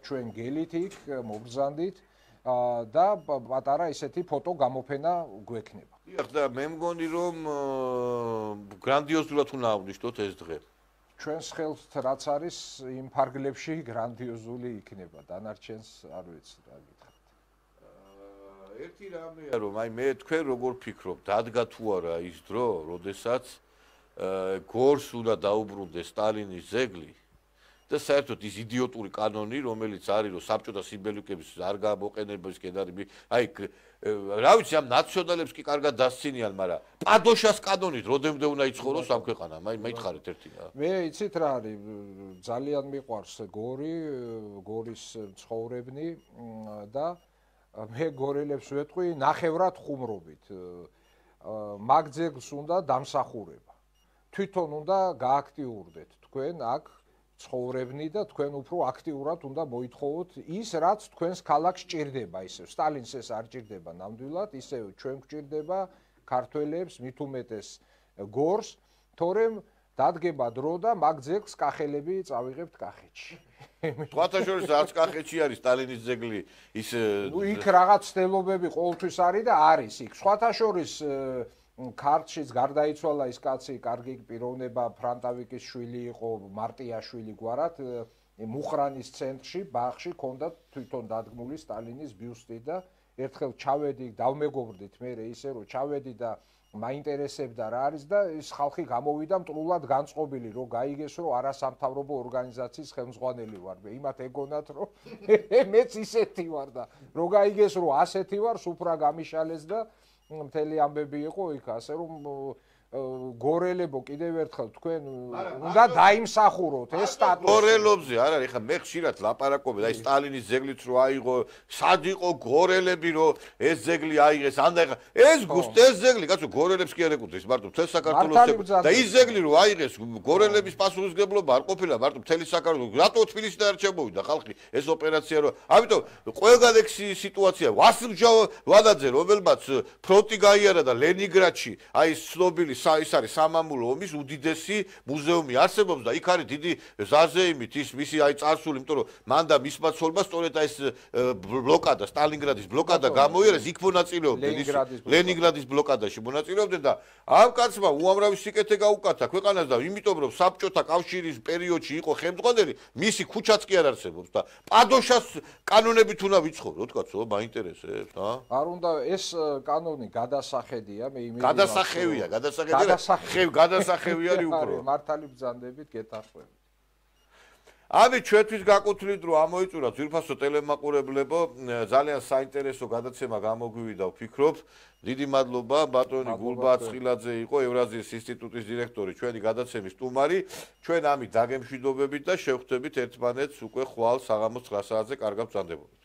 ჩვენ გელით იქ მობრძანდით და პატარა ისეთი ფოტო გამოფენა გვექნება. დიახ, და მე მგონი რომ გრანდიოზულად უნდა აღნიშნოთ ეს დღე. ჩვენს ხელს რაც არის იმ ფარგლებში გრანდიოზული იქნება, დანარჩენს არ ვიცი რა გითხრათ. ერთი რამეა რომ აი მე თქვენ როგორ ფიქრობთ, დადგა თუ არა ის დრო, როდესაც გორს უნდა დაუბრუნდეს სტალინის ძეგლი და საერთოდ ის იდიოტური კანონი, რომელიც არის, რომ საბჭოთა სიმბოლიკების არ გამოყენების კედარი, აი რა ვიცი, ამ ნაციონალებს კი კარგად დასცინიან, მაგრამ პადოშას კანონით როდემდე უნდა იცხოვროს ამ ქვეყანამ? აი მეითხარით ერთი რა. მე იცით რა არის, ძალიან მიყვარს გორის ცხოვრებნი და მე გორელებს ვეთყვი ნახევრად ხუმრობით. მაგ ძეგლს უნდა დამსახურება. თვითონ უნდა გააქტიურდეთ თქვენ აქ ცხოვრებნი და თქვენ უფრო აქტიურად უნდა მოითხოვოთ ის, რაც თქვენს ქალაქს ჭირდება, ისევ სტალინს ეს არ ჭირდება ნამდვილად, ისევ ჩვენ გვჭირდება ქართველებს, მით უმეტეს გორს, თორემ დადგება დრო და მაგ ძეგლს კახელები წავიღებთ კახეთში. სხვათა შორის არც კახეთში არის სტალინის ძეგლი, ის იქ რაღაც ცდელობები ყოველთვის არის და არის იქ. სხვათა შორის ქართლშიც გარდაიცვალა ის კაცი, კარგი პიროვნება, ფრანტავიკის შვილი იყო, მარტიაშვილი გვარად, მუხრანის ცენტრში, ბაღში ჰქონდა თვითონ დადგმული სტალინის ბიუსტი და ერთხელ ჩავედი, დავმეგობრდით მე ისე რომ ჩავედი და მაინტერესებდა რა არის და ის ხალხი გამოვიდა მტრულად განწყობილი, რომ გაიგეს რომ არასამთავრობო ორგანიზაციის ხელმძღვანელი ვარ. მე იმათ ეგონათ რომ მეც ისეთი ვარ და რომ გაიგეს რომ ასეთი ვარ, სუფრა გამიშალეს და მთელი ამბები იყო იქ, ასე რომ გორელებო კიდევ ერთხელ თქვენ უნდა დაიმსახუროთ ეს სტატუსი. გორელობზე არ არის, ხა მე ხშირად ლაპარაკობენ, აი სტალინის ძეგლიც რო აიღო, სად იყო გორელები რო ეს ძეგლი აიღეს, ანდა ეს ძეგლი, კაცო გორელებს კი არ ეკუთვნის, მარტო მთელ საქართველოს და ის ძეგლი რო აიღეს, გორელების პასუხისმგებლობა არ ყოფილა მარტო მთელი საქართველოს, რატო თბილისიდან არ ჩამოვიდა ხალხი ეს ოპერაცია რო, ამიტომ ყველგან ეგ სიტუაცია, ვასილ ვადაძე, რომელმაც ფრონტი გაიარა და ლენინგრადში, აი ცნობილი ის არის სამამულო ომის უდიდესი მუზეუმი არსებობს და იქ არის დიდი ზაზეიმით ის მისი აი წარსული, იმიტომ რომ მან და მისმა ცოლმა სწორედ ეს ბლოკადა, სტალინგრადის ბლოკადა გამოიერეს, იქ მონაწილეობდნენ, ლენინგრადის ბლოკადაში მონაწილეობდნენ და ამ კაცმა უამრავი სიკეთე გაუკათა ქვეყანას და იმიტომ რომ საბჭოთა კავშირის პერიოდში იყო ხელმძღვანელი, მისი ქუჩაც კი არ არსებობს და პადოშას კანონებით უნდა ვიცხოვროთ, კაცო, მაინტერესებს, ა? არ უნდა ეს კანონი გადასახედია, მე იმედი გადასახევია, გადასახევი არის უფრო. მართალი ბრძანდებით გეთახვევით. ამით ჩვენთვის გაკუთვნით რომ ამოიწურა ძვირფასო ტელემაყურებლებო, ძალიან საინტერესო გადაცემა გამოგვივიდა ვფიქრობ. დიდი მადლობა ბატონი გულბა ცხილაძე იყო ევრაზიის ინსტიტუტის დირექტორი, ჩვენი გადაცემის სტუმარი. ჩვენ ამით დაგემშვიდობებით და შევხვდებით ერთმანეთს უკვე ხვალ საღამოს 9 საათზე, კარგად ბრძანდებოდეთ.